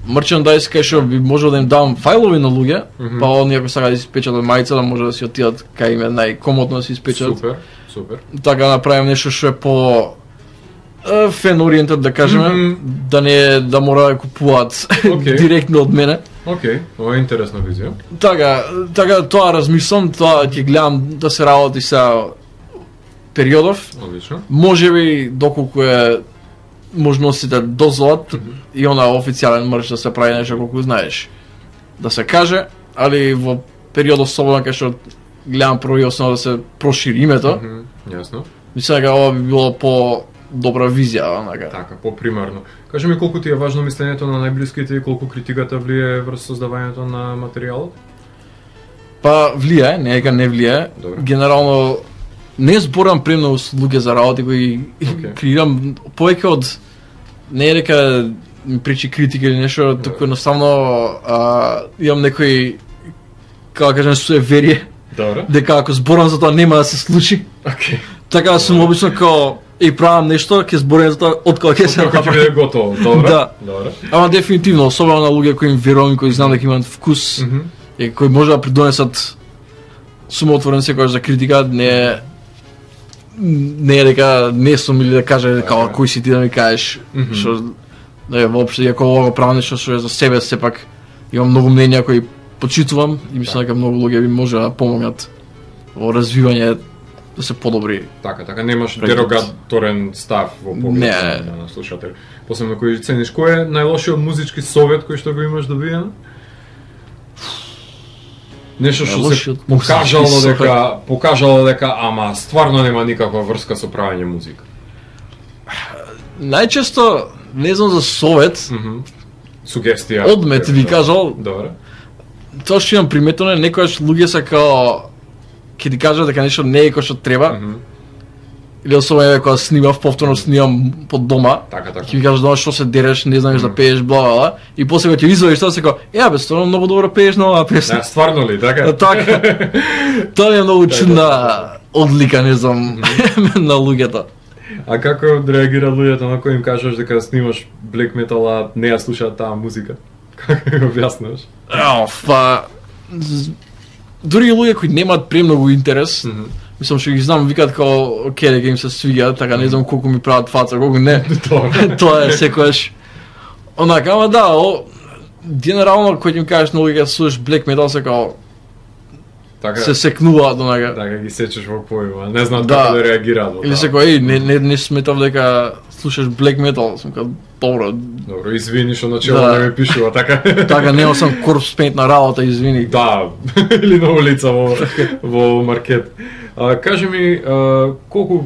мерчендайз кај што би можел да им давам фајлови на луѓе, Мгм. па они ако сакаат да си испечатат мајца, да може да си отидат кај им е најкомодно да си испечатат. Супер, супер. Така да направим нешто што е по е, фен ориентат да кажеме, Мгм. да не да мора да купуваат Океј. директно од мене. Океј, ова е интересна визија. Така, така тоа размислам, тоа ќе гледам да се работи сега периодов. Одлично. Можеби доколку е можностите дозволат и она официјален мерч да се прави нешто колку знаеш да се каже, али во периодов слободен кај што гледам прво и основно да се прошири името, Мгм, Јасно. мислам дека ова би било по добра визија, онака. Така, попримарно. Кажи ми колку ти е важно мислењето на најблиските и колку критиката влие врз создавањето на материјалот? Па влијае, не е дека не влијае. Добро. Генерално не зборам премногу со луѓе за работи кои Океј. креирам повеќе од не е дека ми причи критика или нешто, туку едноставно а, имам некои како да кажем суеверие Добро. дека ако зборам за тоа нема да се случи. Океј. Така да сум обично као и правам нешто, ќе зборам за тоа од кога ќе се Како ќе направи. биде готово, добро? Да. Добро. Ама дефинитивно, особено на луѓе кои им верувам и кои знам дека имаат вкус Мгм. и кои може да придонесат сум отворен секогаш за критика, не е не е дека не сум или да кажа дека Така е. кој си ти да ми кажеш Мгм. што не воопшто иако ова го правам нешто што е за себе, сепак имам многу мнења кои почитувам и мислам дека многу луѓе би може да помогнат во развивање да се подобри. Така, така, немаш Пред- дерогаторен став во Не. поглед на, на слушател. Посебно кој цениш, кој е најлошиот музички совет кој што го имаш добиен? Нешто што се Најлошиот покажало музички дека покажало дека ама стварно нема никаква врска со правење музика. Најчесто не знам за совет, Мгм. Сугестија. одмет би кажал, Добро. тоа што имам приметено е некојаш луѓе се као ќе ти кажат дека нешто не е кој што треба, Мгм. или особено еве кога снимав, повторно снимам под дома, Така, така. ќе ми кажат дома што се дереш, не знаеш да пееш, бла бла бла, и после кога ќе извадиш тоа се као, е бе, стварно многу добро пееш на оваа песна. Да, стварно ли, така? Да, така. Тоа ми е многу чудна одлика, не знам, на луѓето. А како реагира луѓето на кои им кажеш дека снимаш black metal, а не ја слушаат таа музика? Како го објаснуваш? Ау, па з- дури и луѓе кои немаат премногу интерес, Мгм. мислам што ги знам, викаат као оке дека им се свиѓа, така не знам колку ми прават фаца, колку не. Добро. Тоа е секогаш. Онака, ама да, о, генерално кој ти ми кажеш на луѓе слушаш black metal се као Така, се секнуваат до него. така ги сечеш во појма, не знаат Да. како да реагираат. во Или тоа. се кој не не не сметав дека слушаш black metal, сум као добро. Добро, извини што начело Да. не ми пишува така. Така нема сам корпс пейнт на работа, извини. Да, или на улица во во маркет. А, кажи ми, а, колку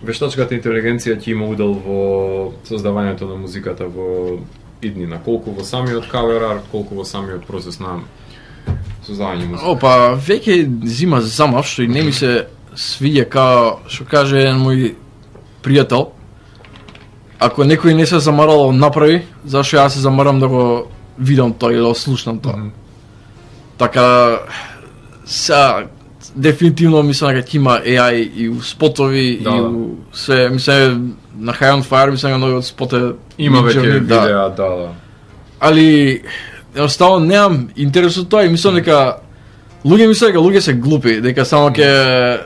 вештачката интелигенција ќе има удел во создавањето на музиката во иднина? Колку во самиот кавер арт, колку во самиот процес на создавање музика? Опа, веќе зима замав, што и не ми се свиѓа као што каже еден мој пријател. Ако некој не се замарал да направи, зашто јас се замарам да го видам тоа или да го слушнам тоа. Мгм. Така са дефинитивно мислам дека ќе има Е Ај и у спотови Да, и да. у се мислам на High on Fire мислам дека новиот спот е Има веќе Midjourney, да. видеа, да, да. Али едноставно немам интерес од тоа и мислам дека луѓе мислат дека луѓе се глупи, дека само ќе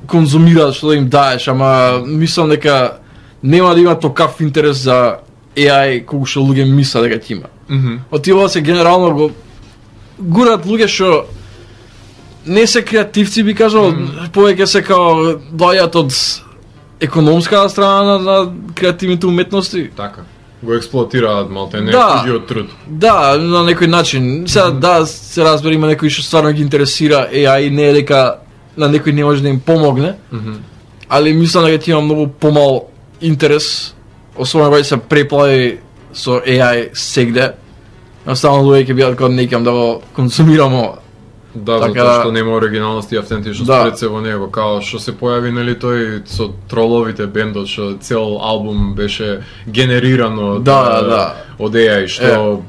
конзумираат што да им даеш, ама мислам дека нема да има токав интерес за Е Ај колку што луѓе мислат дека ќе има. Мгм. Отива се генерално го гурат луѓе што не се креативци, би кажал, mm. повеќе се као доаѓаат од економската страна на, на креативните уметности. Така. Го експлоатираат малте не Да. туѓиот труд. Да, на некој начин. Сега mm. да се разбери има некои што стварно ги интересира Е Ај, не е дека на некој не може да им помогне, Мгм. али мислам дека ќе има многу помал интерес, особено кога се преплави со Е Ај сегде. Наставно луѓе ќе бидат кога некам да го консумирам ова. Да, Така затоа да- што нема оригиналност и автентичност Да. пред се во него, као што се појави нели тој со троловите бендот што цел албум беше генериран од Да, е, да. од Е Ај што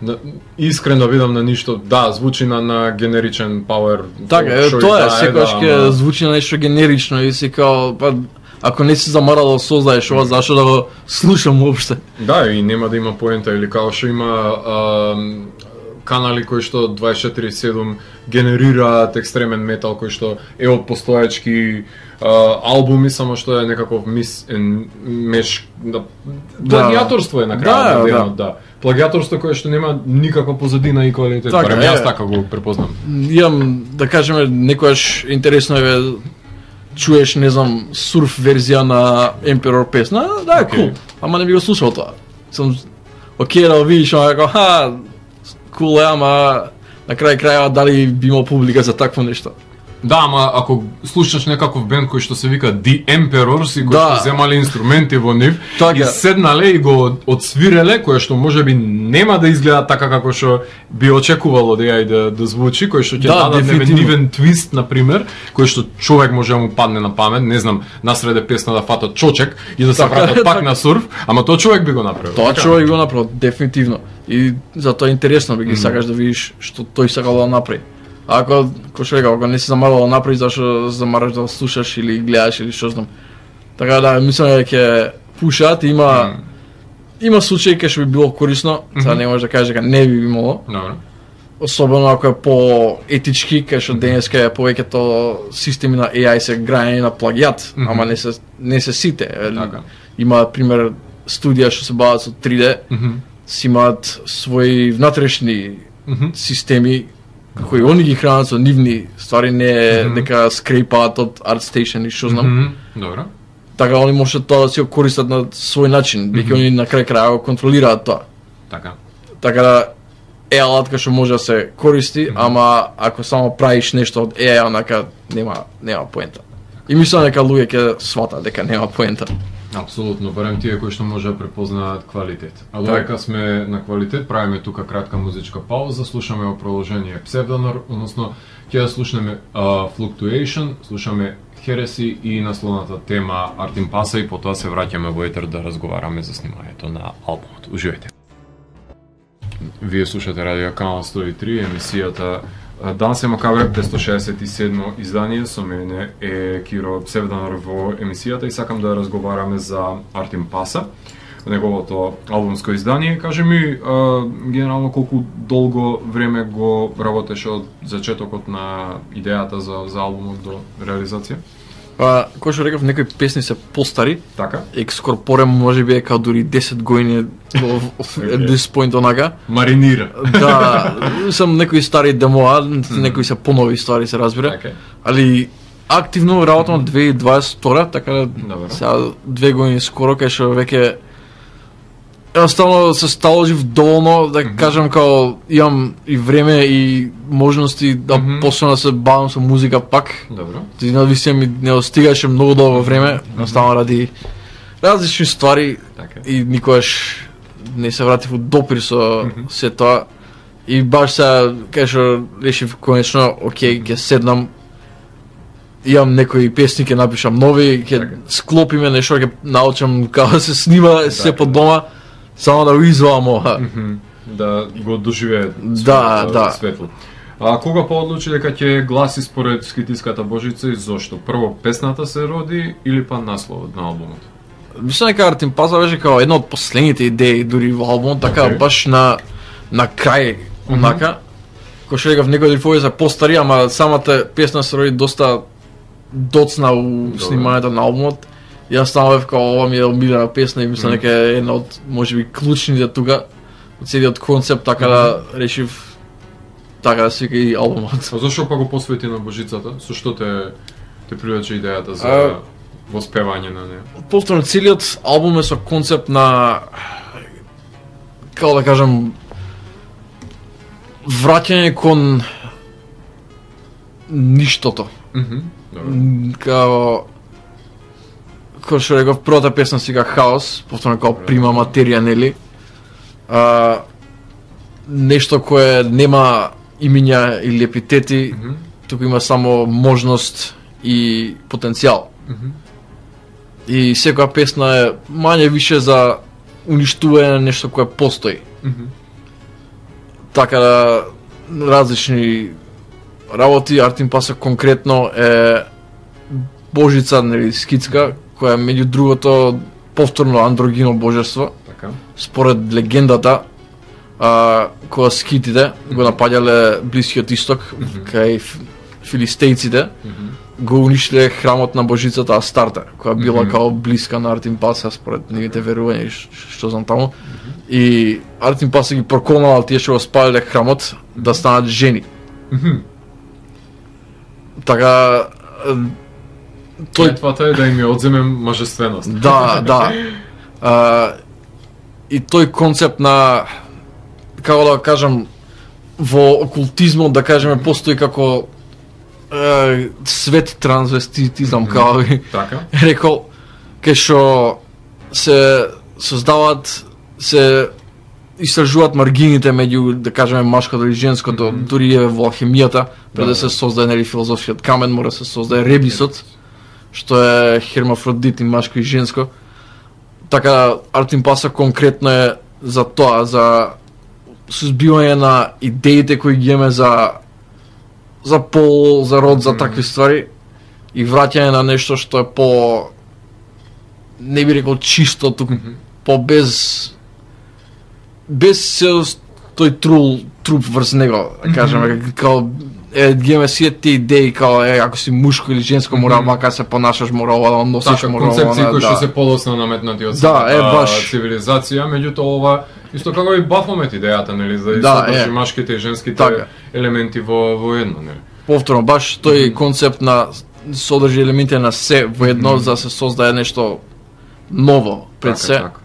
на, искрено видам на ништо, да, звучи на, на генеричен пауер. Така, е, што и тоа е, да секогаш да, ќе ама- звучи на нешто генерично и си као, па, ако не си замарал да создаеш ова, зашто да го слушам уопште? Да, и нема да има поента, или као што има ам, канали кои што дваесет и четири седум генерираат екстремен метал кој што е од постоечки а, албуми, само што е некаков мис ен, меш да, плагиаторство е на крајот Да, на да. денот, да. Плагиаторство кое што нема никаква позадина и квалитет. Така, Барем е. јас така го препознам. Имам, да кажеме, некојаш интересно е чуеш, не знам, сурф верзија на Emperor песна, да, е Океј. кул, ама не би го слушал тоа. Сум окей да го видиш, ама како, ха, кул е, ама на крај крајава дали би имал публика за такво нешто. Да, ама ако слушаш некаков бенд кој што се вика The Emperors и кој Да. што земале инструменти во нив Така. и седнале и го одсвиреле, кое што можеби нема да изгледа така како што би очекувало да ја да, да звучи, кој што ќе Да, дадат дефинитивно. нивен твист на пример, кој што човек може да му падне на памет, не знам, насреде песна да фатат чочек и да се Така, вратат пак така. на сурф, ама тоа човек би го направил. Тоа така? човек го направил, дефинитивно. И затоа е интересно, би ги сакаш да видиш што тој сакал да направи. А ако, кој што рекал, ако не си замарал да направи, зашто замараш да го слушаш или гледаш или што знам. Така да, мислам дека ќе пушат, има има случаи кај што би било корисно, сега не може да кажеш дека не би имало, Добро. особено ако е по етички, кај што денеска е повеќето системи на Е Ај се граени на плагиат, Мгм. ама не се не се сите. Така. Има пример студија што се бават со три Д, Мгм. си имаат своји внатрешни Мгм. системи кои они ги хранат со нивни ствари, не е Мгм. дека скрепаат од ArtStation и што знам. Мгм. Добро. Така они можат тоа да си го користат на свој начин, бидејќи они на крај крај го контролираат тоа. Така. Така да е алатка што може да се користи, ама ако само правиш нешто од Е Ај, онака нема нема поента. И мислам дека луѓе ќе сватат дека нема поента. Апсолутно, барем тие кои што може да препознаат квалитет. А Така. додека сме на квалитет, правиме тука кратка музичка пауза, слушаме во продолжение Pseudonor, односно ќе да слушнеме uh, Fluctuation, слушаме Heresy и насловната тема Art in Passa и потоа се враќаме во етер да разговараме за снимањето на албумот. Уживајте. Вие слушате Радио Канал сто и три, емисијата Данс е Макабре, петстотини шеесет и седмо издание, со мене е Киро Pseudonor во емисијата и сакам да разговараме за Art in Passa, неговото албумско издание. Кажи ми, а, генерално колку долго време го работеше од зачетокот на идејата за, за албумот до реализација? Па, кој што реков, некои песни се постари. Така. Екскорпорем можеби е као дури десет години at this point онака. Маринира. Да, сам некои стари демоа, некои се понови ствари се разбира. Okay. Али активно работам две илјади и дваесет и втора, така да сега две години скоро кај што веќе едноставно се сталожив доволно да mm-hmm. кажам као имам и време и можности да mm-hmm. почнам да се бавам со музика пак. Добро. Ти навистина ми не остигаше многу долго време, едноставно mm-hmm. ради различни ствари okay. и никогаш не се вратив во допир со mm-hmm. се тоа. И баш сега кај што решив конечно, окей, ќе седнам, имам некои песни, ќе напишам нови, ќе okay. склопиме нешто, ќе научам како да се снима се по дома. Само да го извам ова. Mm-hmm. Да го доживее да, да. светло. А кога поодлучи дека ќе гласи според Скитиската Божица и зошто? Прво песната се роди или па насловот на албумот? Мислам дека Артим Паса беше како една од последните идеи дури во албумот, така okay. баш на на крај онака. Mm-hmm. Кој што рекав, некои дрифови се постари, ама самата песна се роди доста доцна у Добре. Снимањето на албумот. Јас станав како ова ми е омилена песна и мислам дека е една од можеби клучните тука од целиот концепт, така да решив така да свика и албумот. А зашто па го посвети на Божицата? Со што те те привлече идејата за а, воспевање на неа? Повторно целиот албум е со концепт на како да кажам враќање кон ништото. Мхм. Добро. Као кој што реков, првата песна си га Хаос, повторно како прима материја, нели? А, нешто кое нема имиња или епитети, mm -hmm. туку има само можност и потенцијал. Mm -hmm. И секоја песна е мање више за уништување на нешто кое постои. Mm -hmm. Така да различни работи, Артим Паса конкретно е Божица, нели, скитска, која меѓу другото повторно андрогино божество. Така. Според легендата, а, кога скитите mm-hmm. го напаѓале Блискиот исток, mm-hmm. кај филистејците, mm-hmm. го уништиле храмот на божицата Астарте, која била mm-hmm. као блиска на Артим Паса според нивните верувања и што знам таму. Mm-hmm. И Артим Паса ги проколнал тие што го спалиле храмот mm-hmm. да станат жени. Mm-hmm. Така тој клетвата е да им ја одземе мажественост. Да, да. А, и тој концепт на, како да кажам, во окултизмот, да кажеме, постои како е, свет трансвеститизам, како би така. рекол, кај што се создаваат, се истражуваат маргините меѓу, да кажеме, машкото и женското, mm -hmm. дури е во алхемијата, пред да, да се создаде, нели, филозофскиот камен, мора да се создаде ребисот, што е хермафродит и машко и женско. Така, Артим Паса конкретно е за тоа, за сузбивање на идеите кои ги имаме за за пол, за род, за такви ствари и враќање на нешто што е по, не би рекол чисто, туку mm -hmm. по без без тој трул труп врз него, да кажеме, mm -hmm. као е, ги имаме сите тие идеи, као е, ако си мушко или женско, мора mm-hmm. вака се понашаш, мора ова да носиш, така, мора ова концепции кои да, што се подоцна наметнати од да, е, баш цивилизација, меѓутоа ова исто како и Бафомет идејата, нели, за да содржи машките и женските така. елементи во во едно, нели. Повторно, баш тој mm -hmm. концепт на содржи елементи на се во едно, mm -hmm. за да се создаде нешто ново пред така, се. Така.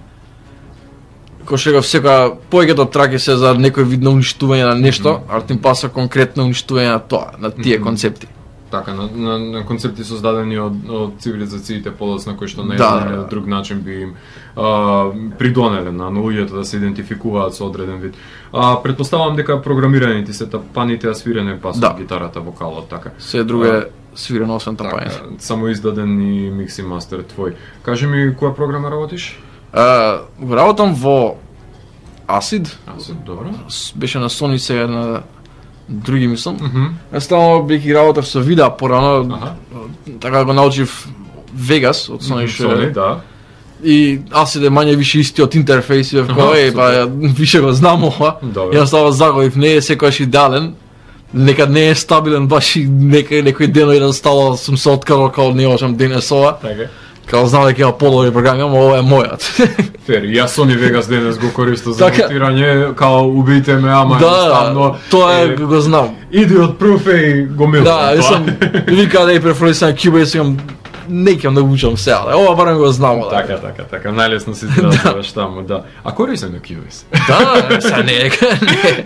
Кој што го секоја повеќето траки се за некој вид на уништување на нешто, mm -hmm. Артим Паса конкретно уништување на тоа, на тие mm -hmm. концепти. Така, на, на, на концепти создадени од, од цивилизациите подоцна кои што на да, еден или друг начин би им а, придонеле на луѓето да се идентификуваат со одреден вид. А претпоставувам дека програмираните се тапаните, а свирене пасот, да. гитарата, вокалот, така. Се друго е свирено освен тапање. Така, само издаден и микс и мастер твој. Кажи ми која програма работиш? Uh, работам во Acid. Acid, добро. Беше на Sony, сега на други мислам. Mm -hmm. Естално бих и работев со видео порано. Ага. Така го научив Vegas од Sony. Mm -hmm. Sony, да. И Acid е мање више истиот интерфејс, и веќе е, па више го знам ова. Ја става заговив, не е секојаш идеален. некад не е стабилен баш и некој некој ден еден стало сум се откарал као не можам денес ова. Така. Као знам дека има подобри програми, ама ова е мојот. Фер, јас Sony Vegas денес го користам за Така. монтирање, као убијте ме, ама Да, едноставно. тоа е, го знам. Иди од прв и го милам. Да, тоа. сам вика да и преференција на Куба и сакам не ќе да учам сега. да, Ова барем го знам. да. Така, така, така, најлесно си изразуваш таму, да. А користам на Cubase? Да, сега не е.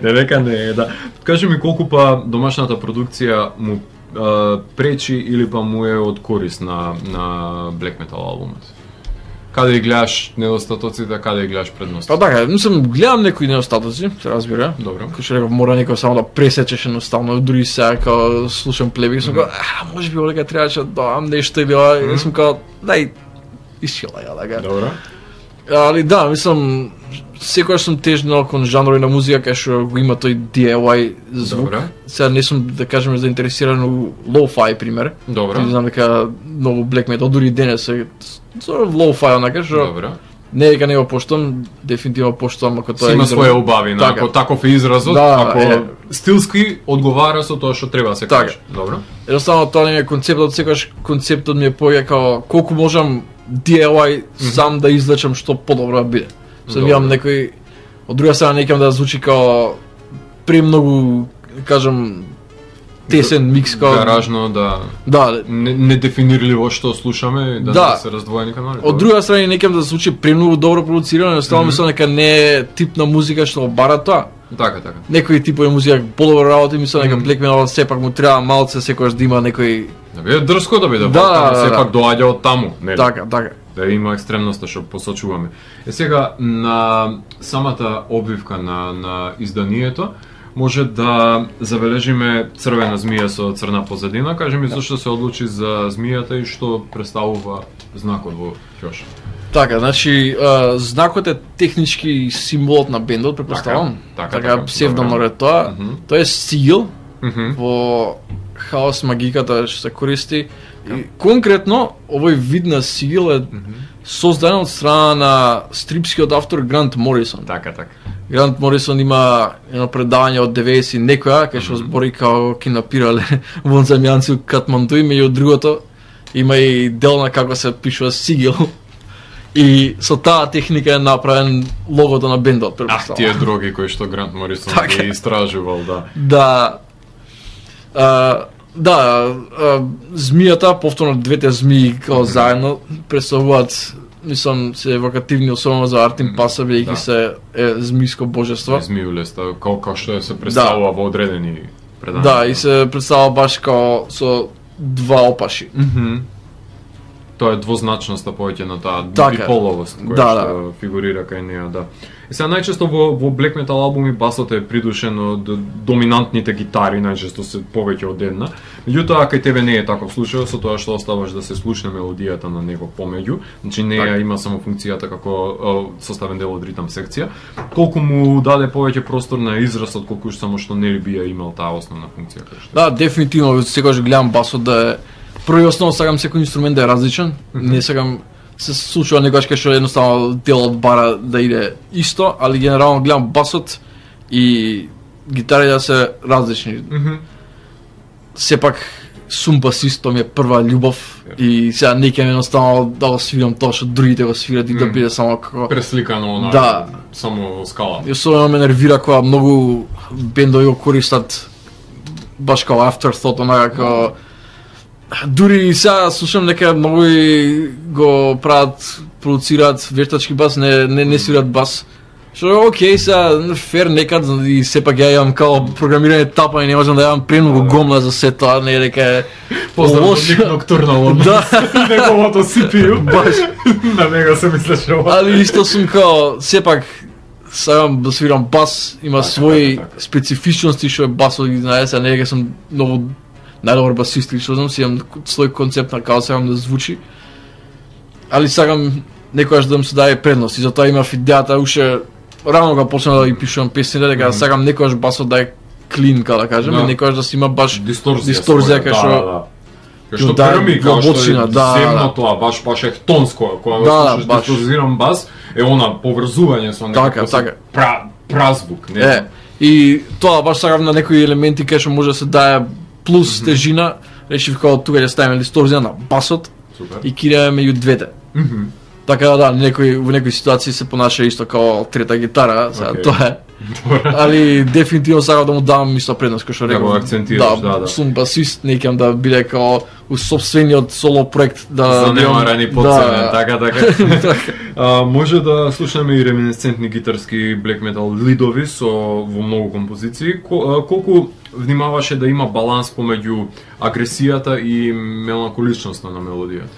не. Не дека не е, да. Кажи ми колку па домашната продукција му а, пречи или па му е од корист на, на Black Metal албумот? Каде ги гледаш недостатоците, каде ги гледаш предности? Па така, мислам, гледам некои недостатоци, се разбира. Добро. Кој што реков, мора некој само да пресечеш едноставно, дури сега као слушам плеби, сум као, а, може би олека требаше да додам нешто или ова, и сум као, дај, исчила ја, така. Добро. Али да, мислам, секогаш сум тежнал кон жанрови на музика кај што го има тој ди ай вај звук. Добро. Сега не сум, да кажеме, заинтересиран у лоу-фај, пример. Добро. И знам дека многу black metal, дури и денес е sort of лоу-фај, онака, што Добро. не дека не го поштам, дефинитивно поштам ако тоа Си е има израз. своја убавина, Така. ако таков е изразот, Да, ако е. стилски одговара со тоа што треба да се Така. каже. Добро. Едноставно тоа не е концептот, секогаш концептот ми е поја као колку можам ди ай вај сам да извлечам што подобро да биде. Сам Добро. имам некој од друга страна некам да звучи као премногу, кажам, тесен микс као Гаражно, да. да, Не, недефинирливо што слушаме, да, Да. да се раздвоени канали. од друга страна некам да звучи премногу добро продуцирано, едноставно мислам дека не е тип на музика што бара тоа. Така, така. Некои типови музика подобро работи, мислам дека Black Metal сепак му треба малце секогаш да има некој Да биде дрско да биде, Да, да, да, сепак да. доаѓа од таму, нели? така, така. Да има екстремноста што посочуваме. Е сега на самата обвивка на на изданието може да забележиме црвена змија со црна позадина. Кажи ми зашто се одлучи за змијата и што представува знакот во ќош. Така, значи, а, знакот е технички символот на бендот, претпоставам. Така, Така, така, псевдонор добро. е тоа. Мгм. Тоа е сигил Мгм. во хаос магиката што се користи. И конкретно, овој вид на сигил е создаден од страна на стрипскиот автор Грант Морисон. Така, така. Грант Морисон има едно предавање од деветдесет и некоја, кај што збори како ки напирале вонземјанци у Катманду, и меѓу другото има и дел на како се пишува сигил. И со таа техника е направен логото на бендот, Ах, претпоставам. тие дроги кои што Грант Морисон Така. ги истражувал, да. Да. А, да, а, змијата, повторно двете змии као заедно представуваат, мислам, се евокативни, особено за Артин Паса, бидејќи Да. се е змијско божество. Змиулеста, како како што се представува во одредени предања. Да, и се представува баш као со два опаши. Мгм. Тоа е двозначноста повеќе на таа Така. биполовост која Да, што фигурира кај неа, да. И сега најчесто во во Black Metal албуми басот е придушен од доминантните гитари, најчесто се повеќе од една. Меѓутоа кај тебе не е таков случај, со тоа што оставаш да се слушне мелодијата на него помеѓу. Значи неа Така. има само функцијата како е, составен дел од ритам секција. Колку му даде повеќе простор на израз од колку само што нели би ја имал таа основна функција која што. Да, дефинитивно, секогаш гледам басот да е прво и основно сакам секој инструмент да е различен. Не сакам се случува некогаш кај што едноставно делот бара да иде исто, али генерално гледам басот и гитарите да се различни. Мгм. Сепак сум басист, тоа ми е прва љубов и сега не ќе едноставно да го свирам тоа што другите го свират и да Мгм. биде само како Пресликано на Да. само во скала. И особено ме нервира кога многу бендови го користат баш као afterthought, онака као дури и сега слушам дека многу и го прават, продуцираат вештачки бас, не не не свират бас. Што е окей, сега фер некад и сепак ја имам као програмирање тапа и не можам да јавам премногу гомна за се тоа, не е дека е Поздрав до лошо. Ник Ноктурнал од Да. неговото си пи ю. Баш. На него се мислеше ова. Али исто сум као, сепак, сакам да свирам бас, има Така, своји така, така. специфичности што е басот ги знае, сега не е дека сум многу најдобар басист или што знам, си имам свој концепт на како сакам да звучи. Али сакам некојаш да им се даде предност и затоа имав идејата уште рано кога почнав да ги пишувам песните, дека сакам некојаш басот да е клин, како да кажем, Да. и некојаш да си има баш Дисторзија. дисторзија своја, кај што да, да. Кај што да, грми, као што длабочина, е да, земно да. тоа, баш баш ехтонско, кога го Да, слушаш баш. дисторзиран бас, е она поврзување со Така, некако така. пра празвук, не Е, знам. И тоа баш сакам на некои елементи кај што може да се дае плюс mm -hmm. тежина, решив како тука ќе ставиме дисторзија на басот. Супер. И киреме меѓу двете. Mm -hmm. Така да, некои во некои ситуации се понаша исто како трета гитара, сега Okay. тоа е. Али дефинитивно сакам да му дам исто предност, кој што Да го реков. акцентираш, да, да. Сум басист, не искам да биде како у собствениот соло проект да Занемарани да, подценен, така, така. А, може да слушнеме и реминесцентни гитарски black metal лидови со во многу композиции. Ко, а, колку внимаваше да има баланс помеѓу агресијата и меланхоличноста на мелодијата?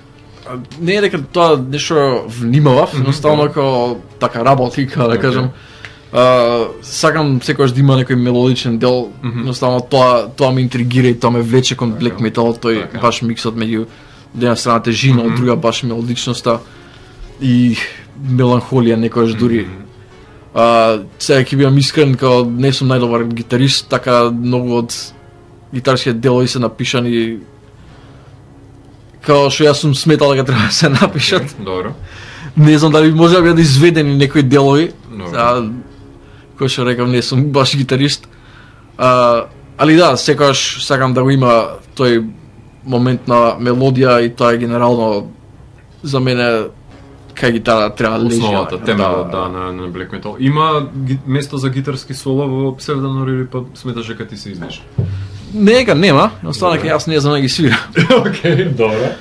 Не е дека тоа нешто внимавав, Мгм, едноставно да. како така работи, како да Окей. кажам. Uh, сакам секогаш да има некој мелодичен дел, Мгм. едноставно тоа тоа ме интригира и тоа ме влече кон Така. black metal, тој Така. баш миксот меѓу од една страна тежина, од Мгм. друга баш мелодичноста и меланхолија некојаш дури. Мгм. А, сега ќе бидам искрен, као не сум најдобар гитарист, така многу од гитарските делови се напишани као што јас сум сметал дека треба да се напишат. Добро. Не знам дали може да бидат изведени некои делови. Добро. Сега, кој што рекам, не сум баш гитарист. А, али да, секогаш сакам да го има тој момент на мелодија и тоа е генерално за мене кај гитара треба да лежи. Основата, темелот, да, на, на black metal. Има ги, место за гитарски соло во Псевдонор или па сметаш дека ти се издиш? Не дека нема, останаа Добре. дека јас не знам да ги свирам. Океј, добро.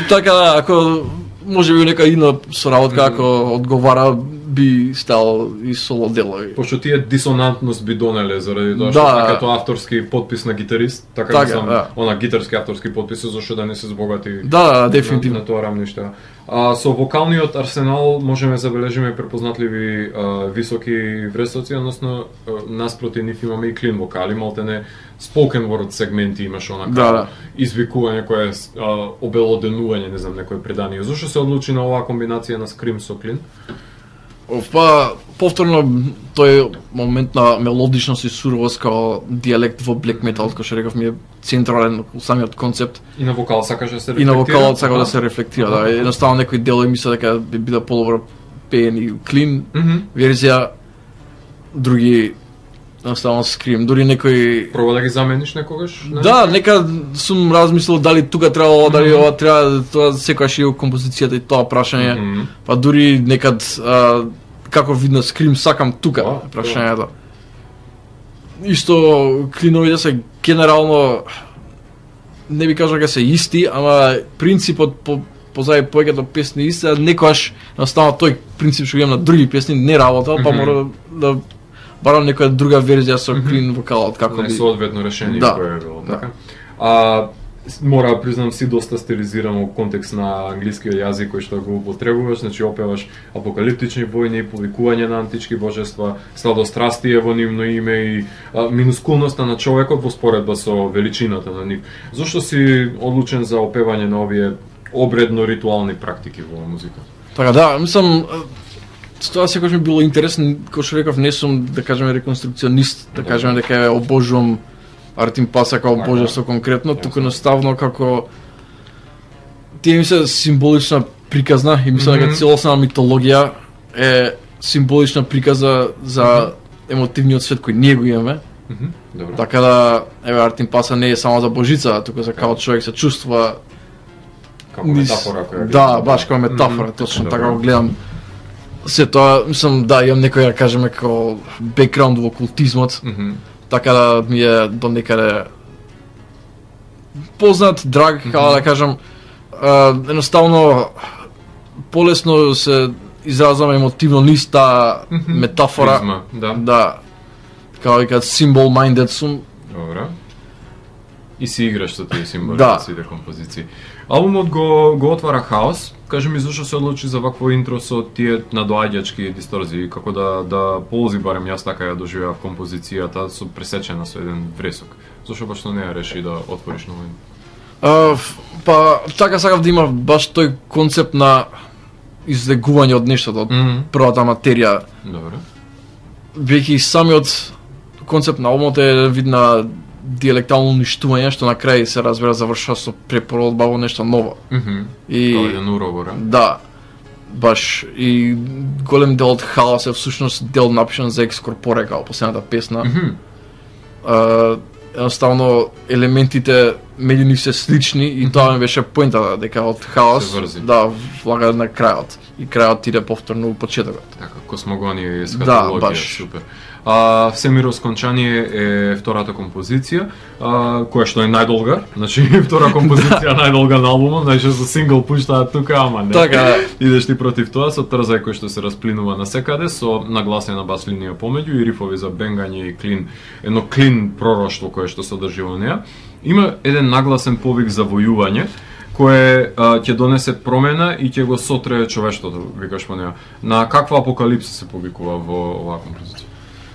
Така да, ако може би нека идна соработка, ако одговара, би стал и соло делови. Пошто тие дисонантност би донеле заради тоа што Да. како авторски подпис на гитарист, така, Така, мислам, да. она гитарски авторски подпис зашто да не се збогати. Да, дефинитивно. На, на тоа рамниште. А со вокалниот арсенал можеме да забележиме препознатливи а, високи вресоци, односно а, наспроти нив имаме и клин вокали, малтене spoken word сегменти имаш онака Да, да. извикување кое е а, обелоденување, не знам, некое предание. Зошто се одлучи на оваа комбинација на скрим со клин? Па, повторно, тој момент на мелодичност и суровост као диалект во black metal, кој што реков ми е централен у самиот концепт. И на вокал сакаш да се И рефлектира? на вокалот сакам Аха. да се рефлектира, да. Аха. Едноставно некои делови мисля дека би биде подобро пеени клин Мгм. верзија, други едноставно скрим, дури некои Проба да ги замениш некогаш? Не? Да, нека сум размислил дали тука треба ова, дали ова треба, тоа секогаш и у композицијата и тоа прашање. Мгм. Па дури некад а, како видно скрим сакам тука Да, прашањето. Исто клиновите се генерално не би кажал дека се исти, ама принципот по позади повеќето песни исти, а некогаш наставно тој принцип што го имам на други песни не работел, па Мгм. мора да барам некоја друга верзија со клин вокалот како Не би. соодветно решение Да. кое е било, Да. така? А, с- мора да признам си доста стилизиран во контекст на англискиот јазик кој што го употребуваш, значи опеваш апокалиптични војни, повикување на антички божества, сладострастие во нивно име и а, минускулноста на човекот во споредба со величината на нив. Зошто си одлучен за опевање на овие обредно-ритуални практики во музиката? Така да, мислам с тоа секогаш ми било интересно, кој што реков, не сум да кажеме реконструкционист, да Добро. кажеме дека ја обожувам Артим Паса како Така. божество конкретно, Јасно. туку наставно како тие ми се символична приказна и мислам дека Мгм. целосна митологија е символична приказа за емотивниот свет кој ние го имаме. Мгм, Добро. Така да, еве Артим Паса не е само за божица, туку за како човек се чувствува. Како низ- метафора која ги Да, използваш. баш како метафора, Мгм, точно добро. така го гледам. Се тоа, мислам, да, имам некој, да кажеме, како бекграунд во култизмот, Мгм. така да ми е до некаде познат, драг, како да кажам, а, едноставно полесно се изразувам емотивно низ таа Мгм. метафора. Призма, да. Да. Како викаат symbol minded сум. Добро. И си играш со тие символи Да. на сите композиции. Албумот го го отвара хаос. Кажи ми зошто се одлучи за вакво интро со тие надоаѓачки дисторзии, како да да ползи барем јас така ја доживеав композицијата со пресечена со еден вресок. Зошто баш тоа не ја реши да отвориш ново? А, ф- па така сакав да има баш тој концепт на излегување од нештото, од Мгм. првата материја. Добро. Веќе и самиот концепт на албумот е вид на диалектално уништување, што на крај се разбира завршува со препородба во нешто ново. Мгм. И Тоа е еден уровор, а? да. баш и голем дел од хаос е всушност дел напишан за Екскорпоре као последната песна. Mm -hmm. Uh, едноставно елементите меѓу нив се слични и mm -hmm. тоа ми беше поентата дека од хаос да влага на крајот и крајот иде повторно у почетокот. Така, космогонија и есхатологија, да, баш. Супер. А, Всемиро скончание е втората композиција, а, која што е најдолга, значи втора композиција најдолга на албумот, значи за сингл пуштаат тука, ама не. Така, идеш ти против тоа со трзај кој што се расплинува на секаде, со нагласена бас линија помеѓу и рифови за бенгање и клин, едно клин пророштво кое што содржи во неа. Има еден нагласен повик за војување, кое а, ќе донесе промена и ќе го сотре човештвото, викаш по неа. На каква апокалипса се повикува во оваа композиција?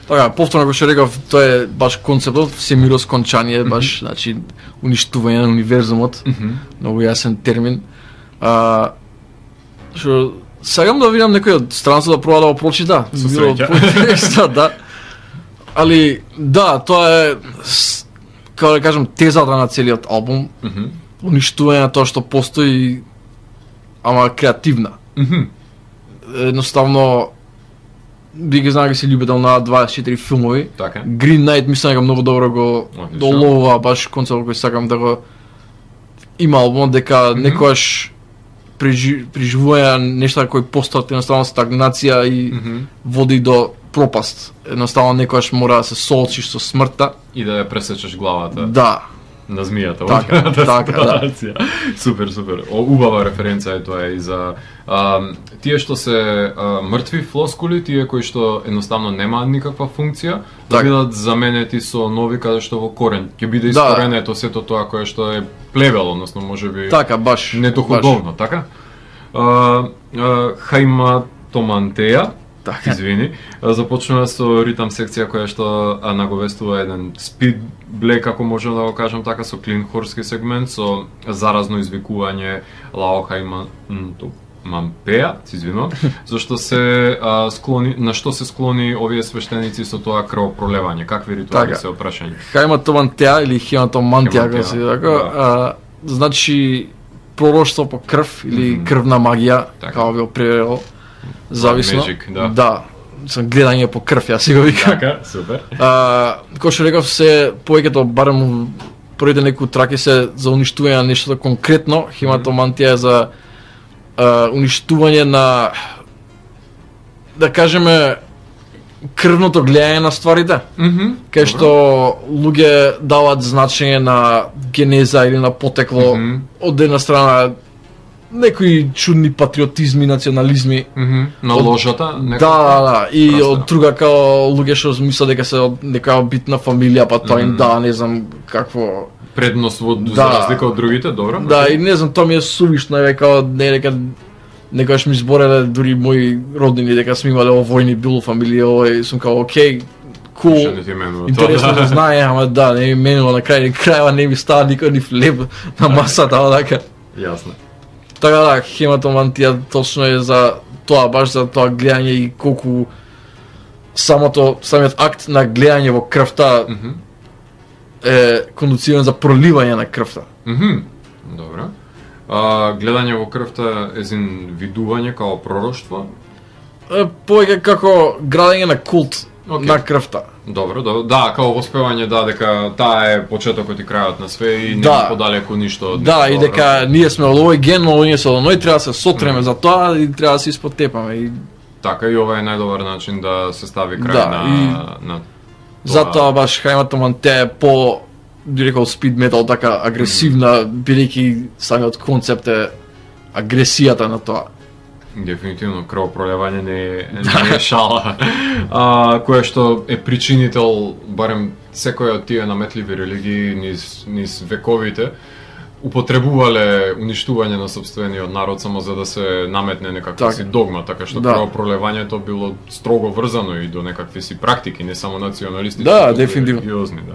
Така, повторно како што реков, тоа е баш концептот, всемиро скончание, баш, mm -hmm. значи, уништување на универзумот, mm -hmm. многу јасен термин. А, што, сакам да видам некој од странци да проба да го прочита. Со среќа. Да. Али, да, тоа е, како да кажам, тезата на целиот албум, mm -hmm. уништување на тоа што постои, ама креативна. Mm -hmm. Едноставно, би ги знае се љубител на дваесет и четири филмови. Така. Green Knight мислам дека многу добро го долова баш концепт кој сакам да го има албумот, дека mm -hmm. некојаш прижи, приживување нешта кои постојат едноставно стагнација и mm -hmm. води до пропаст. Едноставно некојаш мора да се соочиш со смртта и да ја пресечеш главата. Да. На змијата. Така, така, да. Супер, супер. О, убава референца е тоа и за а, тие што се а, мртви флоскули, тие кои што едноставно немаат никаква функција, да так. бидат заменети со нови каде што во корен ќе биде искоренето да. Сето тоа кое што е плевел, односно можеби така баш недоходовно, баш. Така? А, а, Хаиматомантеја, така. Извини, започнува со ритам секција која што а, наговестува еден спид блек, ако можам да го кажам така, со клин хорски сегмент, со заразно извикување Лаохајма Мампеа, се извинувам, зашто се а, склони, на што се склони овие свештеници со тоа крвопролевање, какви ритуали така. Се опрашање? Хаиматомантеа или хематомантија, како се така, да. Значи пророштво по крв или mm -hmm. крвна магија, така. Како би превел. Зависно. Magic, да. Да. Сам гледање по крв, јас си го викам. Така, супер. А, кој што реков, се повеќето барем првите некои траки се за уништување на нешто конкретно, хематомантија е за а, уништување на, да кажеме, крвното гледање на стварите. Mm -hmm. Кај што луѓе даваат значење на генеза или на потекло, mm -hmm. од една страна некои чудни патриотизми, национализми. Mm -hmm. На ложата? Да, да, да. И Красна. Од друга као луѓе што мислат дека се од некоја битна фамилија, па тоа mm -hmm. им да, не знам какво... Предност во, да. За разлика од другите, добро? Да, и не знам, тоа ми е сувишно, дека не дека некојаш ми збореле дури мои роднини дека сме имале овојни било фамилија, овој сум као окей, кул, cool, интересно да знае, ама да, не ми менува на крај, крајва не ми става никој ни флеб на масата, така. Јасно. Така да, хематомантија точно е за тоа, баш за тоа гледање и колку самото, самиот акт на гледање во крвта mm -hmm. е кондуциран за проливање на крвта. Mm -hmm. Добро. А, гледање во крвта е зин видување као пророштво? Е, повеќе како градење на култ okay. на крвта. Добро, добро. Да, као воспевање, да, дека таа е почетокот и крајот на све и не да. Подалеку ништо. Да, и дека добро. Ние сме од овој ген, но ние се од оној, треба да се сотреме mm. за тоа и треба да се испотепаме. И... Така, и ова е најдобар начин да се стави крај да, на, и... на тоа. Затоа баш Хаиматомантеа е по, би рекол, спид метал, така агресивна, mm. бидејќи самиот концепт е агресијата на тоа. Дефинитивно, крвопролевање не е, не е шала, а, кое што е причинител, барем секој од тие наметливи религии низ, низ вековите, употребувале уништување на сопствениот народ само за да се наметне некаква так. Си догма, така што да. Крвопролевањето било строго врзано и до некакви си практики, не само националистички, да, дефинитивно. Религиозни, да.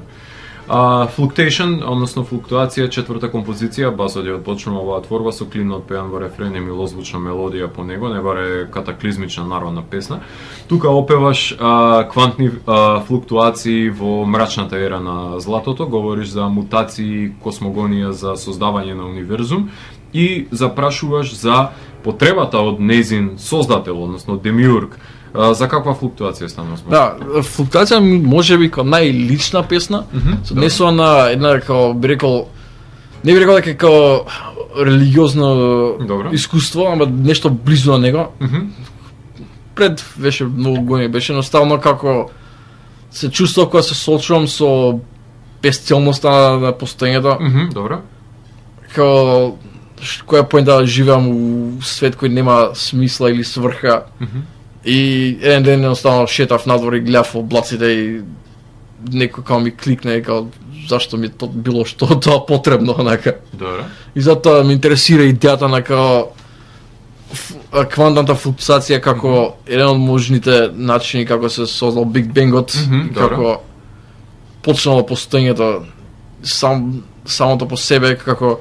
Uh, Fluctation, односно флуктуација, четврта композиција, басот ја почнува оваа творба со клинот пеан во рефрен и милозвучна мелодија по него, не баре катаклизмична народна песна. Тука опеваш uh, квантни uh, флуктуации во мрачната ера на златото, говориш за мутации, космогонија, за создавање на универзум и запрашуваш за потребата од нејзин создател, односно демиург, а, за каква флуктуација станува збор? Да, флуктуација може би како најлична песна, mm -hmm, со однесува на една како би рекол, не би рекол дека како религиозно Добро. искуство, ама нешто близо на него. Mm -hmm. Пред беше многу години, беше едноставно како се чувствував кога се соочувам со безцелноста на постоењето. Mm -hmm, добро. Како која поента да живеам у свет кој нема смисла или сврха. Mm -hmm. И еден ден едноставно шетав надвор и гледав облаците и некој као ми кликне и као зашто ми то било што тоа потребно, онака. Добро. И затоа ме интересира идејата на као квантната флуктуација како mm -hmm. еден од можните начини како се создал Биг Бенгот, mm -hmm, како почнало постоењето сам самото по себе, како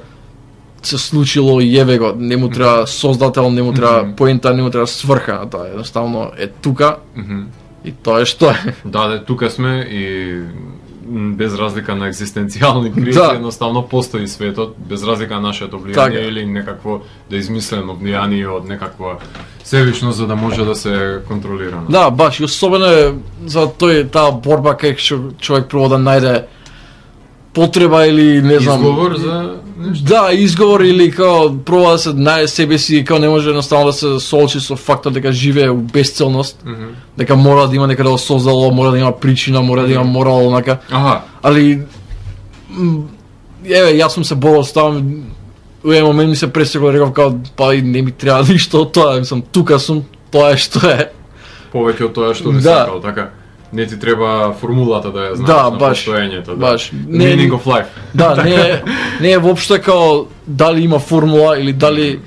се случило и еве го, не му треба создател, не му треба mm -hmm. поента, не му треба сврха, тоа едноставно е тука mm -hmm. и тоа е што е. Да, да, тука сме и без разлика на екзистенцијални кризи, да. едноставно постои светот, без разлика на нашето влијание така. Или некакво да измислено влијание од некаква себичност за да може да се контролира. Да, баш, и особено е за тој таа борба кај што човек прво да најде потреба или не знам изговор за нешто. Да, изговор или као проба да се најде себе си, као не може едноставно да се соочи со фактот дека живее у безцелност, mm -hmm. дека мора да има некаде да создало, мора да има причина, мора да има морал, онака. Аха. Али еве, јас сум се борил со тоа, у еден момент ми се пресекол, реков као па и не ми треба ништо од тоа, мислам тука сум, тоа е што е. Повеќе од тоа што би да. сакал, така. Не ти треба формулата да ја знаеш да, на баш, постоењето, да. Баш. Не, meaning of life. Да, не е, не е воопшто као дали има формула или дали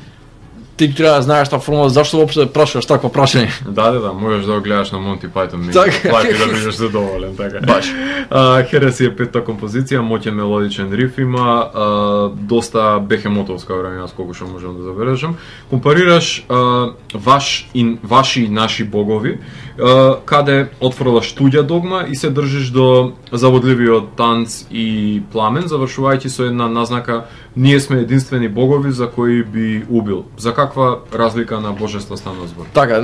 ти треба да знаеш таа формула, зашто воопшто да прашуваш такво прашање? Да, да, да, можеш да го гледаш на Монти Пајтон, така. и да бидеш задоволен, така. Баш. Uh, Хереси е петта композиција, моќен мелодичен риф има, uh, доста бехемотовска време, јас колку што можам да забележам. Компарираш uh, ваш и ваши и наши богови, uh, каде отфрлаш туѓа догма и се држиш до заводливиот танц и пламен, завршувајќи со една назнака ние сме единствени богови за кои би убил. За каква разлика на божества станува збор? Така,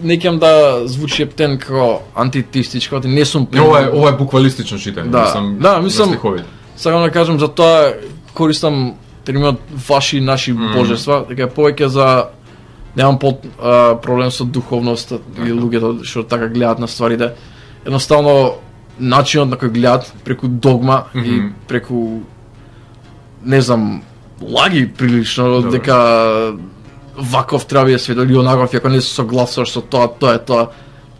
не ќе да звучи ептен како антитеистичко, не сум Не, ова е ова е буквалистично читање, да. мислам. Да, мислам. Сакам да кажам за тоа користам терминот ваши и наши mm. божества, дека повеќе за немам по а, проблем со духовноста и луѓето што така гледаат на стварите. Едноставно начинот на кој гледаат преку догма mm -hmm. и преку не знам лаги прилично Добре. дека ваков треба да свет или онаков, ако не се согласуваш со тоа, тоа е тоа,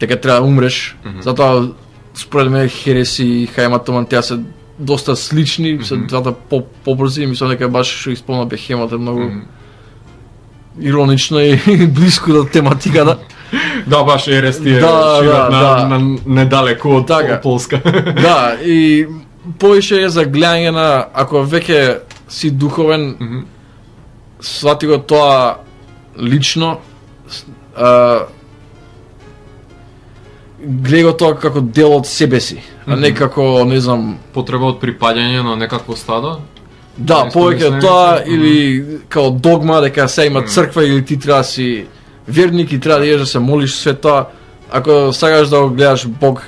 дека треба да умреш. Mm -hmm. Затоа според мене хереси и хаематоман таа се доста слични, mm -hmm. се двата по побрзи, мислам дека баш што исполна Бехемот е многу mm -hmm. иронично и блиско до тематиката. Да, баш Ерести е да, широк да, на, да. на недалеку од така. Полска. Да, и повеќе е за гледање на ако веќе си духовен, mm -hmm. свати го тоа лично, а, гледа го тоа како дел од себе си, mm -hmm. а не како, не знам, потреба од припаѓање на некакво стадо. Да, повеќе тоа или као догма дека се има црква или ти треба да си верник и треба да идеш да се молиш све тоа. Ако сакаш да го гледаш Бог,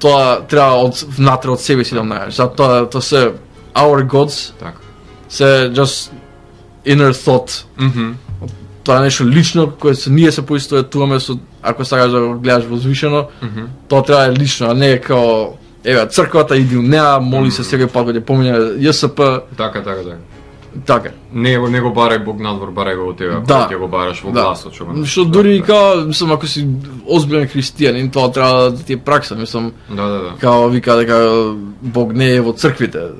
тоа треба од внатре од себе си да најдеш. Затоа тоа се our gods. Така. Се just inner thought. Mm -hmm. Тоа е нешто лично кое се ние се поистоветуваме со, ако сакаш да го гледаш возвишено, mm -hmm. тоа треба да е лично, а не као еве црквата иди у неа, моли се секој пат кога ќе помине Ј С П. Така, така, така. Така. Не го не го барај Бог надвор, барај го од тебе, да. ќе го бараш во да. гласот, што го. Што дури да, као, мислам, ако си озбилен христијанин, тоа треба да ти е пракса, мислам. Да, да, да. Као вика дека Бог не е во црквите.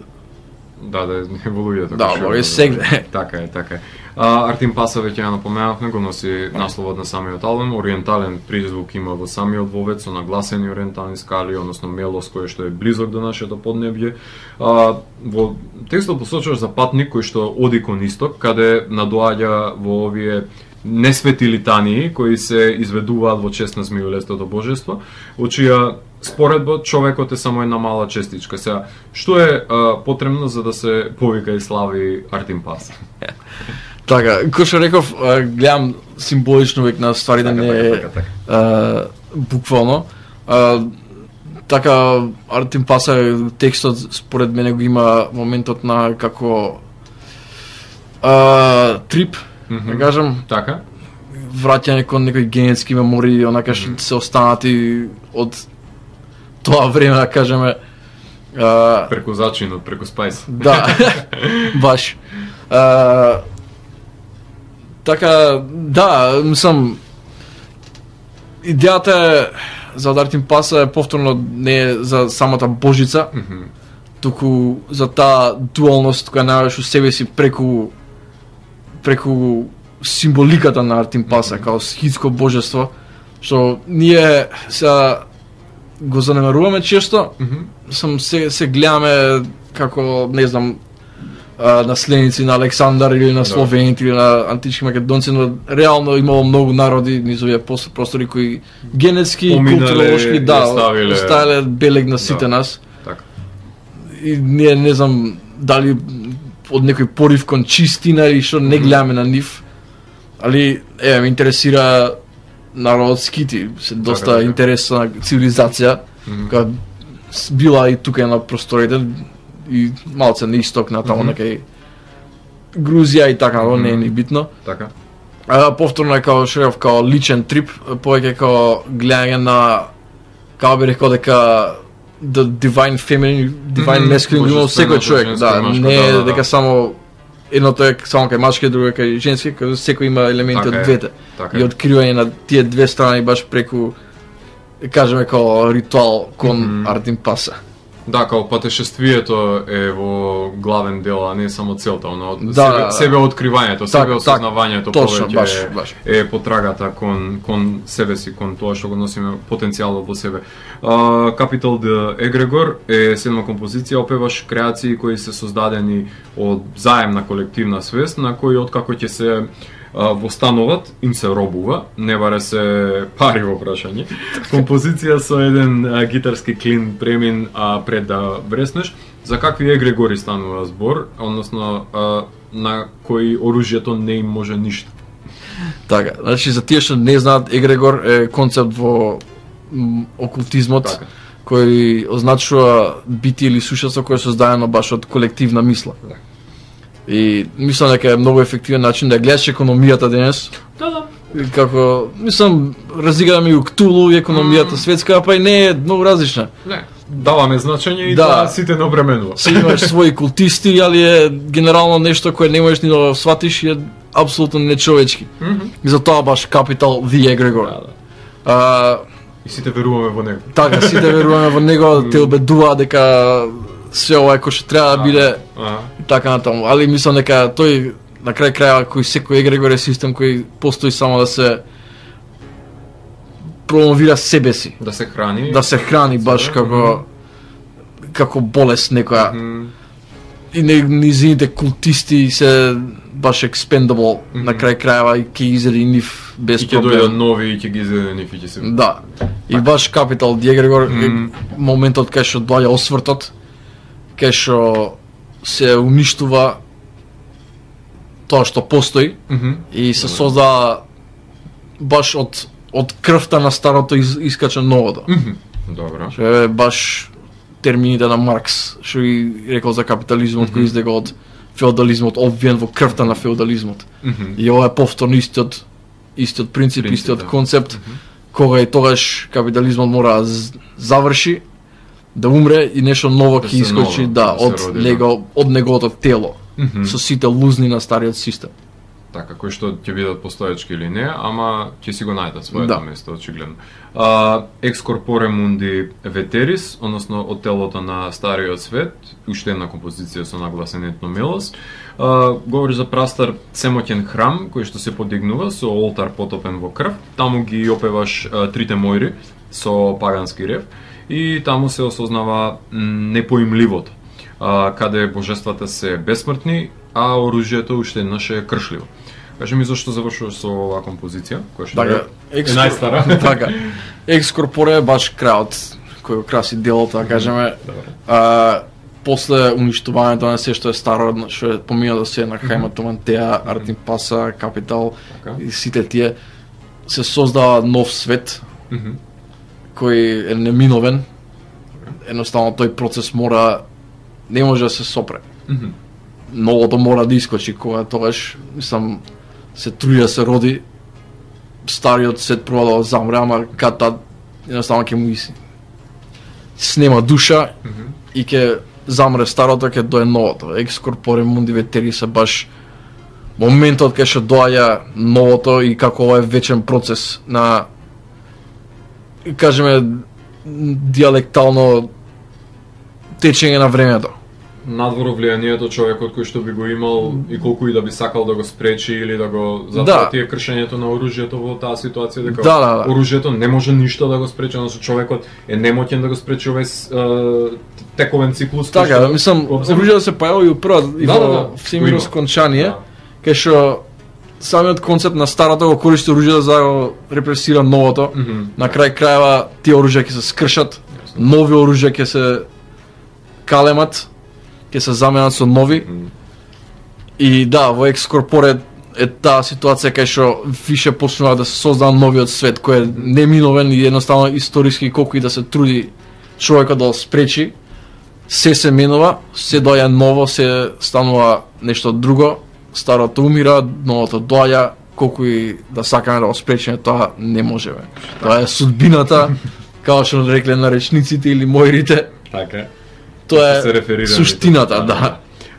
Да, да, не во луѓето. Да, Бог е сегде. Така е, така е. А, Артим Паса веќе ја напоменавме, го носи насловот на самиот албум, ориентален призвук има во самиот вовет со нагласени ориентални скали, односно мелос кој што е близок до нашето поднебје. А, во текстот посочуваш за патник кој што оди кон исток, каде надоаѓа во овие несвети литании кои се изведуваат во чест на змиолестото божество, во чија споредба човекот е само една мала честичка. Сега, што е а, потребно за да се повика и слави Артим Паса? Така, кој што реков, а, гледам символично век на стварите, Така, не така, е така, така. а, буквално. А, така, Артем Паса текстот според мене го има моментот на како а, трип, Мгм. да кажам, Така? враќање кон некои генетски мемории, онака што се останати од тоа време, да кажеме. А, Преку зачинот, преку спајс. да, баш. А, така, да, мислам, идејата е за Артем Паса е повторно не е за самата Божица, Мгм. туку за таа дуалност која најаваш у себе си преку преку символиката на Артем Паса, као схитско божество, што ние се го занемаруваме често, Мгм. сам се, се гледаме како, не знам, а, наследници на Александар или на Да. словените или на антички македонци, но реално имало многу народи низ овие пос- простори кои генетски и Поминале културолошки и да, оставиле- оставиле белег на сите Да. нас. Така. И ние не знам дали од некој порив кон чистина или што не гледаме на нив. Али еве ме интересира народот скити, се доста така. интересна цивилизација, Мгм. која с- била и тука на просторите и малце на исток на таму Мгм. некај Грузија и така, но не е ни битно. Така. А повторно е као шерев као личен трип, повеќе као гледање на како би рекол дека the divine feminine, divine Мгм, masculine има секој божественото човек, женско да, и машко, не да, е да, да. дека само едното е само кај машки, друго е кај женски, кај секој има елементи Така од е, двете. така И е. откривање на тие две страни баш преку кажеме као ритуал кон Мгм. Артем Паса. Да, као патешествието е во главен дел, а не само целта, оно Да, себе, да. себе откривањето, Так, себе так, осознавањето точно, повеќе баш, е, баш. е потрагата кон кон себе си, кон тоа што го носиме потенцијалот во себе. А, Capital de Egregor е седма композиција, опеваш креации кои се создадени од заемна колективна свест, на кои откако ќе се а, востануват, им се робува, не баре се пари во прашање. Композиција со еден а, гитарски клин премин а, пред да вреснеш. За какви егрегори станува збор, односно а, на кои оружјето не им може ништо. Така, значи за тие што не знаат, егрегор е концепт во м, окултизмот, Така. кој означува битие или сушество кое е создадено баш од колективна мисла. Да. И мислам дека е многу ефективен начин да гледаш економијата денес. Да, да. И како, мислам, разиграме и у Ктулу и економијата Мм. светска, па и не е многу различна. Не, даваме значење и Да. да, сите не обременува. Си имаш своји култисти, али е генерално нешто кое не можеш ни да сватиш и е апсолутно нечовечки. Мгм. И затоа баш Capital the Egregor. Да, да. А, И сите веруваме во него. така, сите веруваме во него, те убедуваат дека се ова е кој што треба да биде Ага. и така натаму. Али мислам дека тој на крај крајава кој секој егрегор е систем кој постои само да се промовира себе си, Да се храни. да се храни баш како како болест некоја. Мгм. И не, низините култисти се баш expendable Мгм. на крај крајава и ќе изеди нив без И ќе дојдат проблем. нови и ќе ги изедени и ќе се. Да. И баш Capital the Egregor е Мгм. моментот кај што доаѓа освртот, кај што се уништува тоа што постои Мгм. и се Добре. создава баш од од крвта на старото из, искача новото. Мгм. Добро. Што е баш термините на Маркс, што и рекол за капитализмот кој Мгм. издега од феодализмот, обвиен во крвта на феодализмот. Мгм. И ова е повторно истиот истиот принцип, Принцип, истиот да. концепт, Мгм. кога и тогаш капитализмот мора да з- заврши, да умре и нешто ново Да ќе се искочи, ново, да, да се од роди, да. него, од неговото тело, Мгм. со сите лузни на стариот систем. Така, кои што ќе бидат постоечки или не, ама ќе си го најдат своето Да. место, очигледно. А, ex corpore mundi veteris, односно од телото на стариот свет, уште една композиција со нагласен етномелос, а, говори за прастар семоќен храм, кој што се подигнува со олтар потопен во крв, таму ги опеваш а, трите мојри со пагански рев, и таму се осознава м, непоимливото, а, каде божествата се бесмртни, а оружјето уште еднаш е кршливо. Кажи ми зашто завршуваш со оваа композиција, која што Така, е, е најстара. така. Екс корпоре е баш крајот кој го краси делото, да кажеме. Добре. А, после уништувањето на се што е старо, што е помина да се на Хајма Томантеа, Артин Паса, Капитал Така. и сите тие, се создава нов свет Мгм. кој е неминовен. Едноставно тој процес мора, не може да се сопре. Мгм. Новото мора да искочи кога тогаш, мислам, се труди да се роди, стариот свет проба да замре, ама кад тад едноставно ќе му иси. Снема душа Мгм. и ќе замре старото, ќе дое новото. Ex corpore mundi veteris е баш моментот кај што доаѓа новото и како ова е вечен процес на, кажеме, диалектално течење на времето. Надвор влијанието човекот кој што би го имал и колку и да би сакал да го спречи или да го затоа Да. тие кршењето на оружјето во таа ситуација дека Да, да, да. оружјето не може ништо да го спречи, односно човекот е немоќен да го спречи овој с- е, тековен циклус. кој Така, што мислам, го обзема. оружјето се појави и прва и Да, во да, да, всемирно го има. скончание, Да. кај што самиот концепт на старото го користи оружјето за да го репресира новото. Мгм. На крај крајава тие оружја ќе се скршат, нови оружја ќе се калемат, ќе се заменат со нови. Мгм. И да, во Ex Corpore е таа ситуација кај што више почнува да се создава новиот свет кој е неминовен и едноставно историски колку и да се труди човекот да го спречи, се се менува, се доаѓа ново, се станува нешто друго, старото умира, новото доаѓа, колку и да сакаме да го спречиме, тоа не можеме. Тоа е судбината, како што рекле наречниците или моирите, Така. тоа Се реферира е на суштината, тоа. да.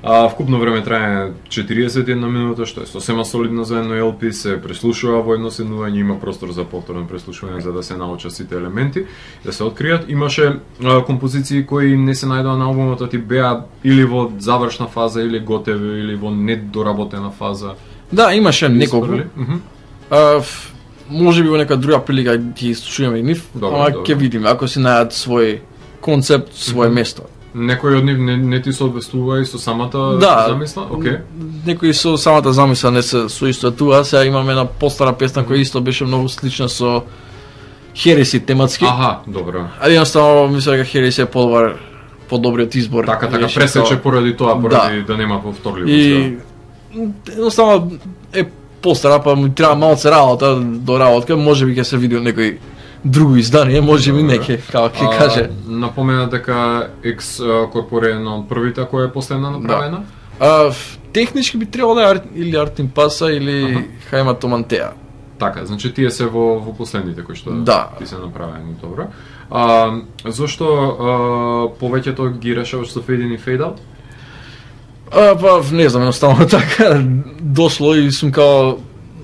А вкупно време трае четириесет и една минута, што е сосема солидно за едно Ел Пи, се преслушува во едно седнување, има простор за повторно преслушување за да се научат сите елементи, да се откријат. Имаше а, композиции кои не се најдоа на албумот, а ти беа или во завршна фаза, или готеви, или во недоработена фаза. Да, имаше неколку. Испрли? Мгм. А, ф, може би во нека друга прилика ќе слушаме и нив, Добро, ама добро. ќе видиме ако си најдат свој концепт, свое Мгм. место. Некој од нив не, не ти соодветствува и со самата Да. замисла? Окей. Некои со самата замисла не се соистоветува, сега имаме една постара песна која исто беше многу слична со Хереси тематски. Аха, добро. Ali jednostavno mislim da Heres je podvar, подобриот избор. Така, така, Беше пресече тоа. поради тоа, поради да, Да. да нема повторливост. И едноставно е постара, па му треба малце работа до работка, може би ќе се види некој друго издание, може би Добре. неке, како ќе А, каже. Напомена дека X Corpore е една од првите која е последна направена. А, ф- технички би требало да е Ар- или Артин Паса или Хајма Томантеа. Така, значи тие се во, во последните кои што Да. ти се направени, добро. А, зошто а, повеќето ги решаваш со Fade In и Fade Out? А, па, не знам, едноставно така дошло и сум као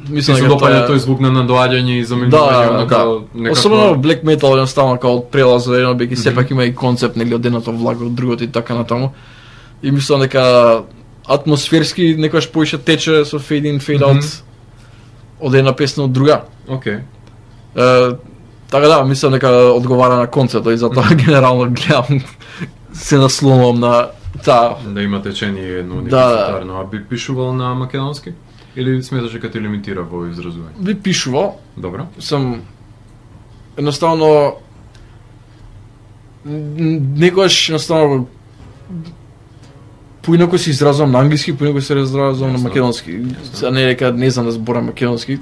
Ти мислам се дека допаѓа тоа тој звук на надоаѓање и Да, заменување, да, оно да. као некако... Особено Black Metal едноставно као од прелаз за едно беки Мгм. сепак има и концепт нели од едното влага од другото и така натаму. И мислам дека атмосферски некојаш поише тече со Fade In, Fade Out Мгм. од една песна од друга. Окей. Е, така да, мислам дека одговара на концептот и затоа генерално гледам се наслонувам на таа. Да има течение едно Да, да. университарно, а би пишувал на македонски? Или сметаш дека те лимитира во изразување? Би пишувал, Добро. сам едноставно н- некогаш едноставно поинако се изразувам на англиски, поинако се изразувам на Јасно. македонски. Сега не е дека не знам да зборам македонски,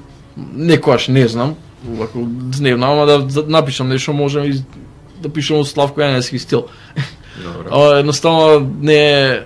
некогаш не знам, ако не знам, ама да за- напишам нешто можам и да пишам во Славко Јаневски стил. Добро. Ама едноставно не е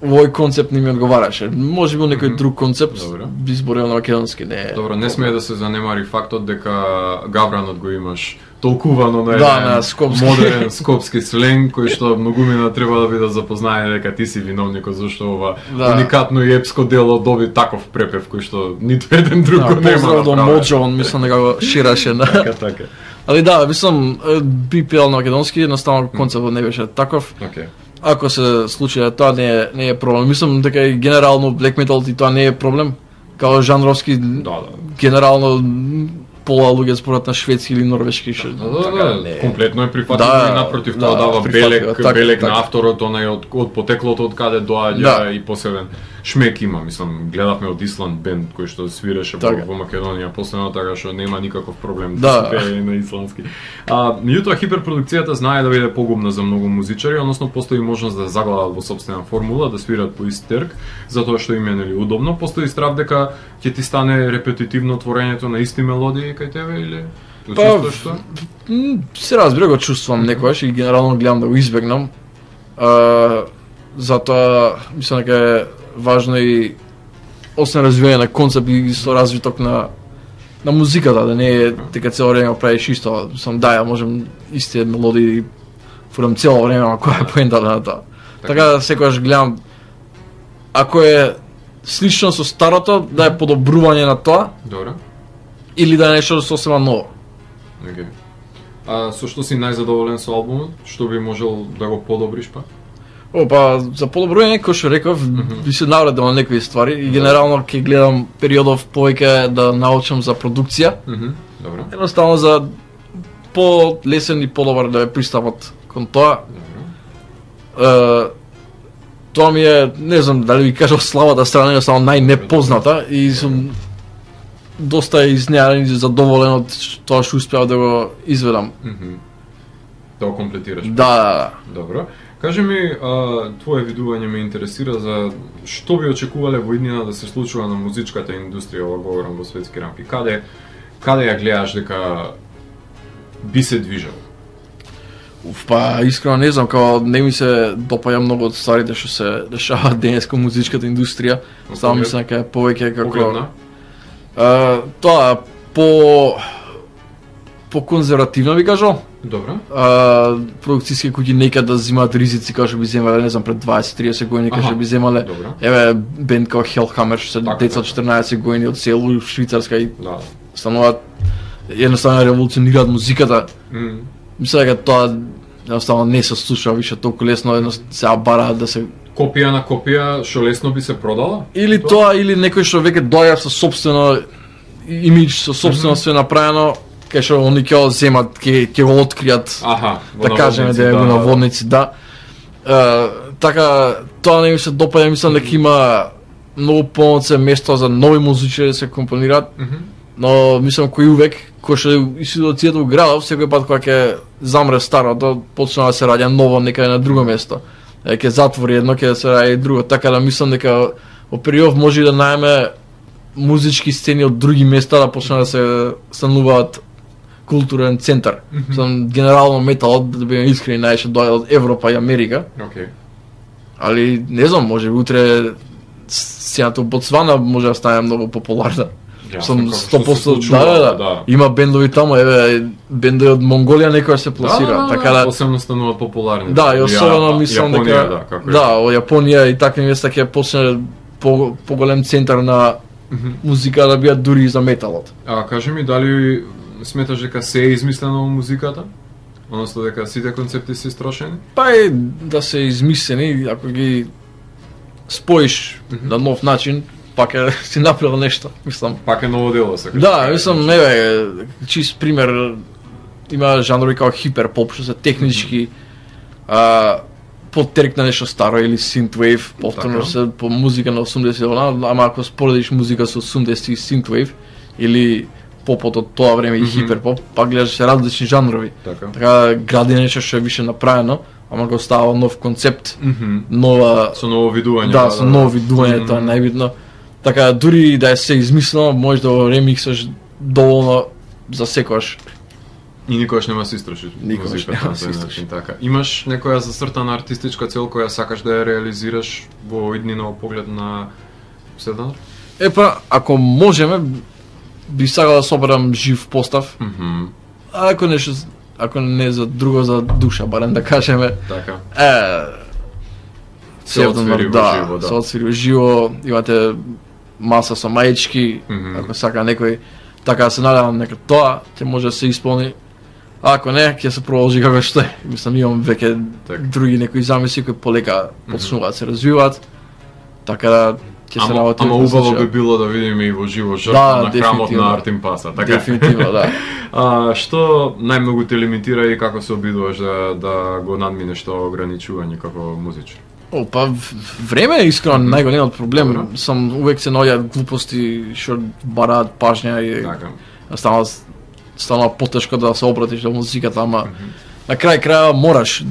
овој концепт не ми одговараше. Може би некој Мгм. друг концепт Добро. би зборел на македонски, не е. Добро, не смее да се занемари фактот дека Гавранот го имаш толкувано на Да, еден на скопски. модерен скопски сленг, кој што многумина треба да бидат запознаени дека ти си виновникот зашто ова Да. уникатно и епско дело доби таков препев кој што ниту еден друг го Да, нема поздрав до направен. Моджо, он мислам дека го шираше на. Така, така. Али да, мислам е, би пеел на македонски, едноставно концептот не беше таков. Океј. Ако се случи да тоа не е не е проблем. Мислам дека и генерално black metal и тоа не е проблем. Као жанровски Да, да. генерално м, пола луѓе зборат на шведски или норвешки што Да, да, така, да, не е. комплетно е прифатливо Да, и напротив да, тоа дава прифатливо, белек, така, белек на така. авторот, онај од, од потеклото од каде доаѓа Да. и посебен шмек има, мислам, гледавме од Исланд бенд кој што свиреше така. во Македонија последно, така што нема никаков проблем да, да се пее на исландски. А меѓутоа хиперпродукцијата знае да биде погубна за многу музичари, односно постои можност да заглават во сопствена формула, да свират по ист терк, затоа што им е нели удобно, постои страв дека ќе ти стане репетитивно творењето на исти мелодии кај тебе или па, што? Се разбира, го чувствувам некогаш и генерално гледам да го избегнам. А, затоа мислам дека е важно и освен развивање на концепт и со развиток на на музиката, да не е дека цело време правиш исто. Мислам да, ја можем исти мелодии фурам цело време, ама која е поентата на тоа. Така да секогаш гледам ако е слично со старото, да е подобрување на тоа. Добро. Или да е нешто сосема ново. Okay. А со што си најзадоволен со албумот? Што би можел да го подобриш па? О, па за подобрување, кој што реков, mm -hmm. би се навредил на некои ствари и генерално ќе гледам периодов повеќе да научам за продукција. Mm -hmm. Добро. Едноставно за по-лесен и подобар да е пристапот кон тоа. Добро. Е, тоа ми е, не знам дали ви кажав, слабата страна е само најнепозната и сум доста изненаден и задоволен од тоа што успеав да го изведам. Mm -hmm. Да го комплетираш. Да, да, да. Добро. Кажи ми, а, твое видување ме интересира за што би очекувале во иднина да се случува на музичката индустрија, ова говорам во светски рамки. Каде, каде ја гледаш дека би се движел? Уф, па искрено не знам, као не ми се допаѓа многу од стварите што се дешаваат денес кон музичката индустрија. Само мислам дека е повеќе како Погледна? Uh, тоа по по конзервативно би кажал. Добро. Uh, продукцијски куќи некад да земаат ризици како што би земале, не знам, пред дваесет триесет години како што би земале. Добро. Еве бенд како Hellhammer што се деца од четрнаесет години од село во Швајцарска и да. стануваат едноставно револуционираат музиката. Mm. Мислам дека тоа едноставно не се слуша више толку лесно, едноставно се бараат да се копија на копија што лесно би се продала? Или тоа, тоа или некој што веќе доаѓа со сопствено имидж, со сопствено mm -hmm. све направено, кај што они ќе го земат, ќе ќе го откријат. Аха, да кажеме да е го наводници, да. Uh, така тоа не ми се допаѓа, мислам дека има многу помоце место за нови музичари да се компонираат. Mm -hmm. Но мислам кој увек, кој што и ситуацијата у градов, секој пат кога ќе замре старото, почна да се раѓа ново некаде на друго место. Ќе затвори едно, ќе се раѓа и друго. Така да мислам дека во период може да најме музички сцени од други места да почнат да се стануваат културен центар. Mm -hmm. Сам генерално металот, да бидеме искрени, најше доаѓа од Европа и Америка. Okay. Али не знам, може би утре сцената во Ботсвана може да стане многу популарна. Ja, Сам сто проценти да, да, да. Има бендови таму, еве бендови од Монголија некоја се пласира, да, да, така да посебно стануваат популарни. Да, и особено мислам дека да, како да, во Јапонија и такви места ќе почне по поголем центар на mm -hmm. музика да бидат дури и за металот. А кажи ми дали сметаш дека се е измислено во музиката? Односно дека сите концепти се истрошени? Па е да се измислени, ако ги споиш mm -hmm. на нов начин, пак е си направил нешто, мислам. Пак е ново дело, се кажа. Да, мислам, еве, чист пример, има жанрови како хиперпоп, што се технички, а, подтерк на нешто старо или synthwave, повторно се по музика на осумдесети, ама ако споредиш музика со осумдесети и synthwave, или попот од тоа време и mm -hmm. хиперпоп, пак гледаш различни жанрови. Така, така гради нешто што е више направено, ама го става нов концепт, mm -hmm. нова... Со ново видување. Да, со ново видување, mm -hmm. тоа е најбитно. Така, дури да е се измислено, може да го ремиксаш доволно за секојаш. И никогаш нема се истроши музиката на тој начин, така. Имаш некоја засртана артистичка цел која сакаш да ја реализираш во иднина во поглед на седнат? Епа, ако можеме, би сакал да соберам жив постав. Mm -hmm. А ако нешто, ако не за друго, за душа, барем да кажеме. Така. Е, се отсвири во да, живо, да. Се отсвири во живо, имате маса со маички, mm -hmm. ако сака некој, така да се надевам нека тоа ќе може да се исполни. А ако не, ќе се продолжи како што е. Мислам, имам веќе други некои замисли кои полека почнуваат да се развиваат. Така да ќе се работи. Ама убаво би било да видиме и во живо жртва на храмот на Артем Паса, така? Дефинитивно, да. А што најмногу те лимитира и како се обидуваш да да го надминеш тоа ограничување како музичар? О, па в- време е искрено Мгм. најголемиот проблем. Добро. Сам увек се наоѓаат глупости што бараат пажња и Така. стана стана потешко да се обратиш на музиката, ама на крај крајава мораш.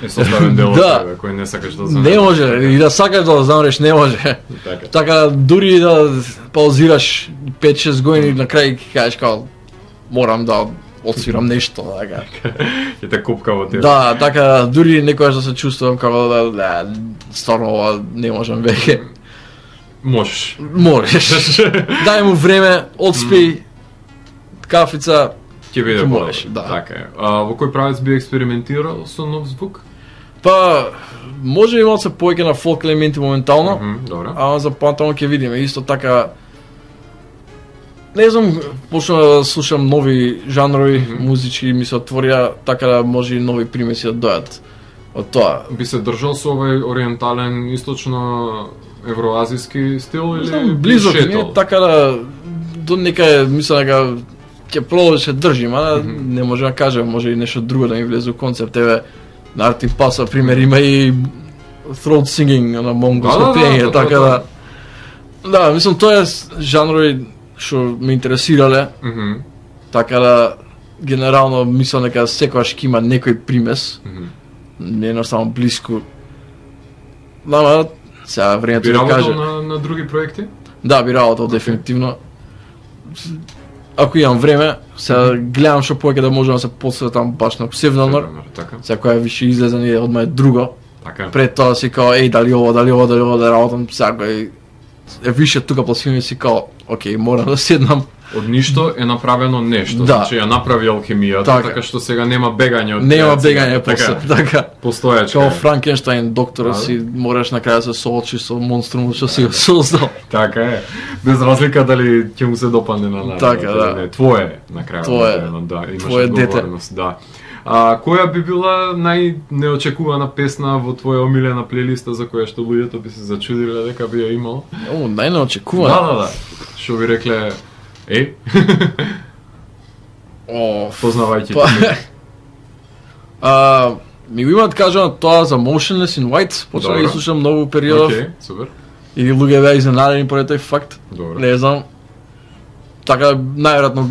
Е составен дел од Да. тебе кој не сакаш да Не замреш. може и да сакаш да замреш не може. Така. Така дури да паузираш пет-шест години на крај ќе кажеш као морам да отсвирам нешто, така. Ќе те купка во тебе. Да, така дури некогаш да се чувствувам како да, да стварно ова не можам веќе. Можеш. Можеш. Дај му време, одспи, кафица. Ќе биде Ќе боле. можеш, да. Така е. А, во кој правец би експериментирал со нов звук? Па, може би малце повеќе на фолк елементи моментално, Мгм, добро. ама за понатаму ќе видиме. Исто така, не знам, почнав да слушам нови жанрови, Мгм. музички ми се отворија, така да може и нови примеси да дојат од тоа. Би се држал со овој ориентален, источно евроазиски стил Не или знам, би близок ми шетал? е, така да до некаде мислам дека ќе продолжи се држим, а Мгм. не може да кажам, може и нешто друго да ми влезе у концепт. Еве, на Арти Паса, пример, има и throat singing на монголско Да, да, да, пење, да, така да. да. Да, мислам тоа е жанрови што ме интересирале, Мгм, така да генерално мислам дека секогаш ќе има некој примес, мгм. не едноставно блиску. Ама сега времето Би да работел каже. на, на други проекти? Да, би работел дефинитивно. Ако имам време, сега гледам што повеќе да можам да се посветам баш на псевдонор. Така, Сега која више излезе ни одма е друго. така. Пред тоа си као, еј, дали ова, дали ова, дали ова да работам, сега кој е више тука пласивно си као, окей, морам да седнам. Од ништо е направено нешто, Да. значи ја направи алхемијата, Така. така што сега нема бегање од Нема креација. бегање после, така. Постоечка. Као е. Франкенштайн, доктора Да. си, мораш на крај да се соочи со монструмот што си го создал. Така е. Без разлика дали ќе му се допадне на народот. Така, или да. Не, твое е на крајот. Твое е. на денот, да, имаш Твое дете. одговорност, да. А која би била најнеочекувана песна во твоја омилена плейлиста за која што луѓето би се зачудиле дека би ја имал? О, најнеочекувано. Да, да, да. Што би рекле, е, О, познавајќи Па, те. а, ми го имаат кажано тоа за Motionless in White, почнав да Добро. ги слушам многу периодов, Океј, супер. и луѓе беа изненадени поради тој факт. Добро. Не знам. Така, најверојатно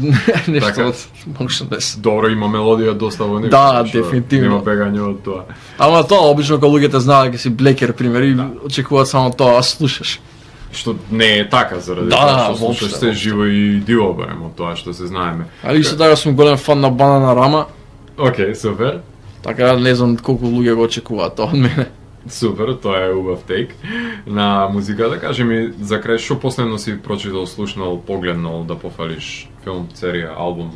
нешто Така. од Motionless. Добро, има мелодија доста во него. Да, што дефинитивно. Нема бегање од тоа. Ама тоа, обично кога луѓето знаат дека си блекер, пример, и очекуваат само тоа, а слушаш. Што не е така заради Да, тоа што воопшто, слушаш се воопшто. живо и диво барем од тоа што се знаеме. Али исто така сум голем фан на Банана Рама, Океј, супер. така не знам колку луѓе го очекуваат тоа од мене. Супер, тоа е убав тейк на музиката. Кажи ми, за крај, што последно си прочитал, слушнал, погледнал да пофалиш филм, серија, албум?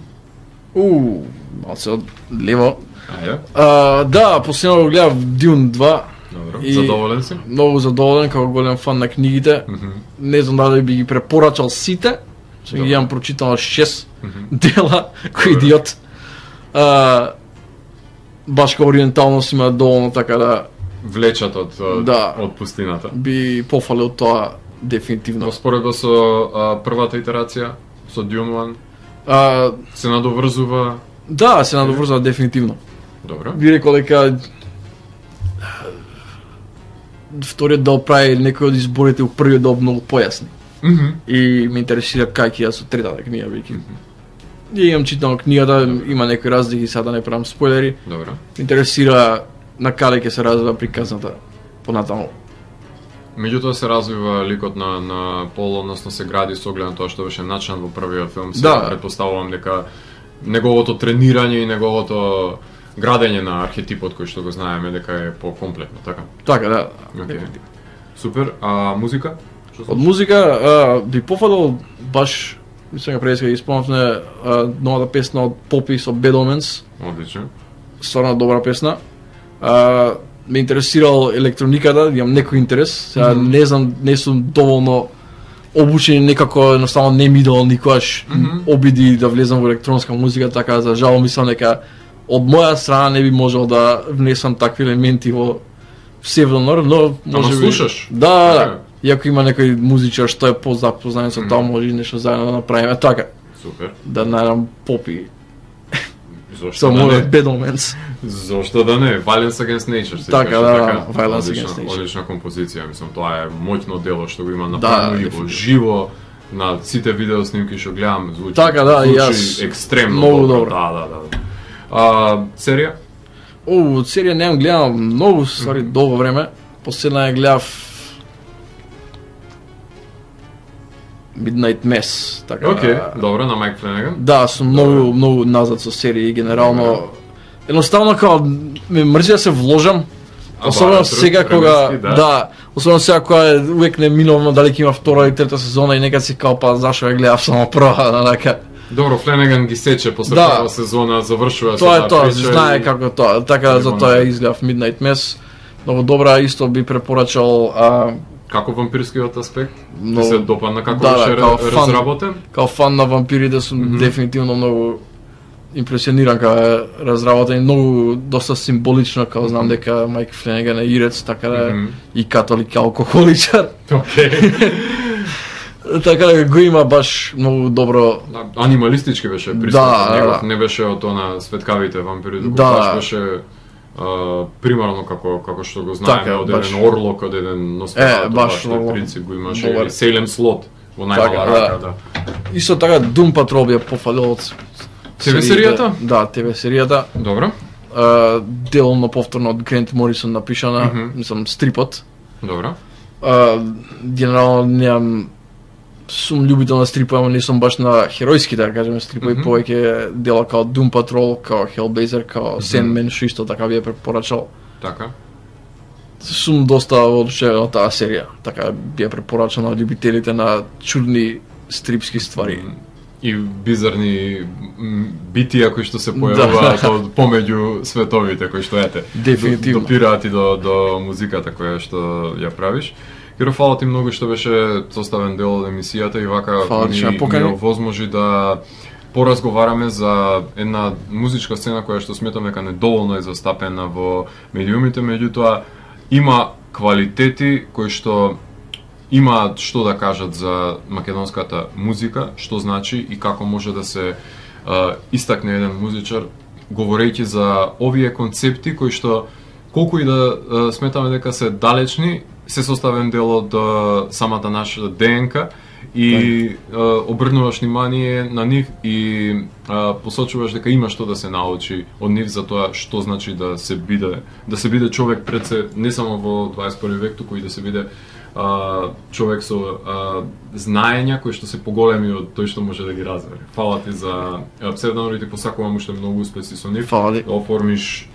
У, малце од лево. Ајде, А, да, последно го гледав Dune два. добро. И- Задоволен си? Многу задоволен како голем фан на книгите. Мгм. Не знам дали би ги препорачал сите. Што ги Добро. имам прочитано шест Мгм. дела, кој Добро. идиот. А, баш као ориенталност има доволно така да Влечат од, од, Да. од пустината. би пофалил тоа дефинитивно. Но споредба со а, првата итерација, со Dune еден, А, се надоврзува. да, се надоврзува дефинитивно. Добро. Би рекол дека вториот дел прави некои од изборите у првиот дел многу појасни. Мгм. И ме интересира кај ќе ја со третата книга веќе. И имам читано книгата, има некои разлики, сега да не правам спойлери. Добро. Ме интересира на каде ќе се развива приказната понатаму. Меѓутоа се развива ликот на на Пол, односно се гради со оглед на тоа што беше начинат во првиот филм. Се Да. претпоставувам дека неговото тренирање и неговото градење на архетипот кој што го знаеме дека е покомплетно, така. Така, да. Океј. Супер. А музика? Што Од слушаш? музика а, би пофалил баш, мислам дека преска ги спомнавме новата песна од Попи со Bad Omens, Одлично. стварно добра песна. А, ме интересирал електрониката, имам некој интерес. Сега Мгм. не знам, не сум доволно обучен, некако едноставно не ми идол никогаш Мгм. обиди да влезам во електронска музика, така за жал мислам дека од моја страна не би можел да внесам такви елементи во псевдонор, но може би... слушаш? Да, да, Така. да. Иако има некој музичар што е позапознат со тоа, Мгм. може и нешто заедно да направиме така. Супер. Да најдам Попи. Зошто Со да мојот не? Bad Omens. Зошто да не? Violence Against Nature се Така, беше, да, така, Violence одлична, Against Nature. одлична композиција, мислам, тоа е моќно дело што го има Да, направено и во дефинитивно. живо на сите видео снимки што гледам, звучи, Така, да, и звучи јас екстремно многу добро. добро. Да, да, да. А, серија? О, од серија немам гледам многу ствари Мгм. долго време. Последна ја гледав Midnight Mass, така. Океј, добро, на Майк Фленеган. Да, сум многу многу назад со серии генерално. Едноставно као ме мрзи да се вложам. А, Особено барето, сега кога временски, да. да. особено сега кога е увек неминовно дали ќе има втора или трета сезона и некад си као па зашо ја гледав само прва, така. Добро, Фленеган ги сече после Да. прва сезона, завршува Тоа се е тоа, прича знае и- како тоа, така и за го тоа ја направи. изгледав Midnight Mass. Многу добра, исто би препорачал а, Како вампирскиот аспект? Ти Многу- се допадна како да, беше да, као ре- фан. разработен? као фан на вампирите сум Мгм. дефинитивно многу импресиониран као е разработен и многу доста символично, као знам дека Майк Фленеган е ирец, така да Мгм. и католик и алкохоличар. Океј. Така да го има баш многу добро. Да, анималистички беше Да, пристапот, да, негов да. не беше од она светкавите вампири, туку Да. баш беше а, примарно како како што го знаеме Така, од баш. еден орлок, од еден Носферату, Е, баш тој многу принцип го имаше добар. и Сейлем Слот во најмала Така, рака, да. да. Исто така Doom Patrol би ја пофалил од Те ве сериите. серијата? Да, те ве серијата. Добро, Uh, деломно повторно од Грент Морисон напишана, Мгм. мислам стрипот. добро. Uh, генерално немам сум љубител на стрипови, ама не сум баш на херојски, да кажеме, стрипови, Мгм. повеќе дела као Doom Patrol, као Hellblazer, као Sandman, што исто така би ја препорачал. Така. Сум доста одушевен од таа серија, така би ја препорачал на љубителите на чудни стрипски ствари. И бизарни м, битија кои што се појавуваат Да. од помеѓу световите кои што ете. Дефинитивно. Допираат и до до музиката која што ја правиш. Киро, фала ти многу што беше составен дел од емисијата и вака Фала ти ми, што ме ми покани. овозможи да поразговараме за една музичка сцена која што сметам дека недоволно е застапена во медиумите, меѓутоа има квалитети кои што имаат што да кажат за македонската музика, што значи и како може да се а, истакне еден музичар говорејќи за овие концепти кои што колку и да а, сметаме дека се далечни, се составен дел од а, самата наша ДНК и а, обрнуваш внимание на нив и а, посочуваш дека има што да се научи од нив за тоа што значи да се биде да се биде човек пред се не само во дваесет и први век, туку и да се биде а, човек со а, знаења кои што се поголеми од тој што може да ги разбере. Фала ти за а, псевдонор и ти посакувам уште многу успеси со нив. Фала ти. Да оформиш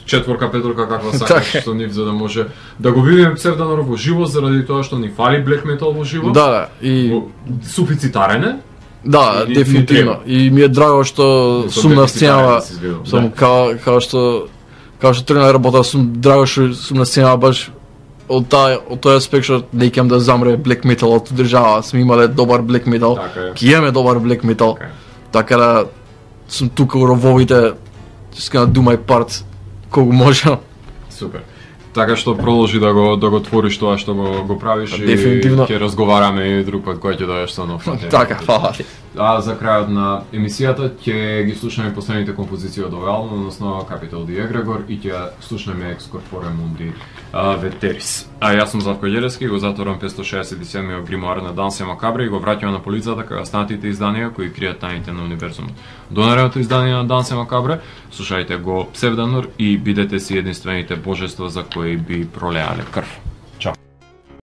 четворка, петорка каква сакаш Така. со нив за да може да го видиме псевдонор во живо заради тоа што ни фали блек метал во живо. Да, да, и Во- суфицитарен е. да, и- и дефинитивно. треба. И ми е драго што Со сум на дефицитарен сценава, си извинувам, сум да. као као што као што тргна да работа, сум драго што сум на сценава баш од тај од тој аспект што не икам да замре блек металот од држава, сме имале добар блек метал. Така е. Ќе имаме добар блек метал. Така е. Така да сум тука у рововите, just gonna do my part колку можам. Супер. Така што продолжи да го да го твориш тоа што го го правиш и Дефинитивно. ќе разговараме и друг пат кога ќе дојдеш со нов материјал. Така, фала ти. А за крајот на емисијата ќе ги слушаме последните композиции од овој албум, односно Capital the Egregor и ќе слушаме Ex Corpore Mundi а, Veteris. А јас сум Зlatko Ѓелевски, го затворам петстотини шеесет и седмиот гримоар на Дансе Макабре и го враќаме на полицата кај останатите изданија кои кријат тајните на универзумот. До наредното издание на Дансе Макабре, слушајте го Псевдонор и бидете си единствените божества за кои би пролеале крв.